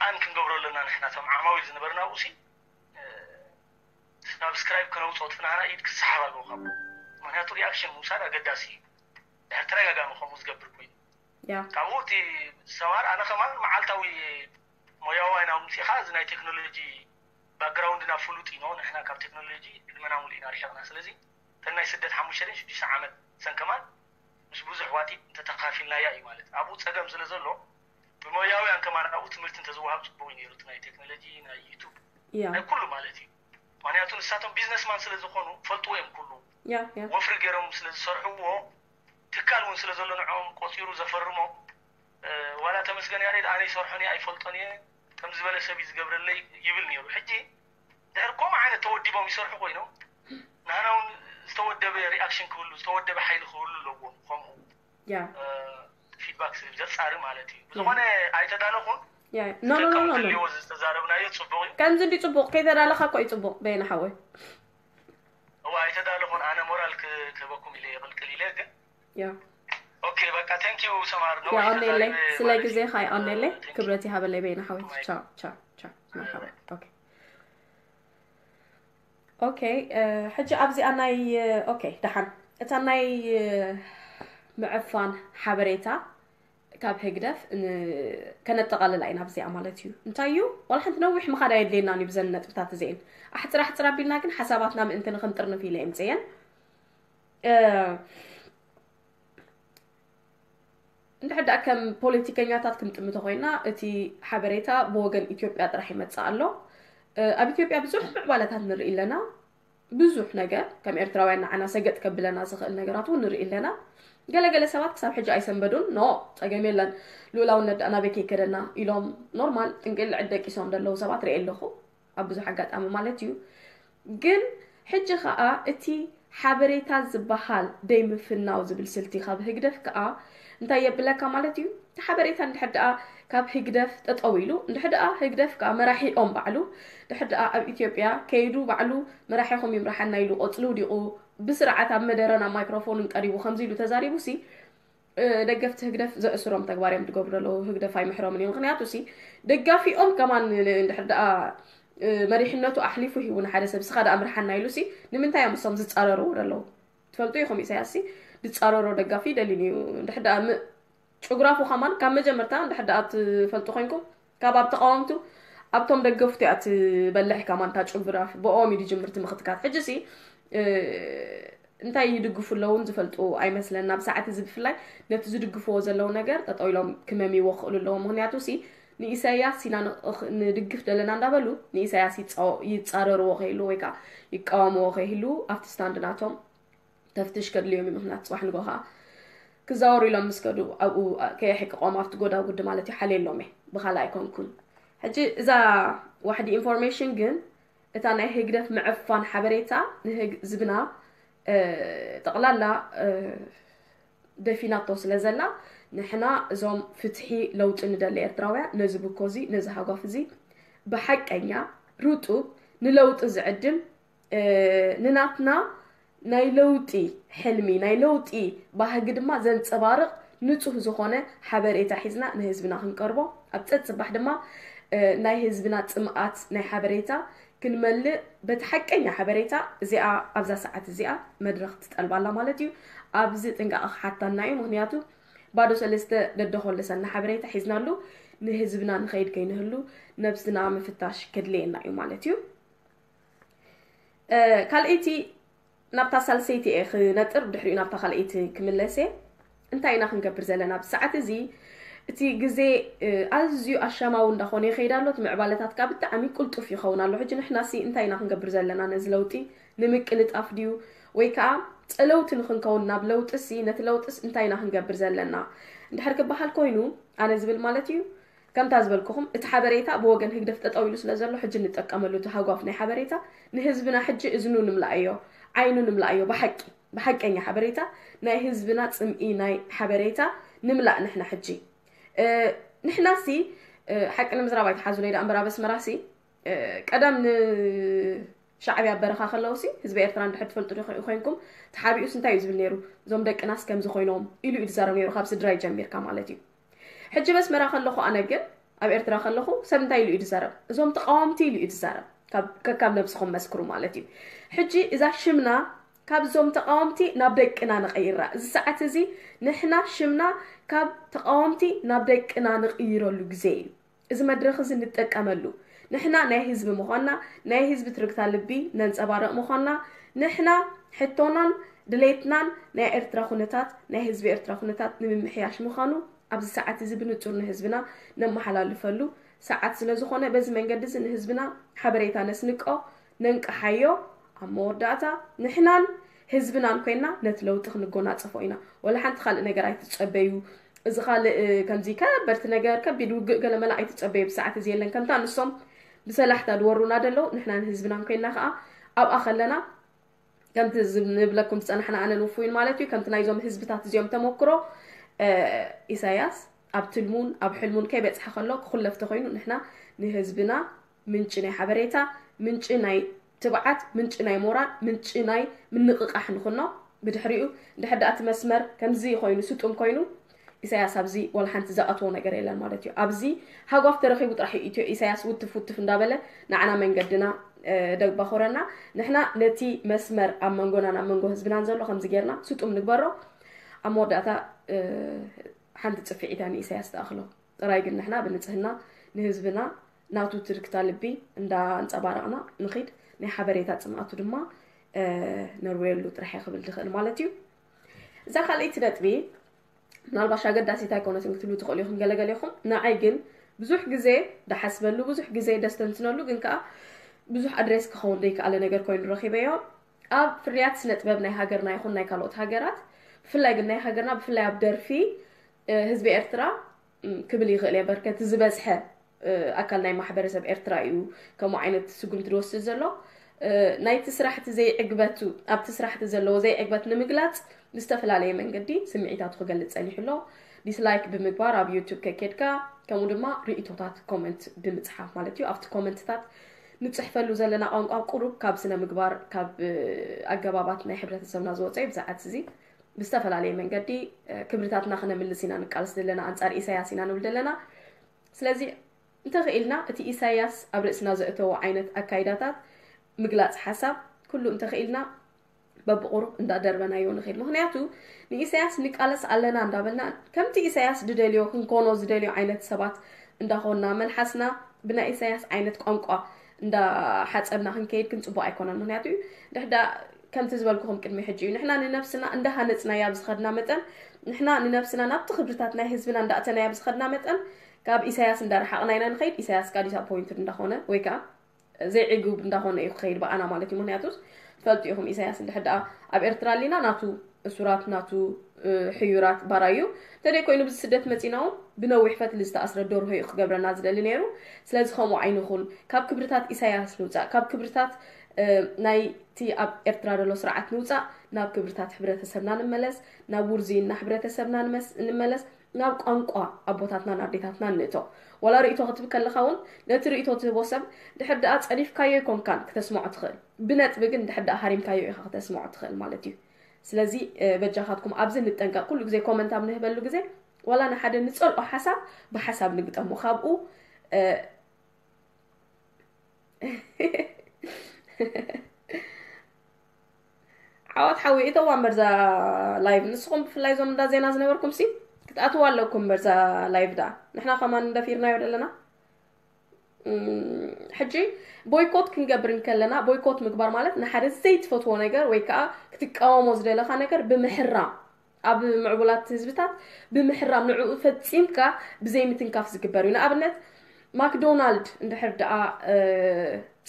ኣን ክንገብሮ ኣለና። ንሕና ቶም ዓማዊል ዝነበርና ብኡሲ ሳብስክራይብ ከነውፅኦ ትናህና ኢድ ክሰሓብ ኣለዎ ካብ ምክንያቱ ሪኣክሽን ምውሳድ ኣገዳሲ እዩ። ድሕር ተደጋጋሚ ከምኡ ዝገብር ኮይኑ ያ ካብኡ እቲ ሰማር ኣነ ከማን መዓልታዊ ሞያዊ ናይ ናብምፅኻ እዚ ናይ ቴክኖሎጂ ባክግራውንድና ፍሉጥ ኢኖ ንሕና ካብ ቴክኖሎጂ ዕድመና ሙሉ ኢና ርሒቕና። ስለዚ እተን ናይ ስደት ሓሙሽተ ሽዱሽተ ዓመት ሰን ከማን ምስ ብዙሕ ዋጢ እንተተኻፊልናያ እዩ ማለት ኣብኡ ፀገም ስለ ዘሎ ብሞያውያን ከማን ኣብኡ ትምህርቲ እንተዝወሃብ ፅቡቅ እዩ ነይሩ። እቲ ናይ ቴክኖሎጂ ናይ ዩቱብ ያ ናይ ኩሉ ማለት እዩ። ምክንያቱ ንሳቶም ቢዝነስማን ስለ ዝኾኑ ፈልጥዎ እዮም ኩሉ ያ ያ ወፍሪ ገይሮም ስለ ዝሰርሕዎ ትካል እውን ስለ ዘሎ ንዕኦም ቆፂሩ ዘፈርሞ ዋላ ተመስገን ያሬድ ኣነ ይሰርሖን እየ ኣይፈልጦን እየ ከም ዝበለ ሰብ እዩ ዝገብረለይ ይብል ነይሩ። ሕጂ ድሕር ከምኡ ዓይነት ተወዲቦም ይሰርሑ ኮይኖም ንህና እውን ዝተወደበ ሪኣክሽን ክህሉ ዝተወደበ ሓይሊ ክህሉ ኣለዎም። ከምኡ ያ ፊድባክ ዘጻሪ ማለት እዩ። ብዝኾነ ኣይተዳለኹን ያ no no no no no ዝተዛረብናዮ ጽቡቕ እዩ። ከምዚ እንዲ ጽቡቕ ከይተዳለኻ እኮ እዩ ጽቡቕ በየነ ሓወይ። እዋ ኣይተዳለኹን ኣነ ሞራል ክህበኩም ኢለ ይቕልቅል ኢለ ግን ያ ኦኬ በቃ thank you ሰማር ነው የቐኔለይ ስለ ግዜኻ የቐኔለይ። ክብረት ይሃበለይ በየነ ሓወይ። ቻው ቻው ቻው። መርሓባ። ኦኬ ኦኬ። ሕጂ ኣብዚኣ ናይ ኦኬ ደሓን እታ ናይ ምዕፋን ሓበሬታ ካብ ህግደፍ ከነጠቓልላ ኢና ኣብዚኣ ማለት እዩ። እንታይ እዩ ዋላ ሓንቲ ነዊሕ ምኻድ ኣየድልየናን እዩ ብዘን ነጥብታት እዚአን ኣሕፅር ኣሕፅር ኣቢልና ግን ሓሳባትና ምእንቲ ንክንጥርንፍ ኢለ የምፅየን። እንድሕር ደኣ ከም ፖለቲከኛታት ክንጥምቶ ኮይና እቲ ሓበሬታ ብወገን ኢትዮጵያ ጥራሕ ይመፅእ ኣሎ። ኣብ ኢትዮጵያ ብዙሕ ምዕባለታት ንርኢ ኣለና። ብዙሕ ነገር ከም ኤርትራውያን ንዓና ሰገጥ ከብለና ዝኽእል ነገራት እውን ንርኢ ኣለና። ገለገለ ሰባት ክሳብ ሕጂ ኣይሰንበዱን። ኖ ፀገም የለን ልኡላውነት ደኣ ናበይ ከይከደና ኢሎም ኖርማል ጥንቅል ዕድ ደቂሶም ዘለዉ ሰባት ርኢ ኣለኹ ኣብ ብዙሕ ኣጋጣሚ ማለት እዩ። ግን ሕጂ ከዓ እቲ ሓበሬታ ዝበሃል ደይ ምፍናው ዝብል ስልቲ ካብ ህግደፍ ከዓ እንታይ የብለካ ማለት እዩ። እቲ ሓበሬታ እንድሕር ደኣ ካብ ህግደፍ ጠጠው ኢሉ እንድሕር ደኣ ህግደፍ ከዓ መራሒኦም ባዕሉ ድሕር ደኣ ኣብ ኢትዮጵያ ከይዱ ባዕሉ መራሒኹም ይምርሓና ኢሉ ቆፅሊ ውዲቑ ብስርዓት ኣብ መደረን ኣብ ማይክሮፎንን ቀሪቡ ከምዚ ኢሉ ተዛሪቡ ሲ ደገፍቲ ህግደፍ ዘእስሮም ተግባር እዮም ዝገብሩ ዘለዉ። ህግደፍ ኣይምሕሮምን እዩ። ምክንያቱ ሲ ደጋፊኦም ከማን እንድሕር ደኣ መሪሕነቱ ኣሕሊፉ ሂቡ ንሓደ ሰብ ስኻ ደኣ ምርሓና ኢሉ ሲ ንምንታይ እዮም እሶም ዝፃረርዎ ዘለዉ? ትፈልጡ ኢኹም ኢሳያስ ሲ ዝፃረሮ ደጋፊ ደሊን እዩ። እንድሕር ደኣ ም- ጭጉራፉ ከማን ካብ መጀመርታ እንድሕር ደኣ ትፈልጡ ኮይንኩም ካብ ኣብ ተቃወምቱ ኣብቶም ደገፍቱ እያ ትበልሕ ከማን እታ ጭጉራፍ ብኦም እዩ ዝጅምር ትምክትካት። ሕጂ ሲ እንታይ ይድግፉ ኣለውን ዝፈልጡ ኣይመስለን። ናብ ሰዓት እዚ ብፍላይ ነቲ ዝድግፍዎ ዘለዉ ነገር ጠጠው ኢሎም ክመምይዎ ክኽእሉ ኣለዎም። ምክንያቱ ሲ ንኢሳያስ ኢና ንድግፍ ደለና እንዳበሉ ንኢሳያስ ይፃረርዎ ከይህሉ ወይ ከዓ ይቃወምዎ ከይህሉ ኣብቲ ስታንድ ናቶም ተፍትሽ ከድልዮም እዩ። ምክንያት ፅባሕ ንጎ ከዓ ክዛወሩ ኢሎም ምስ ከዱ ኣብኡ ከየሕቅቆም ኣብቲ ጎዳጉዲ ማለት እዩ ሓልየሎም እየ ብካልእ ኣይኮንኩን። ሕጂ እዛ ዋሕዲ ኢንፎርሜሽን ግን እታ ናይ ህግደፍ ምዕፋን ሓበሬታ ንህዝብና ጠቕላላ ደፊናቶ ስለ ዘላ ንሕና እዞም ፍትሒ ለውጢ ንደሊ ኤርትራውያ ነዚ ብኮዚ ነዚ ሃጓፍ እዚ ብሓቀኛ ርጡብ ንለውጢ ዝዕድም ንናትና ናይ ለውጢ ሕልሚ ናይ ለውጢ ባህጊ ድማ ዘንፀባርቕ ንፁህ ዝኾነ ሓበሬታ ሒዝና ንህዝብና ክንቀርቦ ኣብ ፀፅባሕ ድማ ናይ ህዝብና ፅምኣት ናይ ሓበሬታ ክንመልእ በቲ ሓቀኛ ሓበሬታ እዚኣ ኣብዛ ሰዓት እዚኣ መድረኽ ትጠልባላ ማለት እዩ። ኣብዚ ጥንቃቐ ክሓታና እዩ። ምክንያቱ ባዶ ሰለስተ ደደኾለሰና ሓበሬታ ሒዝናሉ ንህዝብና ንኸይድ ከይንህሉ ነብስና ምፍታሽ ከድልየና እዩ ማለት እዩ። ካልኣይቲ ናብታ ሳልሰይቲ እየ ክነጥር ድሕሪኡ ናብታ ካልኣይቲ ክምለስ እየ። እንታይ ኢና ክንገብር ዘለና ኣብዚ ሰዓት እዚ? እቲ ግዜ ኣዝዩ ኣሻማዊ እንዳኾነ ይኸይድ ኣሎ። እቲ ምዕባለታት ከዓ ብጣዕሚ ቁልጡፍ ይኸውን ኣሎ። ሕጂ ንሕናሲ እንታይ ኢና ክንገብር ዘለና ነዚ ለውጢ ንምቅልጣፍ ድዩ ወይ ከዓ ፀለውቲ ንክንከውን ናብ ለውጢሲ ነቲ ለውጢስ እንታይ ኢና ክንገብር ዘለና እንድሕር ክበሃል ኮይኑ ኣነ ዝብል ማለት እዩ ከምታ ዝበልኩኹም እቲ ሓበሬታ ብወገን ህግደፍ ጠጠው ኢሉ ስለ ዘሎ ሕጂ ንጠቀመሉ እቲ ሃጓፍ ናይ ሓበሬታ ንህዝብና ሕጂ እዝኑ ንምልኣዮ ዓይኑ ንምልኣዮ ብሓቂ ብሓቀኛ ሓበሬታ ናይ ህዝብና ፅምኢ ናይ ሓበሬታ ንምላእ ንሕና ሕጂ ንሕናሲ ሓቂ ንምዝራብ ኣይተሓዙለይ ዳ እምበር ኣብ ኣስመራሲ ቀደም ን ሻዕብያ ኣብ በረኻ ከለውሲ ህዝቢ ኤርትራ እንድሕር ትፈልጡ ዶ ኮይንኩም ተሓቢኡስ እንታይ እዩ ዝብል ነይሩ? እዞም ደቅናስ ከምዚ ኮይኖም ኢሉ እዩ ዝዛረብ ነይሩ ካብ ስድራይ ጀሚርካ ማለት እዩ። ሕጂ በስመራ ከለኹ ኣነ ግን ኣብ ኤርትራ ከለኹ ሰብ እንታይ ኢሉ እዩ ዝዛረብ? እዞም ተቃወምቲ ኢሉ እዩ ዝዛረብ። ከካብ ነብስኹም መስክሩ ማለት እዩ። ሕጂ እዛ ሽምና ካብ እዞም ተቃወምቲ ናብ ደቅና ንቀይራ። እዚ ሰዓት እዚ ንሕና ሽምና ካብ ተቃወምቲ ናብ ደቅና ንቅይረሉ ግዜ እዩ። እዚ መድረኽ እዚ ንጠቀመሉ ንሕና ናይ ህዝቢ ምዃንና ናይ ህዝቢ ትርግታ ልቢ ነንፀባርቕ ምዃንና ንሕና ሕቶናን ድሌትናን ናይ ኤርትራ ኩነታት ናይ ህዝቢ ኤርትራ ኩነታት ንምምሕያሽ ምዃኑ ኣብዚ ሰዓት እዚ ብንጹር ንህዝብና ነመሓላልፈሉ ሰዓት ስለ ዝኾነ በዚ መንገዲ እዚ ንህዝብና ሓበሬታ ነስንቆ ነንቅሓዮ ኣብ መወዳእታ ንሕናን ህዝብናን ኮይና ነቲ ለውጢ ክንጎናጸፎ ኢና ወላ ሓንቲ ካልእ ነገር ኣይትጸበዩ እዚ ካልእ ከምዚ ከበድቲ ነገር ከቢድ ውግእ ገለ መላ ኣይትጸበዩ ብሰዓት እዚ የለን ከምታ ንሶም ብሰላሕታ ድወሩና ደለዉ ንሕና ንህዝብና እንኮይና ከዓ ኣብኣ ከለና ከምቲ ንብለኩም ዝፀናሕና ኣነን ውፉይን ማለት እዩ ከምቲ ናይዞም ህዝብታት እዚኦም ተመክሮ ኢሳያስ ኣብ ትልሙን ኣብ ሕልሙን ከይበፅሐ ከሎ ክኩለፍ ተኮይኑ ንሕና ንህዝብና ምንጪ ናይ ሓበሬታ ምንጪ ናይ ትብዓት ምንጪ ናይ ሞራል ምንጪ ናይ ምንቕቃሕ ንኹኖ ብድሕሪኡ እንድሕር ደኣ እቲ መስመር ከምዚ ኮይኑ ስጡም ኮይኑ ኢሳያስ ኣብዚ ዋላ ሓንቲ ዝኣትዎ ነገር የለን ማለት እዩ ኣብዚ ሃጓፍ ተረኺቡ ጥራሕ እዩ ኢትዮ ኢሳያስ ውትፍ ውትፍ እንዳበለ ንዓና መንገድና ደባኾረና ንሕና ነቲ መስመር ኣብ መንጎናን ኣብ መንጎ ህዝብናን ዘሎ ከምዚ ጌርና ስጡም ንግበሮ ኣብ መወዳእታ ሓንቲ ፅፍዒታ ንኢሳያስ ተኣኽሎ ጥራይ ግን ንሕና ብንፅህና ንህዝብና ናቱ ትርክታ ልቢ እንዳ ኣንፀባረቕና ንኺድ ናይ ሓበሬታ ፅምኣቱ ድማ ነርወየሉ ጥራሕ ክብል ዝኽእል ማለት እዩ እዛ ካልኣይቲ ነጥቢ ምናልባሽ ኣገዳሲት ኣይኮነትን ክትብሉ ትኽእሉ ኢኹም ገለገለ ኢኹም ንዓይ ግን ብዙሕ ግዜ ዳሓስበሉ ብዙሕ ግዜ ደስተንትነሉ ግን ከዓ ብዙሕ ኣድሬስ ክኸውን ዘይከኣለ ነገር ኮይኑ ረኺበዮ ኣብ ፍርያት ስነ ጥበብ ናይ ሃገርና ይኹን ናይ ካልኦት ሃገራት ብፍላይ ግን ናይ ሃገርና ብፍላይ ኣብ ደርፊ ህዝቢ ኤርትራ ክብል ይኽእል እየ በርከቲ ዝበዝሐ ኣካል ናይ ማሕበረሰብ ኤርትራ እዩ ከምኡ ዓይነት ስጉምቲ ዝወስድ ዘሎ ናይቲ ስራሕቲ ዘይዕግበቱ ኣብቲ ስራሕቲ ዘለዎ ዘይዕግበት ንምግላፅ ብዝተፈላለየ መንገዲ ስምዒታቱ ክገልፅ ፀኒሑ ኣሎ ዲስላይክ ብምግባር ኣብ ዩቱብ ከኬድካ ከምኡ ድማ ርእቶታት ኮመንት ብምፅሓፍ ማለት እዩ ኣብቲ ኮመንትታት ንፅሕፈሉ ዘለና ቋንቋ ቁሩብ ካብ ስነ ምግባር ካብ ኣገባባት ናይ ሕብረተሰብና ዝወፀ እዩ ብዛዕት እዚ ብዝተፈላለየ መንገዲ ክብርታትና ክነምልስ ኢና ንቃልስ ዘለና ኣንፃር ኢሳያስ ኢና ንብል ዘለና ስለዚ እንተኽኢልና እቲ ኢሳያስ ኣብ ርእስና ዘእተዎ ዓይነት ኣካይዳታት ምግላፅ ሓሳብ ኩሉ እንተኽኢልና በብቑሩብ እንዳደርበናዮ ንኽእል ምክንያቱ ንኢሳያስ ንቃለስ ኣለና እንዳበልና ከምቲ ኢሳያስ ዝደልዮ ክንኮኖ ዝደልዮ ዓይነት ሰባት እንዳኾንና መልሓስና ብናይ ኢሳያስ ዓይነት ቋንቋ እንዳሓፀብና ክንከይድ ግን ፅቡቅ ኣይኮነን ምክንያቱ ድሕዳ ከምቲ ዝበልኩኹም ቅድሚ ሕጂ እዩ ንሕና ንነብስና እንዳሃነፅናያ ብዝኸድና መጠን ንሕና ንነብስና ናብቲ ክብርታት ናይ ህዝብና እንዳእተናያ ብዝኸድና መጠን ካብ ኢሳያስ እንዳረሓቕና ኢና ንኸይድ ኢሳያስ ካ ዲስኣፖይንትድ እንዳኾነ ወይ ከዓ ዘይዕጉብ እንዳኾነ እዩ ክኸይድ ብኣና ማለት እዩ ምክንያቱስ ትፈልጡ ኢኹም ኢሳያስ እንድሕር ደኣ ኣብ ኤርትራ ኣሊና ናቱ እሱራት ናቱ ሕዩራት ባራዩ እንተደይ ኮይኑ ብዚ ስደት መፂና እውን ብነዊሕ ፈትሊ ዝተኣስረ ደርሆ እዩ ክገብረና ዝደሊ ነይሩ ስለዚ ከምኡ ዓይንኹን ካብ ክብርታት ኢሳያስ ንውፃእ ካብ ክብርታት ናይቲ ኣብ ኤርትራ ዘሎ ስርዓት ንውፃእ ናብ ክብርታት ሕብረተሰብና ንመለስ ናብ ውርዝይና ሕብረተሰብና ንመለስ ናብ ቋንቋ ኣቦታትናን ኣዴታትናን ንእቶ ዋላ ርእቶ ክትብ ከለኻ እውን ነቲ ርእቶ ትህቦ ሰብ ድሕር ደኣ ጸሪፍካዮ ይኮንካን ክተስምዖ ትኽእል ብነጥቢ ግን ድሕር ደኣ ሃሪምካዮ ኢኻ ክተስምዖ ትኽእል ማለት እዩ ስለዚ በጃኻትኩም ኣብዚ ንጠንቀቕ ኩሉ ግዜ ኮመንት ኣብ ንህበሉ ግዜ ዋላ ንሓደ ንጸልኦ ሓሳብ ብሓሳብ ንግጠሞ ካብኡ ዓወት ሓዊ እተዋ እምበር ዛ ላይቭ ንስኹም ብፍላይ እዞም እንዳ ዜና ዝነበርኩም ሲ ክትኣትዋ ኣለኩም እምበር ዛ ላይቭ ዳ ንሕና ከማን እንደፊርናዮ ዘለና ሕጂ ቦይኮት ክንገብር እንከለና ቦይኮት ምግባር ማለት ንሓደ ዘይትፈትዎ ነገር ወይ ከዓ ክትቃወሞ ዝደለካ ነገር ብምሕራም ኣብ ምዕቡላት ህዝብታት ብምሕራም ንዕኡ ፈጺምካ ብዘይምትንካፍ ዝግበር እዩ ንኣብነት ማክዶናልድ እንድሕር ደኣ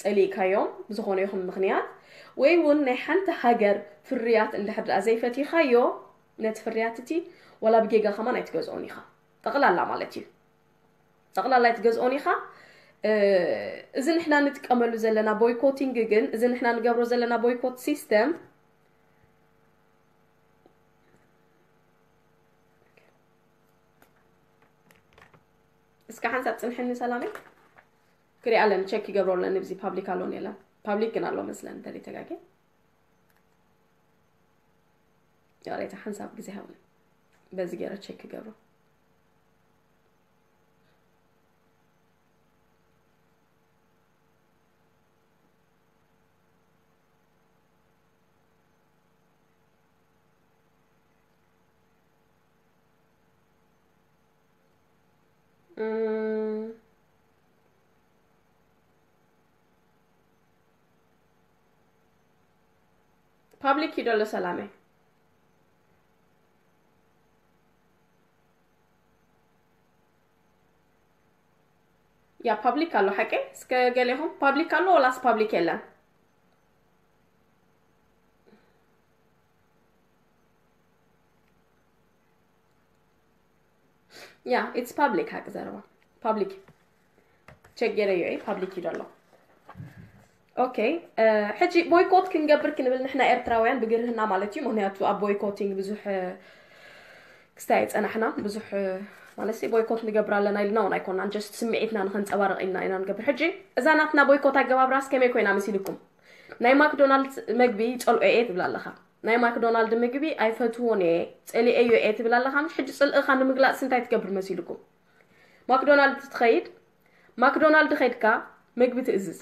ጸሊእካዮም ብዝኾነ ይኹን ምኽንያት ወይ እውን ናይ ሓንቲ ሃገር ፍርያት እንድሕር ደኣ ዘይፈቲኻዮ ነቲ ፍርያት እቲ ወላ ብጌጋ ከማን ኣይትገዝኦን ኢኻ ጠቕላላ ማለት እዩ ጠቕላላ ኣይትገዝኦን ኢኻ እዚ ንሕና ንጥቀመሉ ዘለና ቦይኮቲንግ ግን እዚ ንሕና ንገብሮ ዘለና ቦይኮት ሲስተም እስከ ሓንሳብ ፅንሕኒ ሰላመይ ክሪኣ ኣለኒ ቸክ ይገብሮ ኣለኒ ብዚ ፓብሊክ ኣሎን የለን ፓብሊክ ግን ኣሎ መስለን እንተደይ ተጋጌ ያሬታ ሓንሳብ ግዜ ሃብኒ በዚ ገይረ ቸክ ይገብሮ ፓብሊክ እዩ ደሎ ሰላመይ ያ ፓብሊክ ኣሎ ሓቂ እስከ ገሌኹም ፓብሊክ ኣሎ ወላስ ፓብሊክ የለን? Yeah, it's public. ሓቂ ዘረባ public check ገይረዮ እየ። Public እዩ ዘሎ። Okay, ሕጂ boycott ክንገብር ክንብል ንሕና ኤርትራውያን ብግርህና ማለት እዩ። ምክንያቱ ኣብ boycotting ብዙሕ ክስታይ ኣይጸናሕና። ብዙሕ ማለት boycott ንገብር ኣለና ኢልና እውን ኣይኮናን። Just ስምዒትና ንኸንጸባርቕ ኢልና ኢና ንገብር። ሕጂ እዛ ናትና boycott ኣገባብራስ ከመይ ኮይና መሲልኩም? ናይ ማክዶናልድ መግቢ ይጸልኦ እየ ትብል ኣለኻ። ናይ ማክዶናልድ ምግቢ ኣይፈትዎን እየ፣ ጸሊኤዮ እየ ትብል ኣለኻ። ምሽ ሕጂ ጽልእኻ ንምግላጽ እንታይ ትገብር መሲልኩም? ማክዶናልድ ትኸይድ፣ ማክዶናልድ ኸይድካ ምግቢ ትእዝዝ።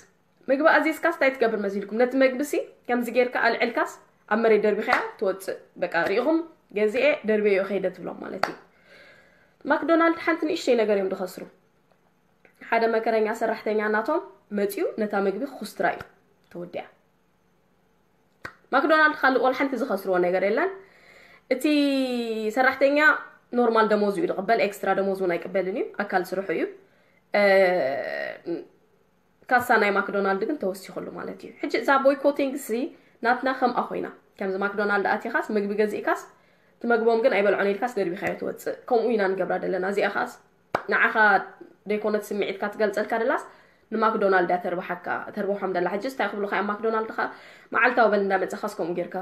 ምግቢ ኣዚዝካስ እንታይ ትገብር መሲልኩም? ነቲ መግቢ ሲ ከምዚ ጌርካ ኣልዕልካስ ኣብ መሬት ደርቢኻያ ትወጽእ። በቃ ሪኢኹም ገዚኤ ደርበዮ ከይደ ትብሎም ማለት እዩ። ማክዶናልድ ሓንቲ ንእሽተይ ነገር እዮም ዝኸስሩ። ሓደ መከረኛ ሰራሕተኛ ናቶም መጺኡ ነታ ምግቢ ክኹስትራ እዩ። ተወዲኣ። ማክዶናልድ ካልእ ወላ ሓንቲ ዝኸስርዎ ነገር የለን። እቲ ሰራሕተኛ ኖርማል ደሞዙ እዩ ዝቕበል፣ ኤክስትራ ደሞዝ እውን ኣይቅበልን እዩ፣ ኣካል ስርሑ እዩ። ካሳ ናይ ማክዶናልድ ግን ተወሲኹሉ ማለት እዩ። ሕጂ እዛ boycotting ሲ ናትና ከምኣ ኮይና፣ ከምዚ ማክዶናልድ ኣቲኻስ ምግቢ ገዚእካስ ትመግቦም ግን ኣይበልዖን ኢልካስ ደርቢኻዮ ትወፅእ። ከምኡ ኢና ንገብራ ዘለና። እዚኣ ኻስ ንዓኻ ደይኮነት ስምዒትካ ትገልፀልካ ደላስ ንማክዶናልድ እያ ተርብሓካ፣ ተርብሖም ደላ። ሕጂ እንታይ ክብሉኻ እዮም ማክዶናልድ ኻ መዓልታዊ በል እንዳመፀኻስ ከምኡ ጌርካ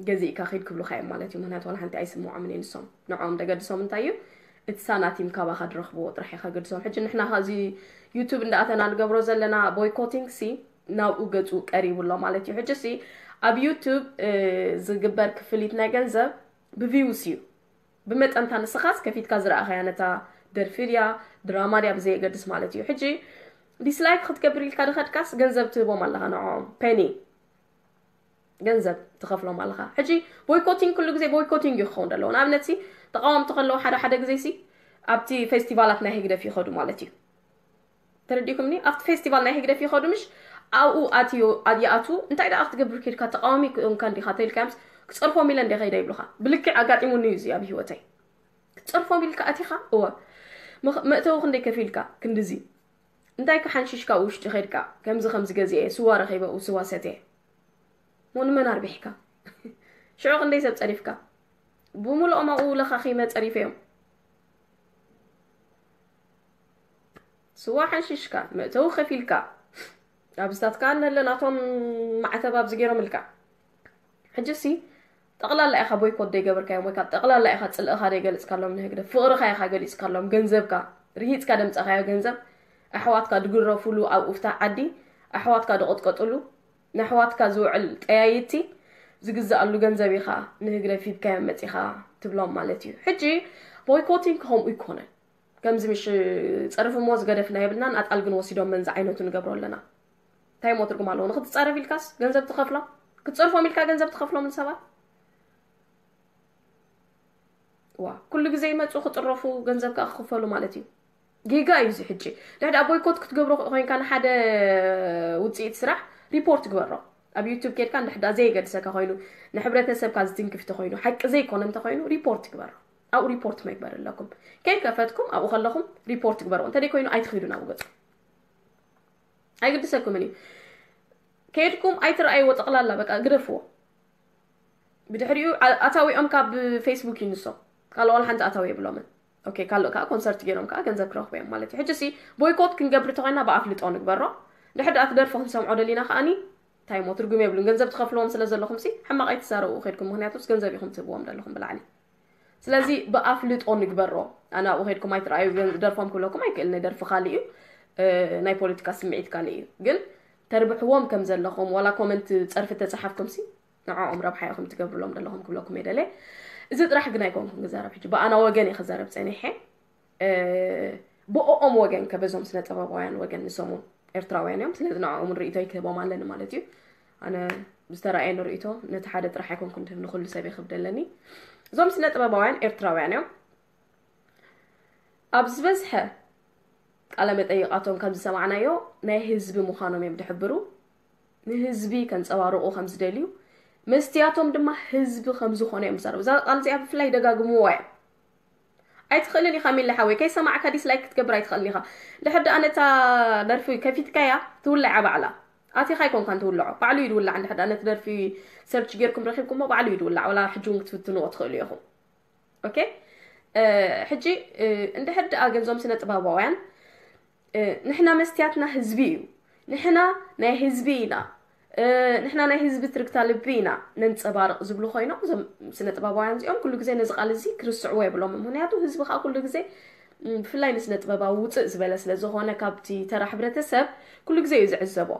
ገዚእካ ኺድ ክብሉኻ እዮም ማለት እዩ። ምክንያቱ ዋላ ሓንቲ ኣይስምዖምን እዩ ንሶም። ንዕኦም ደገድሶም እንታይ እዩ? እቲ ሳናቲም ካባኻ ድረኽብዎ ጥራሕ እዩ ከገድሶም። ሕጂ ንሕና ኻዚ ዩቱብ እንዳኣተና ንገብሮ ዘለና boycotting ሲ ናብኡ ገጹ ቀሪቡ ኣሎ ማለት እዩ። ሕጂ ሲ ኣብ ዩቱብ ዝግበር ክፍሊት ናይ ገንዘብ ብቪውስ እዩ። ብመጠንታ ንስኻስ ከፊትካ ዝረኣኻያ ነታ ደርፊ ድያ ድራማ ድያ ብዘየገድስ ማለት እዩ። ሕጂ ዲስላይክ ክትገብር ኢልካ ድኸድካስ ገንዘብ ትህቦም ኣለኻ ንዕኦም ፔኒ ገንዘብ ትኸፍሎም ኣለኻ። ሕጂ boycotting ኩሉ ግዜ boycotting እዩ ክኸውን ዘለዎ። ንኣብነት ሲ ተቃወምቲ ከለዉ ሓደ ሓደ ግዜ ሲ ኣብቲ ፌስቲቫላት ናይ ህግደፍ ይኸዱ ማለት እዩ። ተረዲእኩምኒ? ኣብቲ ፌስቲቫል ናይ ህግደፍ ይኸዱ ምሽ ኣብኡ ኣትዮ ይኣቱ። እንታይ ደኣ ክትገብር ኬድካ ተቃዋሚ ኮንካ እንዲኻ ተልካምስ ክጸርፎም ኢለ እንደ ኸይደ ይብሉኻ። ብልክዕ ኣጋጢሙኒ እዩ እዚ ኣብ ህይወተይ። ክትጸርፎም ኢልካ ኣቲኻ እወ መእተዊ ክንደይ ከፊልካ ክንድዚ እንታይ ክሓንሽሽካ ውሽጢ ኸድካ ከምዚ ከምዚ ገዚኤ ስዋ ረኺበ ስዋ ሰትየ ሞ ንመን ኣርቢሕካ ሽዑ ክንደይ ሰብ ጸሪፍካ ብምልኦም ኣብኡ ለኻኺመ ጸሪፈዮም ስዋ ሓንሽሽካ መእተዊ ከፊልካ ኣብዝታትካ እንህለ ናቶም ማዕተብ ኣብዚ ገይሮምልካ ሕጂ ሲ ጠቕላላ ኢኻ ቦይኮት ደይገበርካዮም ወይ ካብ ጠቕላላ ኢኻ ጽልእኻ ደይገልጽካሎም ንህግደፍ ፍቕርኻ ኢኻ ገሊጽካሎም ገንዘብካ ርሂጽካ ደምጻኻዮ ገንዘብ ኣሕዋትካ ድግረፉሉ ኣብ ኡፍታ ዓዲ ኣሕዋትካ ድቕጥቀጥሉ ንኣሕዋትካ ዝውዕል ጠያይቲ ዝግዛኣሉ ገንዘብ ኢኻ ንህግደፍ ሂብካዮም መጺኻ ትብሎም ማለት እዩ ሕጂ ቦይኮቲንግ ከምኡ ይኮነን ከምዚ ምሽ ጸርፊ እሞ ዝገደፍና የብልናን ኣጣል ግን ወሲዶም መንዚ ዓይነቱ ንገብሮ ኣለና እንታይ እሞ ትርጉም ኣለዎ ንክትጻረፍ ኢልካስ ገንዘብ ትኸፍሎም ክትጸርፎም ኢልካ ገንዘብ ትኸፍሎም ንሰባት ዋ ኩሉ ግዜ ይመፁ ክጥረፉ ገንዘብ ከዓ ክኽፈሉ ማለት እዩ ጌጋ እዩ እዚ ሕጂ ድሕዳ ቦይኮት ክትገብሮ ኮይንካ ንሓደ ውፅኢት ስራሕ ሪፖርት ግበሮ ኣብ ዩቱብ ኬድካ ንድሕዳ ዘየገድሰካ ኮይኑ ንሕብረተሰብካ ዝትንክፍ ተኮይኑ ሓቂ ዘይኮነ እንተኮይኑ ሪፖርት ግበሮ ኣብኡ ሪፖርት መግበር ኣለኩም ከይከፈትኩም ኣብኡ ከለኹም ሪፖርት ግበሮ እንተደይ ኮይኑ ኣይትኽዱ ናብ ገፁ ኣይግድሰኩምን እዩ ከይድኩም ኣይትረኣይዎ ጠቕላላ በቃ ግደፍዎ ብድሕሪኡ ኣታዊኦም ካብ ፌስቡክ ይንሶም ካልኦ ሓንቲ ኣታዊ የብሎምን ኦኬ ካልኦ ከዓ ኮንሰርት ገይሮም ከዓ ገንዘብ ክረኽቡ እዮም ማለት እዩ ሕጂ ሲ ቦይኮት ክንገብር ተኮይና ብኣፍልጦ ንግበሮ ድሕር ደኣ ትደርፎ ክንሰምዖ ደሊና ከዓኒ እንታይ ሞ ትርጉም የብሉን ገንዘብ ትኸፍልዎም ስለ ዘለኹም ሲ ሕማቕ ኣይትዛረቡ ከድኩም ምክንያቱስ ገንዘብ ኢኹም ትህብዎም ዘለኹም ብላዕሊ ስለዚ ብኣፍልጦ ንግበሮ ኣነ ኣብኡ ከድኩም ኣይትረኣዩ ደርፎም ክብለኩም ኣይክእል ናይ ደርፊ ካልእ እዩ ናይ ፖለቲካ ስምዒት ካልእ እዩ ግን ተርብሕዎም ከም ዘለኹም ዋላ ኮመንት ፀርፊ ተፀሓፍኩም ሲ ንዕኦም ረብሓ ኢኹም ትገብርሎም ዘለኹም ክብለኩም እየ ደልየ እዚ ጥራሕ ግን ኣይኮንኩም ክዛረብ ሕጂ ብኣና ወገን እየ ክዛረብ ፀኒሐ ብኦኦም ወገን ከበዞም ስነ ጥበባውያን ወገን ንሶም እውን ኤርትራውያን እዮም ስለዚ ንዕኦም እውን ርእይቶይ ክህቦም ኣለኒ ማለት እዩ ኣነ ዝተረኣየኒ ርእይቶ ነቲ ሓደ ጥራሕ ኣይኮንኩን ትህብ ንኩሉ ሰብ የክብድ ኣለኒ እዞም ስነ ጥበባውያን ኤርትራውያን እዮም ኣብ ዝበዝሐ ቃለ መጠይቃቶም ከም ዝሰማዕናዮ ናይ ህዝቢ ምዃኖም እዮም ዝሕብሩ ንህዝቢ ከንፀባርቑ ከም ዝደልዩ መስትያቶም ድማ ህዝቢ ከም ዝኾነ እዮም ዝዛረቡ እዛ ቃል እዚኣ ብፍላይ ይደጋግምዋ እዮም ኣይትኽእልን ኢኻ ሚሊ ሓወይ ከይሰማዕካ ዲስላይክ ክትገብር ኣይትኽእልን ኢኻ ድሕር ደኣ ነታ ደርፊ ከፊትካያ ትውልዓ ባዕላ ኣቲኻ ኣይኮንካን ትውልዖ ባዕሉ እዩ ዝውላዕ እንድሕር ደኣ ነቲ ደርፊ ሰርች ጌርኩም ረኺብኩሞ ባዕሉ እዩ ዝውላዕ ወላ ሕጂ እውን ክትፍትንዎ ትኽእሉ ኢኹም ኦኬ ሕጂ እንድሕር ደኣ ገንዞም ስነ ጥበባውያን ንሕና መስትያትና ህዝቢ እዩ፣ ንሕና ናይ ህዝቢ ኢና፣ ንሕና ናይ ህዝቢ ትርግታ ልቢ ኢና ነንጸባርቕ ዝብሉ ኮይኖም፣ እዞም ስነ ጥበባውያን እዚኦም ኩሉ ግዜ ነዚ ቃል እዚ ክርስዕዎ የብሎም። ምክንያቱ ህዝቢ ከዓ ኩሉ ግዜ ብፍላይ ንስነ ጥበባዊ ውፅእ ዝበለ ስለ ዝኾነ ካብቲ ተራ ሕብረተሰብ ኩሉ ግዜ እዩ ዝዕዘቦ።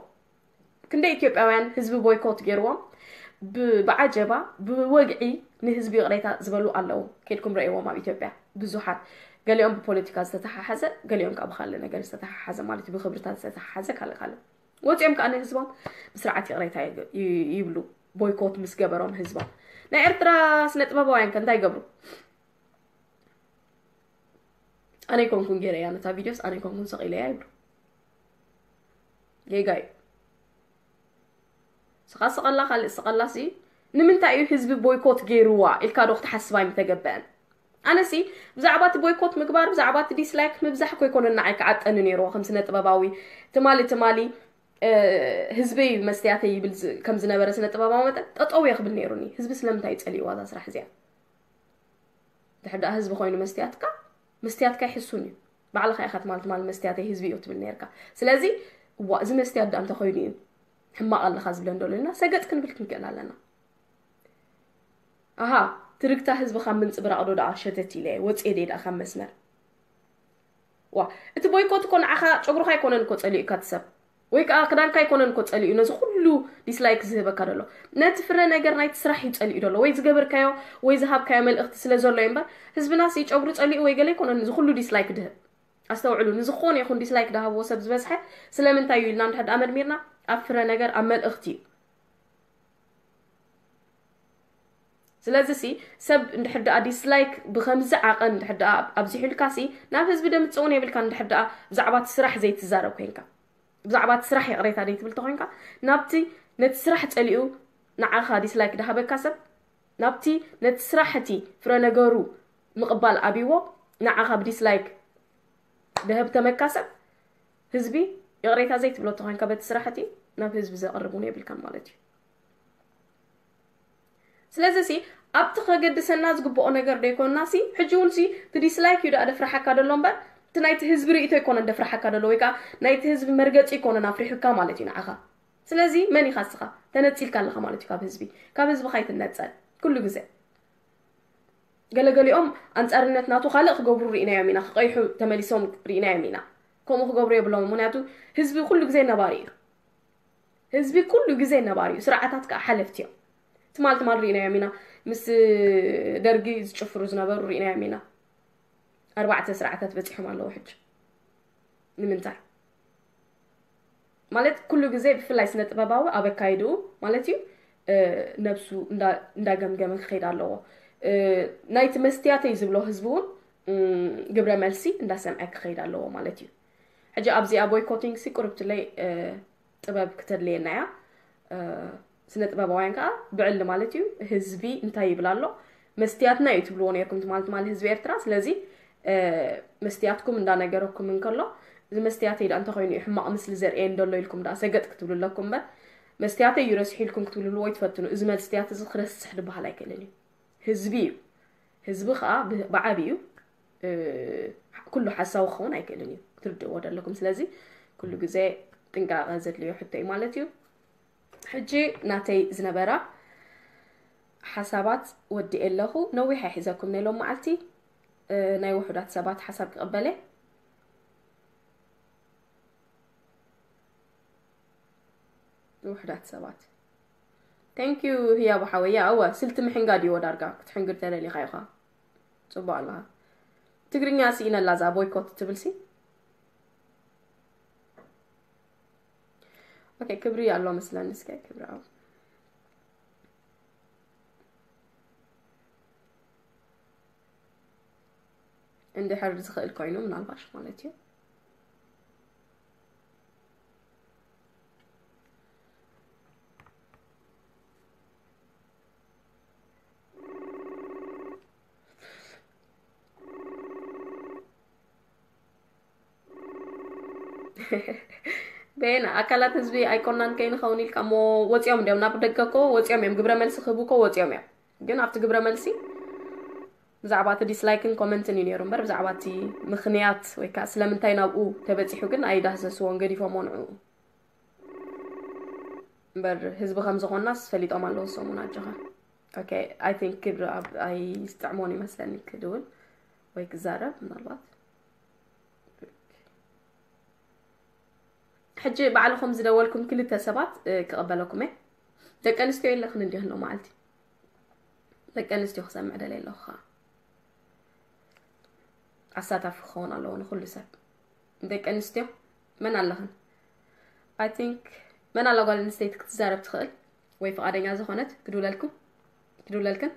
ክንደይ ኢትዮጵያውያን ህዝቢ ቦይኮት ገይርዎም ብዓጀባ ብወግዒ ንህዝቢ ይቕሬታ ዝበሉ ኣለዉ። ከድኩም ረእይዎም ኣብ ኢትዮጵያ ብዙሓት፣ ገሊኦም ብፖለቲካ ዝተተሓሓዘ፣ ገሊኦም ከዓ ብካልእ ነገር ዝተተሓሓዘ ማለት እዩ፣ ብክብርታት ዝተተሓሓዘ ካልእ ካልእ። ወፂኦም ከዓ ንህዝቦም ብስርዓት ይቕሬታ ይብሉ፣ ቦይኮት ምስ ገበሮም ህዝቦም። ናይ ኤርትራ ስነ ጥበባውያን ከ እንታይ ይገብሩ? ኣነ ይኮንኩን ገይረያ ነታ ቪድዮስ ኣነ ይኮንኩን ሰቂለያ ይብሉ። ጌጋ እዩ። ስኻ ስቐላ ካልእ ስቐላ ሲ ንምንታይ እዩ ህዝቢ ቦይኮት ገይርዋ ኢልካ ዶ ክትሓስብ ኣይምተገበአን? ኣነሲ ብዛዕባ እቲ ቦይኮት ምግባር ብዛዕባ እቲ ዲስላይክ ምብዛሕ ኮይኮነ ንዓይ ክዓጠኒ ነይርዎ ከም ስነ ጥበባዊ። ትማሊ ትማሊ ህዝበይ መስትያተይ ይብል ከም ዝነበረ ስነ ጥበባዊ መጠን ጠጠው እየ ክብል ነይሩኒ። ህዝቢ ስለምንታይ እዩ ጸሊእዋ እዛ ስራሕ እዚኣ? ድሕር ደኣ ህዝቢ ኮይኑ መስትያትካ መስትያትካ ይሕሱን እዩ። ባዕልኻ ኢኻ ትማል ትማል መስትያተይ ህዝቢ እዩ ትብል ነርካ። ስለዚ እዋ እዚ መስትያት ደኣ እንተኮይኑ እዩ ሕማቕ ኣለኻ ዝብለን ደሎ ኢልና ሰገጥ ክንብል ክንክእል ኣለና። ኣሃ ትርግታ ህዝቢ ካብ ምንጽብራቕ ዶ ደኣ ሸተት ኢለ ወጽኤ ደይ ደኣ ካብ መስመር ዋ እቲ ቦይኮት እኮ ንዓኻ ጨጉርኻ ኣይኮነን እኮ ጸሊኡካ እቲ ሰብ ወይ ከዓ ክዳንካ ኣይኮነን እኮ ጸሊኡ ነዚ ኩሉ ዲስላይክ ዝህበካ ዘሎ ነቲ ፍረ ነገር ናይቲ ስራሕ እዩ ጸሊኡ ዘሎ ወይ ዝገበርካዮ ወይ ዝሃብካዮ መልእኽቲ ስለ ዘሎ እዩ እምበር ህዝብና ሲ ጨጉሩ ጸሊኡ ወይ ገለ ኣይኮነን እዚ ኩሉ ዲስላይክ ድህብ ኣስተውዕሉ ንዝኾነ ይኹን ዲስላይክ ድሃብዎ ሰብ ዝበዝሐ ስለምንታይ እዩ ኢልና እንድሕር ደኣ መርሚርና ኣብ ፍረ ነገር ኣብ መልእኽቲ እዩ ስለዚ ሲ ሰብ እንድሕር ደኣ ዲስላይክ ብኸምዚ ዓቐን እንድሕር ደኣ ኣብዚሑልካ ሲ ናብ ህዝቢ ደምጽእ እውን የብልካ እንድሕር ደኣ ብዛዕባ እቲ ስራሕ ዘይትዛረብ ኮይንካ ብዛዕባ እቲ ስራሕ ይቕሬታ ዘይትብል ተኮይንካ ናብቲ ነቲ ስራሕ ጸሊኡ ንዓኻ ዲስላይክ ድሃበካ ሰብ ናብቲ ነቲ ስራሕ እቲ ፍረ ነገሩ ምቕባል ኣብይዎ ንዓኻ ብዲስላይክ ድህብ ተመካ ሰብ ህዝቢ ይቕሬታ ዘይትብሎ ተኮይንካ በቲ ስራሕ እቲ ናብ ህዝቢ ዘቕርብ እውን የብልካን ማለት እዩ ስለዚ ሲ ኣብቲ ከገድሰና ዝግብኦ ነገር ዶ ይኮንና ሲ ሕጂ እውን ሲ እቲ ዲስላይክ እዩ ደኣ ደፍርሓካ ደሎ እምበር እቲ ናይቲ ህዝቢ ርእይቶ ይኮነን ደፍርሓካ ደሎ ወይ ከዓ ናይቲ ህዝቢ መርገፂ ይኮነን ኣፍሪሑካ ማለት እዩ ንዓኻ ስለዚ መን ኢኻ እስኻ ተነፂልካ ኣለኻ ማለት እዩ ካብ ህዝቢ ካብ ህዝቢ ካይትነፀል ኩሉ ግዜ ገለገሊኦም ኣንፃርነት ናቱ ካልእ ክገብሩ ርኢናዮም ኢና ክቀይሑ ተመሊሶም ርኢናዮም ኢና ከምኡ ክገብሩ የብሎም ምክንያቱ ህዝቢ ኩሉ ግዜ ነባሪ እዩ ህዝቢ ኩሉ ግዜ ነባሪ እዩ ስርዓታት ከዓ ሓለፍቲ እዮም ትማል ትማል ርኢናዮም ኢና ምስ ደርጊ ዝጭፍሩ ዝነበሩ ርኢናዮም ኢና ኣርባዕተ ስርዓታት በፂሖም ኣለዉ ሕጂ ንምንታይ ማለት ኩሉ ግዜ ብፍላይ ስነ ጥበባዊ ኣብ ኣካይድኡ ማለት እዩ ነብሱ እንዳገምገመ ክኸይድ ኣለዎ ናይቲ መስትያተይ ዝብሎ ህዝቢ እውን ግብረ መልሲ እንዳሰምዐ ክኸይድ ኣለዎ ማለት እዩ ሕጂ ኣብዚኣ ቦይኮቲንግ ሲ ቁርብትለይ ጥበብ ክተድልየና እያ ስነ ጥበባውያን ከዓ ብዕሊ ማለት እዩ ህዝቢ እንታይ ይብል ኣሎ መስትያትና እዩ ትብልዎ ነርኩም ትማል ትማል ህዝቢ ኤርትራ ስለዚ መስትያትኩም እንዳነገረኩም እንከሎ እዚ መስትያተይ ዳ እንተኮይኑ እዩ ሕማቕ ምስሊ ዘርእየን ደሎ ኢልኩም ዳ ሰገጥ ክትብሉ ኣለኩም እምበር መስትያተይ እዩ ረሲሑ ኢልኩም ክትብልሉ ወይ ትፈትኑ እዚ መስትያት እዚ ክረስሕ ዝበሃል ኣይክእልን እዩ ህዝቢ እዩ ህዝቢ ከዓ ብዓብዩ ኩሉ ሓሳዊ ክኸውን ኣይክእልን እዩ ክትርድእዎ ደለኩም ስለዚ ኩሉ ግዜ ጥንቃቐ ዘድልዮ ሕቶ እዩ ማለት እዩ ሕጂ ናተይ ዝነበራ ሓሳባት ወዲኤ ኣለኹ ነዊሕ ኣይሕዘኩም ናይ ሎም መዓልቲ ናይ ውሑዳት ሰባት ሓሳብ ክቕበለ ውሑዳት ሰባት thank you ህያቡ ሓወያ እወ ስልቲ ምሕንጋድ እዩዎ ዳርጋ ክትሕንግድ ተደሊኻ ኢኻ ፅቡቅ ኣለኻ ትግርኛ ስኢነላ እዛ ቦይኮት ትብል ሲ ኦኬ ክብሪ ኣሎ መስለኒ እስከ ክብሪ ኣብ እንድሕር ዝኽእል ኮይኑ ምናልባሽ ማለት እዩ በየና ኣካላት ህዝቢ ኣይኮናን ከይንኸውን ኢልካ እሞ ወፂኦም እንዲም ናብ ደገ ኮ ወፂኦም እዮም ግብረ መልሲ ክህቡ ኮ ወፂኦም እዮም ግን ኣብቲ ግብረ መልሲ ብዛዕባ እቲ ዲስላይክን ኮመንትን እዩ ነይሩ እምበር፣ ብዛዕባ እቲ ምኽንያት ወይ ከዓ ስለምንታይ ናብኡ ተበፂሑ ግን ኣይዳህሰስዎን፣ ገዲፎም ንዕኡ። እምበር ህዝቢ ከም ዝኾንናስ ፈሊጦም ኣለዉ ሰሙን። ኣጆኻ። ኦኬ፣ I think ክብሪ ኣብ ኣይስጥዕሞን ይመስለኒ ክድውል ወይ ክዛረብ ምናልባት። ሕጂ ባዕልኹም ዝደወልኩም ክልተ ሰባት ክቕበለኩም እየ። ደቂ ኣንስትዮ የለኽን እንዲኽን ሎ መዓልቲ። ደቂ ኣንስትዮ ክሰምዕ ደለ ኣለኹ ከዓ ኣሳታፊ ክኸውን ኣለዎ ንኹሉ ሰብ። ደቂ ኣንስትዮ መን ኣለኽን? I think መን ኣላ ጓል ኣንስተይቲ ክትዛረብ ትኽእል ወይ ፍቓደኛ ዝኾነት ክድውለልኩም? ክድውለልክን?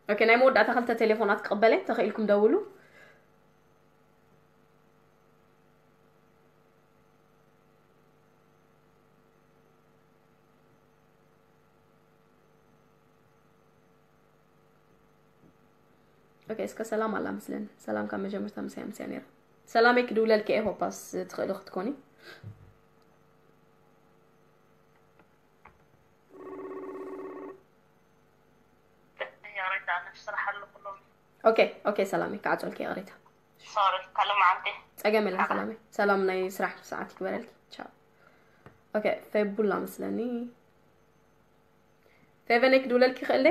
ኦኬ፣ ናይ መወዳእታ ክልተ ቴሌፎናት ክቕበለ ተኽኢልኩም ደውሉ። ኦኬ፣ እስከ ሰላም ኣላ ምስለን። ሰላም ካብ መጀመርታ ምሳይ ምሳይ ነይራ። ሰላመይ ክድውለልኪ እየ፣ ሆፓስ ትኽእሊ ክትኮኒ። ኦኬ፣ ኦኬ፣ ሰላመይ ክዓፀልኪ ይቕሬታ። ሶሪ፣ ካልእ መዓልቲ። ፀገም የለን ሰላመይ። ሰላም ናይ ስራሕ ሰዓት ይግበረልኪ። ቻው። ኦኬ፣ ፌቡላ መስለኒ። ፌቨነይ ክድውለልኪ ይኽእል ደ?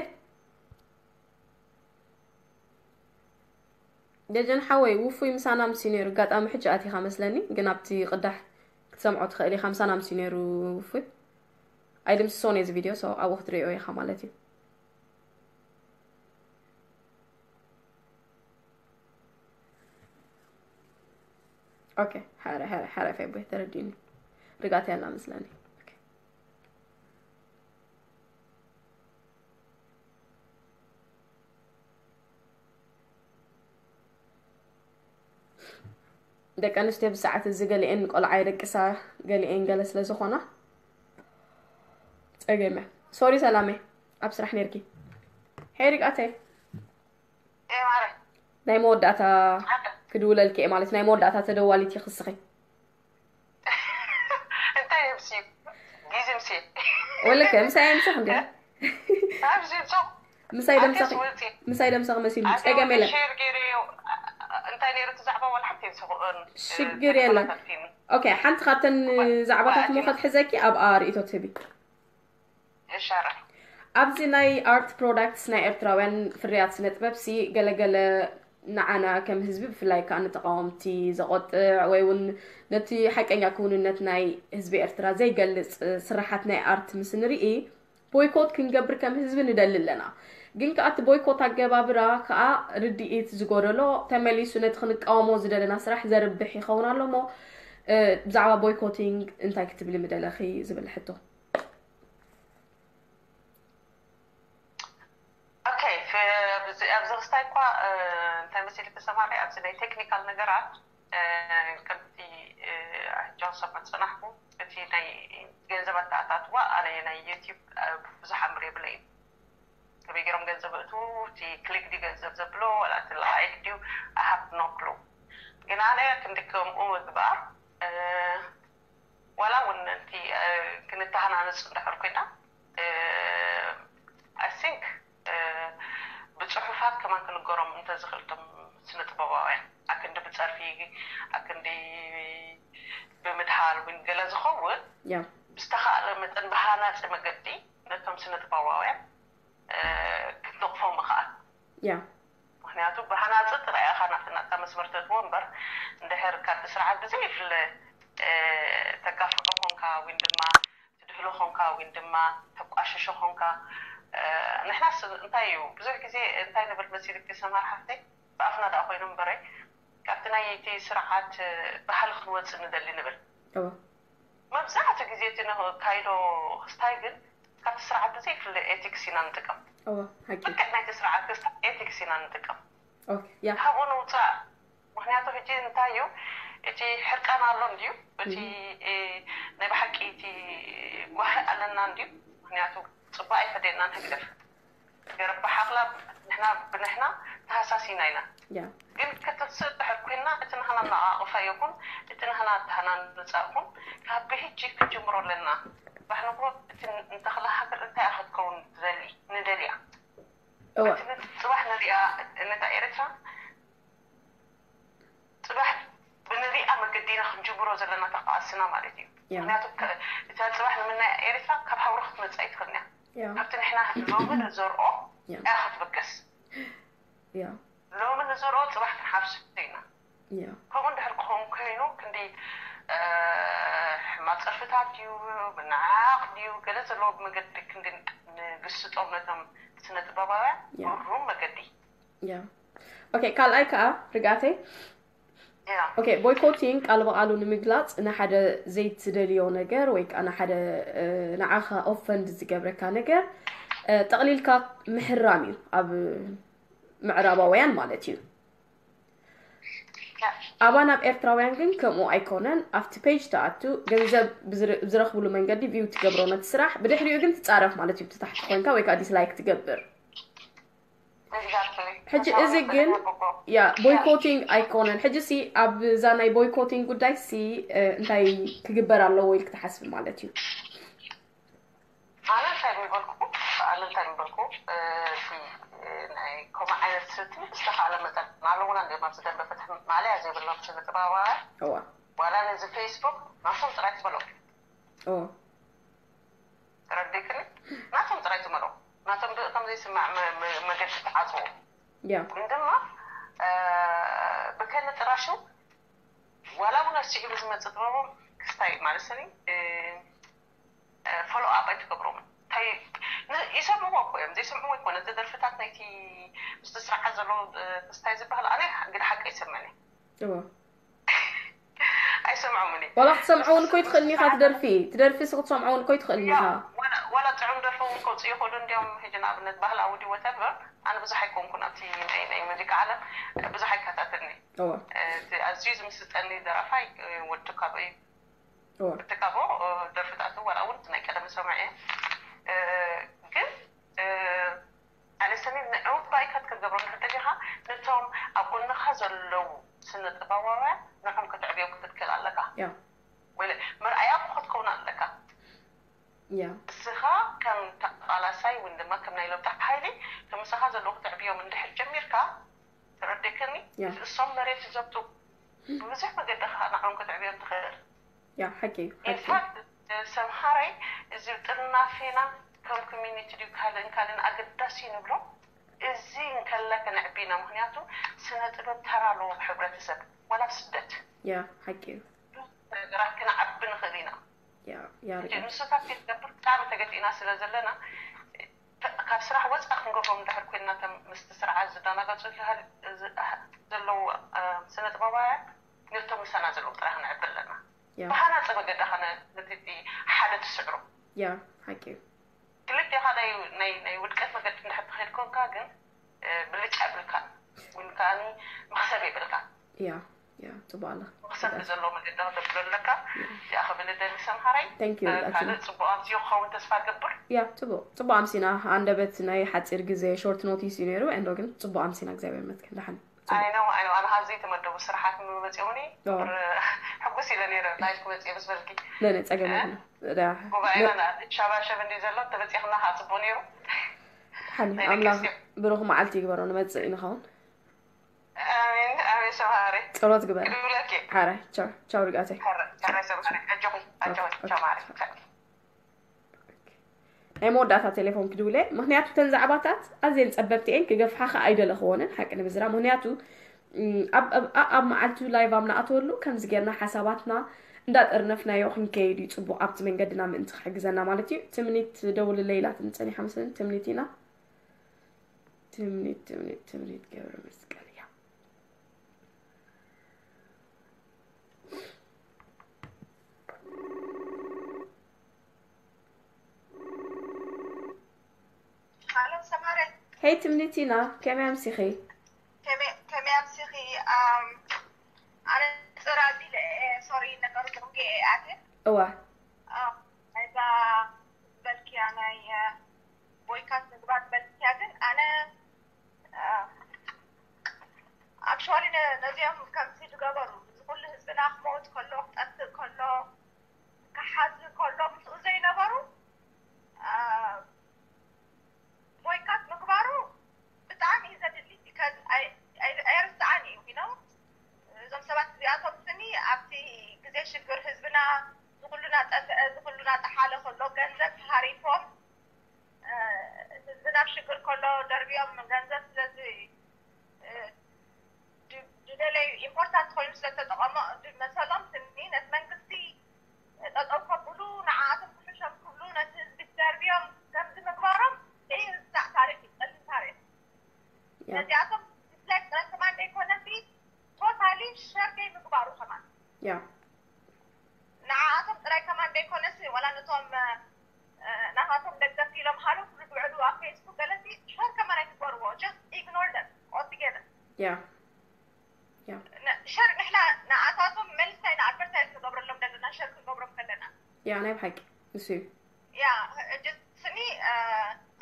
ደጀን ሓወይ፣ ውፉይ ምሳና ምስ እዩ ነይሩ። ኣጋጣሚ ሕጂ ኣቲኻ መስለኒ፣ ግን ኣብቲ ቅዳሕ ክትሰምዖ ትኽእል ኢኻ። ምሳና ምስ እዩ ነይሩ ውፉይ። ኣይድምስሶን እየ እዚ ቪድዮ፣ so ኣብኡ ክትሪኦ ኢኻ ማለት እዩ። ኦኬ፣ ሓረ፣ ሓረ፣ ሓረ ፌቦይ ተረዲኒ። ርጋት ያላ መስለኒ። ኦኬ። ደቂ ኣንስትዮ ብሰዓት እዚ ገሊኤን ቆልዓ የደቅሳ፣ ገሊኤን ገለ ስለ ዝኾና ጸገም እያ። ሶሪ ሰላመይ፣ ኣብ ስራሕ ነይርኪ። ሄይ ርግኣተይ፣ ኤ ማረ፣ ናይ መወዳእታ ኣንተ ክድውለልኪ እየ ማለት፣ ናይ መወዳእታ ተደዋሊት ይኽስኺ። እንታይ የምሲ ጊዜ ምሲ ወለከ ምሳይ ኣይምሰኽ እንዲ ኣብዚ ጾ ምሳይ ደምሰኺ ኣንተስ ወልጺ ምሳይ ደምሰኺ መሲሉ ጸገም የለን። ሼር ገይረ እንታይ ነይሩ እቲ ዛዕባ? ዋላ ሓንቲ ይምሰኽኦን ሽግር የለን። ኦኬ፣ ሓንቲ ካብተን ዛዕባታት ሞ ክትሕዘኪ ኣብኣ ርእይቶ ትህቢ። እሻራ ኣብዚ ናይ ኣርት ፕሮዳክትስ ናይ ኤርትራውያን ፍርያት ስነ ጥበብ ሲ ገለገለ ንዓና ከም ህዝቢ ብፍላይ ከዓ ንተቃወምቲ ዘቆጥዕ ወይ እውን ነቲ ሓቀኛ ክውንነት ናይ ህዝቢ ኤርትራ ዘይገልጽ ስራሓት ናይ ኣርት ምስ ንርኢ ቦይኮት ክንገብር ከም ህዝቢ ንደሊ ኣለና። ግን ከዓ እቲ ቦይኮት ኣገባብራ ከዓ ርድኢት ዝጎደሎ ተመሊሱ ነቲ ክንቃወሞ ዝደለና ስራሕ ዘርብሕ ይኸውን ኣሎ እሞ እ፣ ብዛዕባ ቦይኮቲንግ እንታይ ክትብሊ ምደለኺ ዝብል ሕቶ። ኦኬ፣ ፍ- ኣብዚ ኣብዚ ክስታይ እኳ እ፣ እንታይ መሲልኪ ሰማሪ ኣብዚ ናይ ቴክኒካል ነገራት እ፣ ከምቲ እ፣ ሕጂ ክሰምዕ ዝጸናሕኩ እቲ ናይ ገንዘብ ኣተኣታትዋ ኣነ ናይ ዩቲዩብ እ፣ ብዙሕ ኣምር የብለይን። ከመይ ገይሮም ገንዘብ እቱ እቲ ክሊክ ዲ ገንዘብ ዘብሎ ዋላ እቲ ላይክ ድዩ ኣሃብ ኖ ክሉ ግን ኣነ ክንዲ ከምኡ ምግባር እ፣ ዋላ እውን ነቲ እ፣ ክንተሃናነፅ እንድሕር ኮይና I think ብፅሑፋት ከማን ክንገሮም እንተዝኽእል እቶም ስነ ጥበባውያን ኣክንዲ ብፀርፊ ኣክንዲ ብምድሃል እውን ገለ ዝኸውን ያ ብዝተኻእለ መጠን ብሃናፂ መገዲ ነቶም ስነ ጥበባውያን እ፣ ክትነቕፎም ምኽኣል ያ ምክንያቱ ብሃናፂ ጥራይ ኢኻ ናብቲ ናትካ መስመር ተእትዎ እምበር እንድሕር ካብቲ ስርዓት ብዘይፍለ እ፣ ተጋፍዖ ኮንካ ወይ ድማ ትድህሎ ኾንካ ወይ ድማ ተቋሽሾ ኾንካ እ፣ ንሕናስ እንታይ እዩ ብዙሕ ግዜ እንታይ ንብል መሲልክ ሰማር ሓፍተይ ብኣፍና ደኣ ኮይኑ እምበረይ ካብቲ ናይ እቲ ስርዓት እ፣ ባህሊ ክንወፅእ ንደሊ ንብል እወ መብዛሕትኡ ግዜ እቲ ነካይዶ ክስታይ ግን ካብቲ ስርዓት ብዘይፍለ ኤቲክስ ኢና ንጥቀም እወ ሓቂ ልክዕ ናይቲ ስርዓት ክስታይ ኤቲክስ ኢና ንጥቀም ኦኬ ያ ካብኡ ንውፃእ ምክንያቱ ሕጂ እንታይ እዩ እቲ ሕርቃን ኣሎ እንድዩ እቲ እ፣ ናይ ብሓቂ እቲ ጓሂ ኣለና እንድዩ ምክንያቱ ፅቡቅ ኣይፈደናን ህግደፍ ገረባ ሓኽላ ንሕና ብንሕና ተሃሳሲና ኢና ያ ግን ክቲ ንወስድ ድሕር ኮይና፣ እቲ ናህና ኣነቓቕፋ ይኹን፣ እቲ ናህና ኣተሃናንጻ ይኹን፣ ካብ ብሕጂ ክንጅምሮ ኣለና። ባሕንጎ እቲ ንተኽለ ሃገር እንታይ ኢኻ ክትከውን ትደሊ? ንደልያ። እወ። እቲ ጽባሕ ንሪኣ፣ ነታ ኤርትራ ጽባሕ ብንሪኣ መገዲ ኢና ክንጅምሮ ዘለና፣ እታ ቃልስና ማለት እዩ። ያ። ምክንያቱ ከ-፣ እታ ጽባሕ ንምናያ ኤርትራ ካብ ሃውሪ ክትመጽእ ኣይትኽእልን እያ። ያ። ካብቲ ንሕና ሎሚ ንዘርኦ ያ። እያ ክትብገስ። ያ። ሎሚ ንዘርኦ ጽባሕ ክንሓፍሶ ኢና። ያ። ከምኡ እንድሕር ክኸውን ኮይኑ፣ ክንዲ፣ እ፣ ሕማቕ ጸርፍታት ድዩ፣ ምንዓቕ ድዩ፣ ገለ ዘለዎ መገዲ ክንዲ ንግስጦም ነቶም ስነ ጥበባውያን ያ። ብሩም መገዲ። ያ። ኦኬ፣ ካልኣይ ከኣ ርግኣተይ፣ ያ። ኦኬ፣ ቦይኮቲንግ ቃል ብቓሉ ንምግላጽ ንሓደ ዘይትደልዮ ነገር ወይ ከኣ ንሓደ፣ እ፣ ንዓኻ ኦፈንድ ዝገብረካ ነገር፣ እ፣ ጠቕሊልካ ምሕራም እዩ ኣብ ምዕራባውያን ማለት እዩ። ያ። ኣባና ኣብ ኤርትራውያን ግን ከምኡ ኣይኮነን። ኣብቲ ፔጅ ትኣቱ፣ ገንዘብ ብዝረ-፣ ብዝረኽብሉ መንገዲ ቪው ትገብሮ ነቲ ስራሕ፣ ብድሕሪኡ ግን ትጻረፍ ማለት እዩ። ብቲ ታሕቲ ኮንካ ወይ ከኣ ዲስላይክ ትገብር። Exactly። ሕጂ መስዋእቲ እዚ ግን፣ ንሕና ብጎ። ያ፣ ያ። ቦይኮቲንግ ኣይኮነን። ሕጂ ሲ ኣብዛ ናይ ቦይኮቲንግ ጉዳይ ሲ፣ እ፣ እንታይ ክግበር ኣለዎ ኢልክ ትሓስብ ማለት እዩ? ኣነ እንታይ ምበልኩ፣ ኣነ እንታይ ምበልኩ፣ እ፣ እቲ፣ እ፣ ናይ ከምኡ ዓይነት ስልቲ ብዝተኻእለ መጠን ኣለውና እንዲኦም ኣብዚ ደንበ ፍትሒ ማልያ ዘይብሎም ስነ ጥበባውያን እዋ። ዋላ ነዚ ፌስቡክ ናቶም ጥራይ ትበሎም። እዋ። ተረዲእክኒ? ናቶም ጥራይ ትመልኦ። ናቶም ብ-፣ ከም ዘይስማዕ መ-፣ መ-፣ መገዲ ትዓጽዎ። ያ። ግን ድማ፣ እ፣ ብከነ ጥራሹ ዋላ እውን ኣብ ስዒቡ ዝመጽእ ጥበቦም ክስታይ ማለት ስኒ፣ እ፣ እ፣ ፎሎ ኣፕ ኣይትገብሮምን። እንታይ፣ ን-፣ ይሰምዕዎ እኮ እዮም። ዘይሰምዕዎ ኣይኮነ። እቲ ደርፍታት ናይቲ ምስቲ ስርዓት ዘሎ፣ እ፣ ክስታይ ዝበሃል ኣነ ግዲ ሓቂ ኣይሰምዕን እየ። እዋ። ኣይሰምዖምን እየ። ዋላ ክትሰምዖ እውን እኮ ኣይትኽእልን ኢኻ፣ ትደርፊ፣ ትደርፊ ሲ ክትሰምዖ እውን እኮ ኣይትኽእልን ኢኻ። ወላ፣ ወላ ጥዑም ደርፊ እውን ከውፅኡ ይኽእሉ። እንዲያውም ሕጂ ንኣብነት ባህላዊ ድዩ ወተቨር፣ ኣነ ብዙሕ ኣይኮንኩን ኣብቲ ናይ፣ ናይ ሙዚቃ ዓለም ብዙሕ ኣይከታተልን እየ። እወ። እቲ ኣዝዩ ዝምስጠኒ ደራፋይ ወዲ ካቦ እዩ። እወ። ወዲ ካቦ ደርፍታቱ ዋላ እውን ናይ ቀደም ሰምዐ እየ። ግን ኣነ ሰሚር ንዕውት ባይካት ክትገብሮ እንድሕር ደሊኻ፣ ነቶም ኣብ ጎንኻ ዘለዉ ስነ ጥበባውያን ንዖም ከተዕብዮም ክትክእል ኣለካ። ያ። ወይለ መርኣያ እኮ ክትከውን ኣለካ። ያ። እስኻ ከም ተቓላሳይ ወይ ድማ ከም ናይ ለውጢ ሓይሊ፣ እቲ ምሳኻ ዘለዉ ክትዕብዮም እንድሕር ጀሚርካ፣ ተረዲእክኒ? ያ። እሶም መሬት ይዘብጡ። ብብዙሕ መገዲ ኸዓ ንዖም ክትዕብዮም ትኽእል። ያ፣ ሓቂ እዩ፣ ሓቂ። ኢንፋክት፣ ሰምሃረይ፣ እዚ ጥርናፌና ከም ኮሚኒቲ ድዩ ካልእን ካልእን ኣገዳሲ ንብሎ፣ እዚ እንከላ ከነዕቢ ኢና። ምኽንያቱ ስነ ጥበብ ተራ ኣለዎ ኣብ ሕብረተሰብ፣ ዋላ ኣብ ስደት። ያ፣ ሓቂ እዩ። ብዙሕ ነገራት ክነዓቢ ንኽእል ኢና። ያ፣ ያ፣ ሕጂ ርግእ። ንስታት ክትገብር ብጣዕሚ ተገዲእና ስለ ዘለና፣ ካብ ስራሕ ወፃ ክንገብሮም እንድሕር ኮይንና፣ እቶም ምስቲ ስርዓት ዝደናገፁ ዝሃል-፣ ዝ-፣ ዘለዉ፣ እ፣ ስነ ጥበባውያን ነቶም ምሳና ዘለዉ ጥራሕ ክንዕቢ ኣለና። ያ። ብሃናፂ መገዲ ኸነ ነቲ ሓደ ትስዕሮ። ያ፣ ሓቂ እዩ። ክልቴኻ ናይ፣ ናይ፣ ናይ ውድቀት መገዲ እንድሕር ትኸይድ ኮንካ ግን፣ እ፣ ብልጫ የብልካን። ወይ ከዓኒ መኽሰብ የብልካን። ያ፣ ያ፣ ጽቡቕ ኣላ። መኽሰብ ርግኣት። ብዘለዎ መገዲ ከተብሎ ኣለካ። ያ። እዚኣ ክብል እደሊ ሰምሃረይ። Thank you፣ እ፣ ርግኣት። ካልእ ጽቡቕ ኣምስዮ ክኸውን ተስፋ እገብር። ያ፣ ጽቡቕ። ጽቡቕ ኣምሲና። ሃንደበት ናይ ሓጺር ግዜ ሾርት ኖቲስ እዩ ነይሩ። ኤንዶ ግን ጽቡቕ ኣምሲና፣ እግዚኣብሔር ይመስገን። ደሓን። ጽቡቕ። ኣይ ነው፣ ኣይ ነው። ኣነ ካብ ዘይተመደቡ ስራሓት ምመጽኦምኒ ኦ። ቁር-፣ ሕጉስ ኢለ ነይረ፣ ላይፍ ክመጽእ ምስ በልኪ። ነ፣ ነ፣ ጸገም እ? የብሉን። ዳ-፣ ጉባኤና ነ- ና-፣ ሻባሸብ እንዲ ዘሎ፣ ተበጺኽና ከዓ ጽቡቕ ነይሩ። ሓኒ፣ ናይ ኣምላኽ ደቂ ኣንስትዮ። ብሩኽ መዓልቲ ይግበሮ፣ ንመጽእ ንኸውን። ኣሜን፣ ኣሜን፣ ሰምሃሪ። ጸሎት ግበር። ክድውለኪ። ሓራይ፣ ቻው፣ ቻው ርግኣተይ። ሓራይ፣ ሓራይ፣ ሰምሃሪ። ኣጆኺ፣ ኣጆኺ፣ ኦኬ፣ ቻው፣ ኦኬ፣ ማሪ። ቻው። ናይ መወዳእታ ቴሌፎን ክድውለ፣ ምኽንያቱ እተን ዛዕባታት ኣዝየን ጸበብቲ እየን፣ ክገፍሓ ኸኣ ኣይደለኽዎንን፣ ሓቂ ንምዝራብ። ምኽንያቱ፣ እም፣ ኣብ፣ ኣብ፣ ኣብ፣ ኣብ መዓልቱ ላይቭ ኣብ ንኣትወሉ፣ ከምዚ ጌርና ሓሳባትና እንዳጠርነፍናዮ ክንከይድ እዩ ጽቡቕ፣ ኣብቲ መንገድና ምእንቲ ክሕግዘና ማለት እዩ። ትምኒት ደውልለይ ኢላትኒ ጸኒሓ መሰለኒ፣ ትምኒት ኢና። ትምኒት፣ ትምኒት፣ ትምኒት ገብረ መስቀል እያ። ሃሎ ሰማረ። ሄይ ትምኒት ኢና፣ ከመይ ኣምሲኺ? ከመይ፣ ከመይ ኣምሲኺ? ኣም፣ ኣነ ጽር ኣቢለ እየ፣ ሶሪ፣ ነገሩ ደንጊየ እየ ኣትየ። እዋ። ኣም፣ ናይዛ በልክያ ናይ፣ እ፣ ቦይካት ምግባር በልክያ፣ ግን ኣነ፣ እ፣ ኣክቹዋሊ ነ-፣ ነዚ ገንዘብ ተሃሪፎም፣ እ፣ ህዝብና ኣብ ሽግር ከሎ ደርብዮም ገንዘብ ስለዚ፣ እ፣ ድ-፣ ዝደለዩ ኢምፖርታንት ኮይኑ ስለተጠቐሞ፣ ድ-፣ መሰሎም ስኒ ነቲ መንግስቲ ጠጠው ከብሉ፣ ንዓኣቶም ክሕሾም ክብሉ ነቲ ህዝቢ ደርብዮም ከምዚ ምግባሮም ዘይርሳዕ ታሪኽ እዩ፣ ጸሊም ታሪኽ። ያ። ነዚኣቶም ዲስላይክ ጥራይ ከማን ዘይኮነሲ፣ ቶታሊ ሸር ዘይምግባሩ ከማን። ያ። ንዓኣቶም ጥራይ ከማን ዘይኮነሲ፣ ዋላ ነቶም፣ እ፣ ናታቶም ደገፍቲ ኢሎም ሃሎ ክብሉ ዝውዕሉ ኣብ ፌስቡክ ገለሲ ሸር ከማን ኣይትግበርዎ። Just ignore them altogether። ያ። ያ። ነ-፣ ሸር ንሕና ንዓታቶም መልስ ኢና ኣድቨርታይዝ ንገብረሎም ዘለና፣ ሸር ክንገብሮም ከለና። ያ፣ ናይ ብሓቂ። እሱ እዩ። ያ፣ እ፣ ጅ-፣ ስኒ፣ እ፣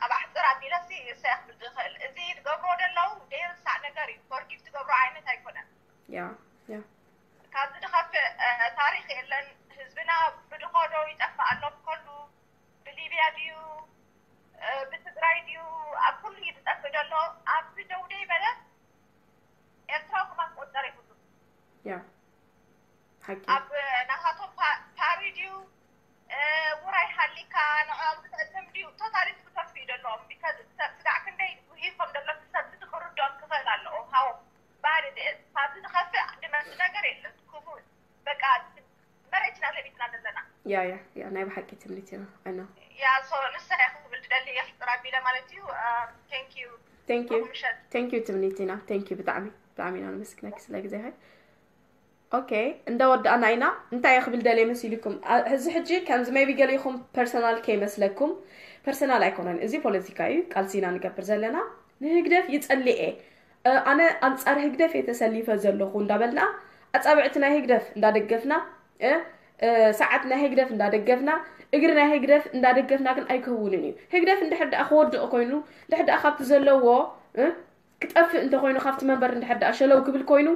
ኣብ ኣሕፅር ኣቢለሲ እሰይ ክብል ዝኽእል። እዚ ትገብርዎ ዘለዉ ዘይርሳዕ ነገር እዩ። ፎርጊቭ ትገብሮ ዓይነት ኣይኮነን። ያ፣ ያ። ካብዚ ዝኸፍእ፣ እ፣ ታሪኽ የለን። ህዝብና ብድኾዶ ይጠፍእ ኣሎ ብከሉ። ብሊብያ ድዩ፣ እ፣ ብትግራይ ድዩ፣ ኣብ ኩሉ እዩ ዝጠፍእ ዘሎ። ኣብዚ ደው ደይ በለ ኤርትራዊ ከማን ክቁጠር ይኽእሉ። ያ። ሓቂ። ኣብ ናታቶም ፓ-፣ ፓሪ ድዩ፣ እ፣ ውራይ ሃሊካ ንዕኦም ክትዕልም ድዩ፣ ቶታሊ ክተርፉ እዩ ዘለዎም። ቢካዝ ሰብ ስጋዕ ክንደይ ጉሂፎም ዘሎ ሰብ እዚ ክርድኦም ክኽእል ኣለዎ። ሃው ባድ ድ-፣ ካብዚ ዝኸፍእ ድመቲ ነገር የለን። ክፉእ በቃ መሬትና ለቢጥና ዘለና። ያ፣ ያ፣ ያ፣ ናይ ብሓቂ ትምኒት ኢና። ኣይ ኖ። ያ፣ ሶ ንሳ እያ ክብል ዝደሊ እየ፣ ሕፅር ኣቢለ ማለት እዩ። እ፣ ቴንክ ዩ። ቴንክ ዩ። ምሸት። ቴንክ ዩ ትምኒት ኢና። ቴንክ ዩ ብጣዕሚ። ብጣዕሚ ኢና ነመስግነኪ ስለ ግዜኺ። ኦኬ፣ እንዳወዳእና ኢና። እንታይ እየ ክብል ደልየ መሲልኩም? ኣ-፣ እዚ ሕጂ ከምዚ ሜቢ ገሊኹም ፐርሰናል ከይመስለኩም። ፐርሰናል ኣይኮነን። እዚ ፖለቲካ እዩ። ቃልሲ ኢና ንገብር ዘለና። ንህግደፍ ይጸልእ እየ። እ፣ ኣነ ኣንጻር ህግደፍ እየ ተሰሊፈ ዘለኹ እንዳበልና፣ ኣጻብዕቲ ናይ ህግደፍ እንዳደገፍና፣ እ፣ እ፣ ሰዓት ናይ ህግደፍ እንዳደገፍና፣ እግሪ ናይ ህግደፍ እንዳደገፍና ግን ኣይክህውንን እዩ። ህግደፍ እንድሕር ደኣ ክወድቕ ኮይኑ፣ እንድሕር ደኣ ካብቲ ዘለዎ፣ እ፣ ክጠፍእ እንተኾይኑ፣ ካብቲ መንበር እንድሕር ደኣ ሸለው ክብል ኮይኑ፣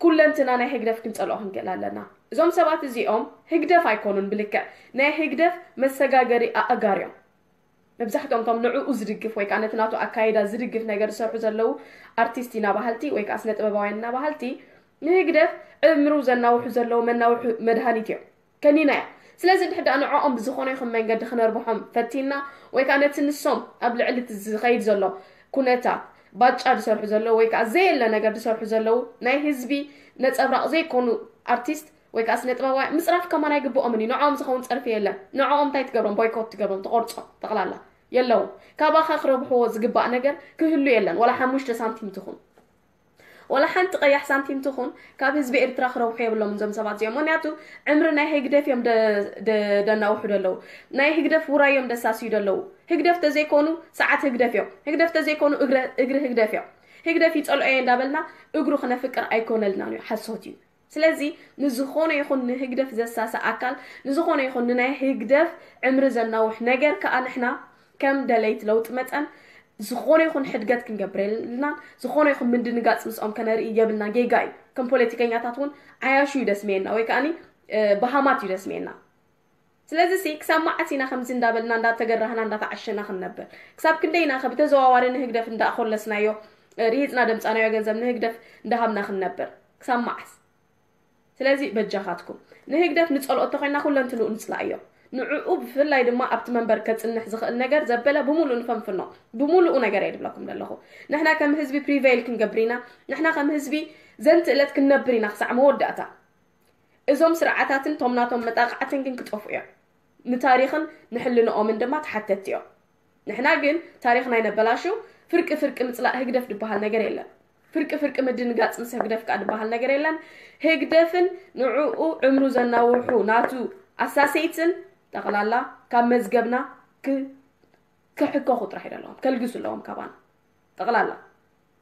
ኩለንትና ናይ ህግደፍ ክንጸልኦ ክንክእል ኣለና። እዞም ሰባት እዚኦም ህግደፍ ኣይኮኑን ብልክዕ፣ ናይ ህግደፍ መሰጋገሪ ኣእጋር እዮም። መብዛሕትኦም እቶም ንዕኡ ዝድግፍ ወይ ከዓ ነቲ ናቱ ኣካይዳ ዝድግፍ ነገር ዝሰርሑ ዘለዉ ኣርቲስት ኢና በሃልቲ ወይ ከዓ ስነ ጥበባውያን ኢና በሃልቲ፣ ንህግደፍ ዕምሩ ዘናውሑ ዘለዉ መናውሑ መድሃኒት እዮም። ከኒና እዮም። ስለዚ እንድሕር ደኣ ንዕኦም ብዝኾነ ይኹን መንገዲ ክነርብሖም ፈቲና ወይ ከዓ ነቲ ንሶም ኣብ ልዕሊ እቲ ዝኸይድ ዘሎ ኩነታት ባጫ ዝሰርሑ ዘለዉ ወይ ከዓ ዘየለ ነገር ዝሰርሑ ዘለዉ ናይ ህዝቢ ነጸብራቕ ዘይኮኑ ኣርቲስት ወይ ከዓ ስነ ጥበባውያን ምፅራፍ ከማን ኣይግብኦምን እዩ። ንዕኦም ዝኸውን ፀርፊ የለን። ንዕኦም እንታይ ትገብሮም? ቦይኮት ትገብሮም፣ ትቆርጾም ጠቕላላ የለውን። ካባኻ ክረብሕዎ ዝግባእ ነገር ክህሉ የለን። ዋላ ሓሙሽተ ሳንቲም ትኹን፣ ዋላ ሓንቲ ቀያሕ ሳንቲም ትኹን ካብ ህዝቢ ኤርትራ ክረብሑ የብሎምን እዞም ሰባት እዚኦም። ምክንያቱ ዕምሪ ናይ ህግደፍ እዮም ደ-፣ ደ-፣ ደናውሑ ደለዉ። ናይ ህግደፍ ውራይ እዮም ደሳስዩ ደለዉ። ህግደፍ ተዘይኮኑ ሰዓት ህግደፍ እዮም። ህግደፍ ተዘይኮኑ እግረ-፣ እግሪ ህግደፍ እዮም። ህግደፍ ይጸልኦ እየ እንዳበልና እግሩ ክነፍቅር ኣይኮነልናን እዩ። ሓሶት እዩ። ስለዚ ንዝኾነ ይኹን ንህግደፍ ዘሳሲ ኣካል፣ ንዝኾነ ይኹን ንናይ ህግደፍ ዕምሪ ዘናውሕ ነገር ከኣ ንሕና ከም ደለይቲ ለውጢ መጠን ዝኾነ ይኹን ሕድገት ክንገብር የብልናን። ዝኾነ ይኹን ምድንጋጽ ምስኦም ከነርኢ የብልናን። ጌጋ እዩ። ከም ፖለቲከኛታት እውን ዓያሹ እዩ ደስመየና ወይ ከኣኒ፣ እ፣ በሃማት እዩ ደስመየና። ስለዚ ሲ ክሳብ መዓስ ኢና ከምዚ እንዳበልና እንዳተገራህና እንዳተዓሸና ክንነብር? ክሳብ ክንደይ ኢና ከ ብተዘዋዋሪ ንህግደፍ እንዳኣኾለስናዮ፣ እ፣ ሪሂጽና ደምጻናዮ ገንዘብ ንህግደፍ እንዳሃብና ክንነብር? ክሳብ መዓስ? ስለዚ በጃኻትኩም ንህግደፍ ንጸልኦ እንተኾይና ኩለንትንኡ ንጽላእዮ። ንዕኡ ብፍላይ ድማ ኣብቲ መንበር ከጽንሕ ዝኽእል ነገር ዘበለ ብምሉእ ንፈንፍኖ። ብምሉኡ ነገር እየ ድብለኩም ዘለኹ። ንሕና ከም ህዝቢ ፕሪቬይል ክንገብር ኢና። ንሕና ከም ህዝቢ ዘንቲ እለት ክንነብር ኢና ክሳዕ መወዳእታ። እዞም ስርዓታትን ቶም ናቶም መጣቃዕትን ግን ክጠፍኡ እዮም። ንታሪኽን ንሕልንኦምን ድማ ተሓተትቲ እዮም። ንሕና ግን ታሪኽና ኣይነበላሹ። ፍርቂ ፍርቂ ምጽላእ ህግደፍ ድበሃል ነገር የለን። ፍርቂ ፍርቂ ምድንጋጽ ምስ ህግደፍ ከኣ ድበሃል ነገር የለን። ህግደፍን ንዕኡ ዕምሩ ዘናውሑ ናቱ ኣሳሰይትን ጠቕላላ ካብ መዝገብና ክ-፣ ክሕከኹ ጥራሕ እዩ ዘለዎም፣ ከልግሱ ኣለዎም ካባና ጠቕላላ።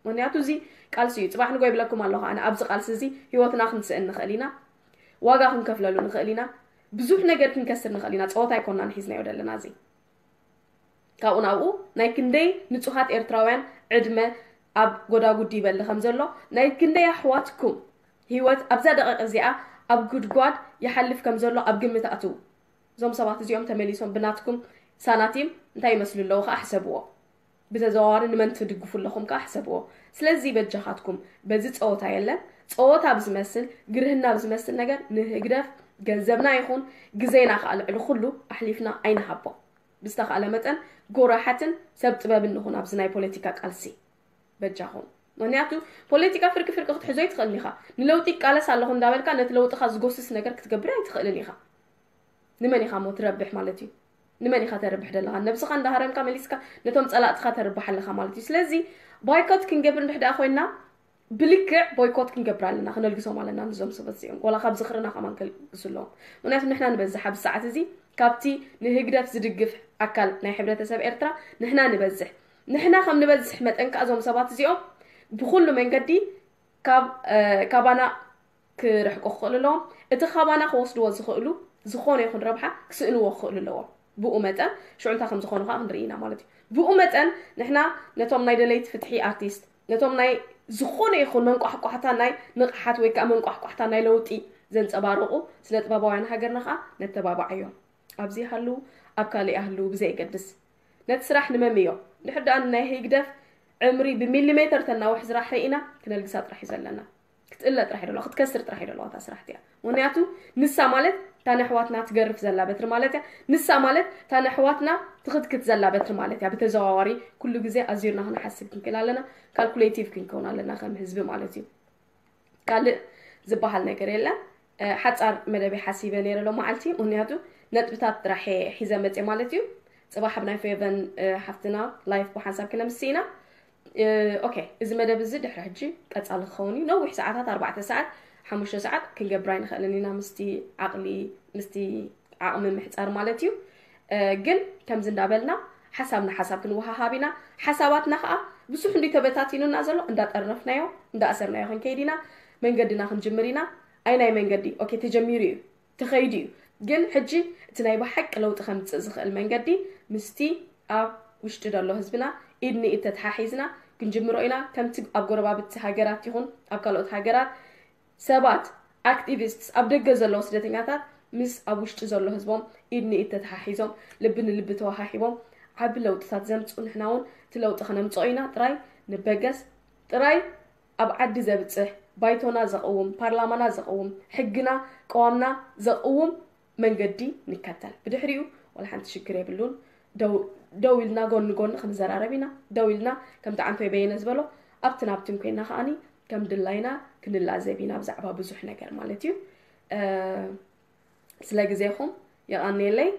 ምክንያቱ እዚ ቃልሲ እዩ። ጽባሕ ንጎ ይብለኩም ኣለኹ ኣነ፣ ኣብዚ ቃልሲ እዚ ህይወትና ክንስእን ንኽእል ኢና፣ ዋጋ ክንከፍለሉ ንኽእል ኢና፣ ብዙሕ ነገር ክንከስር ንኽእል ኢና። ጸወታ ኣይኮናን ሒዝናዮ ዘለና እዚ። ካብኡ ናብኡ ናይ ክንደይ ንጹሃት ኤርትራውያን ዕድመ ኣብ ጎዳጉዲ ይበሊ ከም ዘሎ፣ ናይ ክንደይ ኣሕዋትኩም ህይወት ኣብዛ ደቂቕ እዚኣ ኣብ ጉድጓድ ይሓልፍ ከም ዘሎ ኣብ ግምት ኣትዉ። እዞም ሰባት እዚኦም ተመሊሶም ብናትኩም ሳናቲም እንታይ ይመስሉ ኣለዉ ከኣ ሕሰብዎ። ብተዘዋዋሪ ንመን ትድግፉ ኣለኹም ከኣ ሕሰብዎ። ስለዚ በጃኻትኩም በዚ ጸወታ የለን፣ ጸወታ ብዝመስል፣ ግርህና ብዝመስል ነገር ንህግደፍ ገንዘብና ይኹን ግዜና ከዓ ልዕሊ ኩሉ ኣሕሊፍና ኣይንሃቦ። ብዝተኻእለ መጠን ጎራሓትን ሰብ ጥበብን ንኹን ኣብዚ ናይ ፖለቲካ ቃልሲ በጃኹም። ምክንያቱ ፖለቲካ ፍርቂ ፍርቂ ክትሕዞ ኣይትኽእልን ኢኻ። ንለውጢ ይቃለስ ኣለኹ እንዳበልካ ነቲ ለውጥኻ ዝጎስስ ነገር ክትገብር ኣይትኽእልን ኢኻ። ንመን ኢኻ ሞ ትረብሕ ማለት እዩ? ንመን ኢኻ ተርብሕ ደለኻ? ነብስኻ እንዳሃረምካ መሊስካ ነቶም ጸላእትኻ ተርብሕ ኣለኻ ማለት እዩ። ስለዚ ባይኮት ክንገብር እንድሕር ደኣ ኮይና ብልክዕ ቦይኮት ክንገብር ኣለና፣ ክነልግሶም ኣለና ንዞም ሰባት እዚኦም። ዋላ ካብ ዝኽርና ከማን ከልግሱ ኣለዎም። ምክንያቱ ንሕና ንበዝሕ ኣብዚ ሰዓት እዚ ካብቲ ንህግደፍ ዝድግፍ ኣካል ናይ ሕብረተሰብ ኤርትራ ንሕና ንበዝሕ። ንሕና ከም ንበዝሕ መጠን ከኣ እዞም ሰባት እዚኦም ብኹሉ መንገዲ ካብ ካባና ክርሕቁ ክኽእሉ ኣለዎም። እቲ ካባና ክወስድዎ ዝኽእሉ ዝኾነ ይኹን ረብሓ ክስእንዎ ክኽእሉ ኣለዎም። ብኡ መጠን ሽዑ እንታይ ከም ዝኾኑ ከዓ ክንርኢ ኢና ማለት እዩ። ብኡ መጠን ንሕና ነቶም ናይ ደለይቲ ፍትሒ ኣርቲስት፣ ነቶም ናይ ዝኾነ ይኹን መንቋሕቋሕታ ናይ ንቕሓት ወይ ከዓ መንቋሕቋሕታ ናይ ለውጢ ዘንጸባርቑ ስነ ጥበባውያን ሃገርና ከዓ ነተባብዓዮም። ኣብዚ ይሃልዉ ኣብ ካልእ ይሃልዉ ብዘየገድስ ነቲ ስራሕ ንመምዮ። እንድሕር ደኣ ናይ ህግደፍ ዕምሪ ብሚሊሜተር ተናውሕ ስራሕ ርኢና ክነልግሳ ጥራሕ እዩ ዘለና። ክትእለ ጥራሕ ይደለዋ ክትከስር ጥራሕ ይደለዋ እታ ስራሕ እቲኣ። ምክንያቱ ንሳ ማለት እታ ነሕዋትና ትገርፍ ዘላ በትሪ ማለት እያ። ንሳ ማለት እታ ነሕዋትና ትኽትክት ዘላ በትሪ ማለት እያ። ብተዘዋዋሪ ኩሉ ግዜ ኣዚርና ክንሓስብ ክንክእል ኣለና። ካልኩሌቲቭ ክንከውን ኣለና ከም ህዝቢ ማለት እዩ። ካልእ ዝበሃል ነገር የለን። ሓፃር መደብ ሓሲበ ነይረ ሎ መዓልቲ፣ ምክንያቱ ነጥብታት ጥራሕ ሒዘ መፅእ ማለት እዩ። ፅባሕ ኣብ ናይ ፌቨን ሓፍትና ላይፍ ብሓንሳብ ክነምስ ኢና። ኦኬ፣ እዚ መደብ እዚ ድሕሪ ሕጂ ቀፃሊ ክኸውን እዩ። ነዊሕ ሰዓታት ኣርባዕተ ሰዓት ሓሙሽተ ሰዓት ክንገብር ኣይንኽእልን ኢና ምስቲ ዓቕሊ ምስቲ ዓቕሚ ምሕፃር ማለት እዩ። ግን ከምዚ እንዳበልና ሓሳብና ሓሳብ ክንወሃሃብ ኢና። ሓሳባትና ከዓ ብዙሕ እንዲ ተበታቲኑና ዘሎ እንዳጠርነፍናዮ እንዳኣሰርናዮ ክንከይድ ኢና። መንገድና ክንጅምር ኢና። ኣይ ናይ መንገዲ ኦኬ ተጀሚሩ እዩ ተኸይዱ እዩ። ግን ሕጂ እቲ ናይ ብሓቂ ለውጢ ከምፅእ ዝኽእል መንገዲ ምስቲ ኣብ ውሽጢ ዘሎ ህዝብና ኢድ ንኢድ ተተሓሒዝና ክንጅምሮ ኢና። ከምቲ ኣብ ጎረባብቲ ሃገራት ይኹን ኣብ ካልኦት ሃገራት ሰባት ኣክቲቪስትስ ኣብ ደገ ዘለዉ ስደተኛታት ምስ ኣብ ውሽጢ ዘሎ ህዝቦም ኢድ ንኢድ ተተሓሒዞም ልቢ ንልቢ ተወሃሂቦም ዓቢ ለውጥታት ዘምፅኡ ንሕና እውን እቲ ለውጢ ከነምፅኦ ኢና። ጥራይ ንበገስ። ጥራይ ኣብ ዓዲ ዘብፅሕ ባይቶና ዘቕውም ፓርላማና ዘቕውም ሕግና ቀዋምና ዘቕውም መንገዲ ንከተል። ብድሕሪኡ ዋላ ሓንቲ ሽግር የብሉን። ደው ኢልና ጎኒ ጎኒ ክንዘራረብ ኢና። ደው ኢልና ከምቲ ዓንቶይ በየነ ዝበሎ ኣብትን ኣብትን ኮይና ከዓኒ ከም ድላይና ክንላዘብ ኢና ብዛዕባ ብዙሕ ነገር ማለት እዩ። ስለ ግዜኹም የቐንየለይ።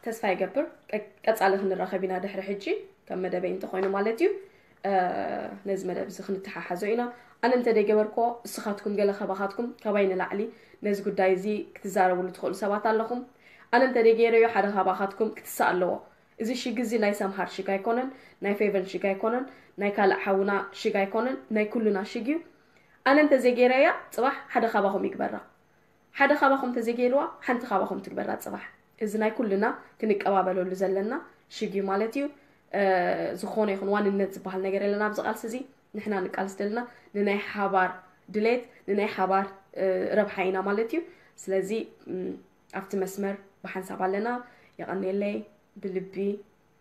ተስፋ ይገብር ቀፃሊ ክንራኸብ ኢና ድሕሪ ሕጂ ከም መደበይ እንተኮይኑ ማለት እዩ። ነዚ መደብ እዚ ክንተሓሓዞ ኢና። ኣነ እንተ ደይገበርኮ እስኻትኩም ገለ ካባኻትኩም ካባይ ንላዕሊ ነዚ ጉዳይ እዚ ክትዛረብሉ ትኽእሉ ሰባት ኣለኹም። ኣነ እንተ ደይገይረዮ ሓደ ካባኻትኩም ክትሳእ ኣለዎ። እዚ ሽግ እዚ ናይ ሰምሃር ሽግ ኣይኮነን፣ ናይ ፌቨን ሽግ ኣይኮነን፣ ናይ ካልእ ሓውና ሽግ ኣይኮነን፣ ናይ ኩሉና ሽግ እዩ። ኣነ እንተ ዘይገይረያ ፅባሕ ሓደ ካባኹም ይግበራ። ሓደ ካባኹም ተዘይገይርዋ ሓንቲ ካባኹም ትግበራ ፅባሕ። እዚ ናይ ኩልና ክንቀባበለሉ ዘለና ሽግ እዩ ማለት እዩ። ዝኾነ ይኹን ዋንነት ዝበሃል ነገር የለና ኣብዚ ቃልሲ እዚ። ንሕና ንቃልስ ዘለና ንናይ ሓባር ድሌት ንናይ ሓባር ረብሓ ኢና ማለት እዩ። ስለዚ ኣብቲ መስመር ብሓንሳብ ኣለና። የቐንየለይ ብልቢ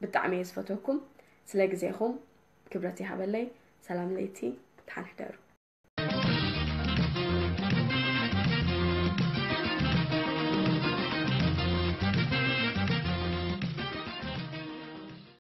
ብጣዕሚ እየ ዝፈትወኩም። ስለ ግዜኹም ክብረት ይሃበለይ። ሰላም ለይቲ፣ ደሓን ሕደሩ።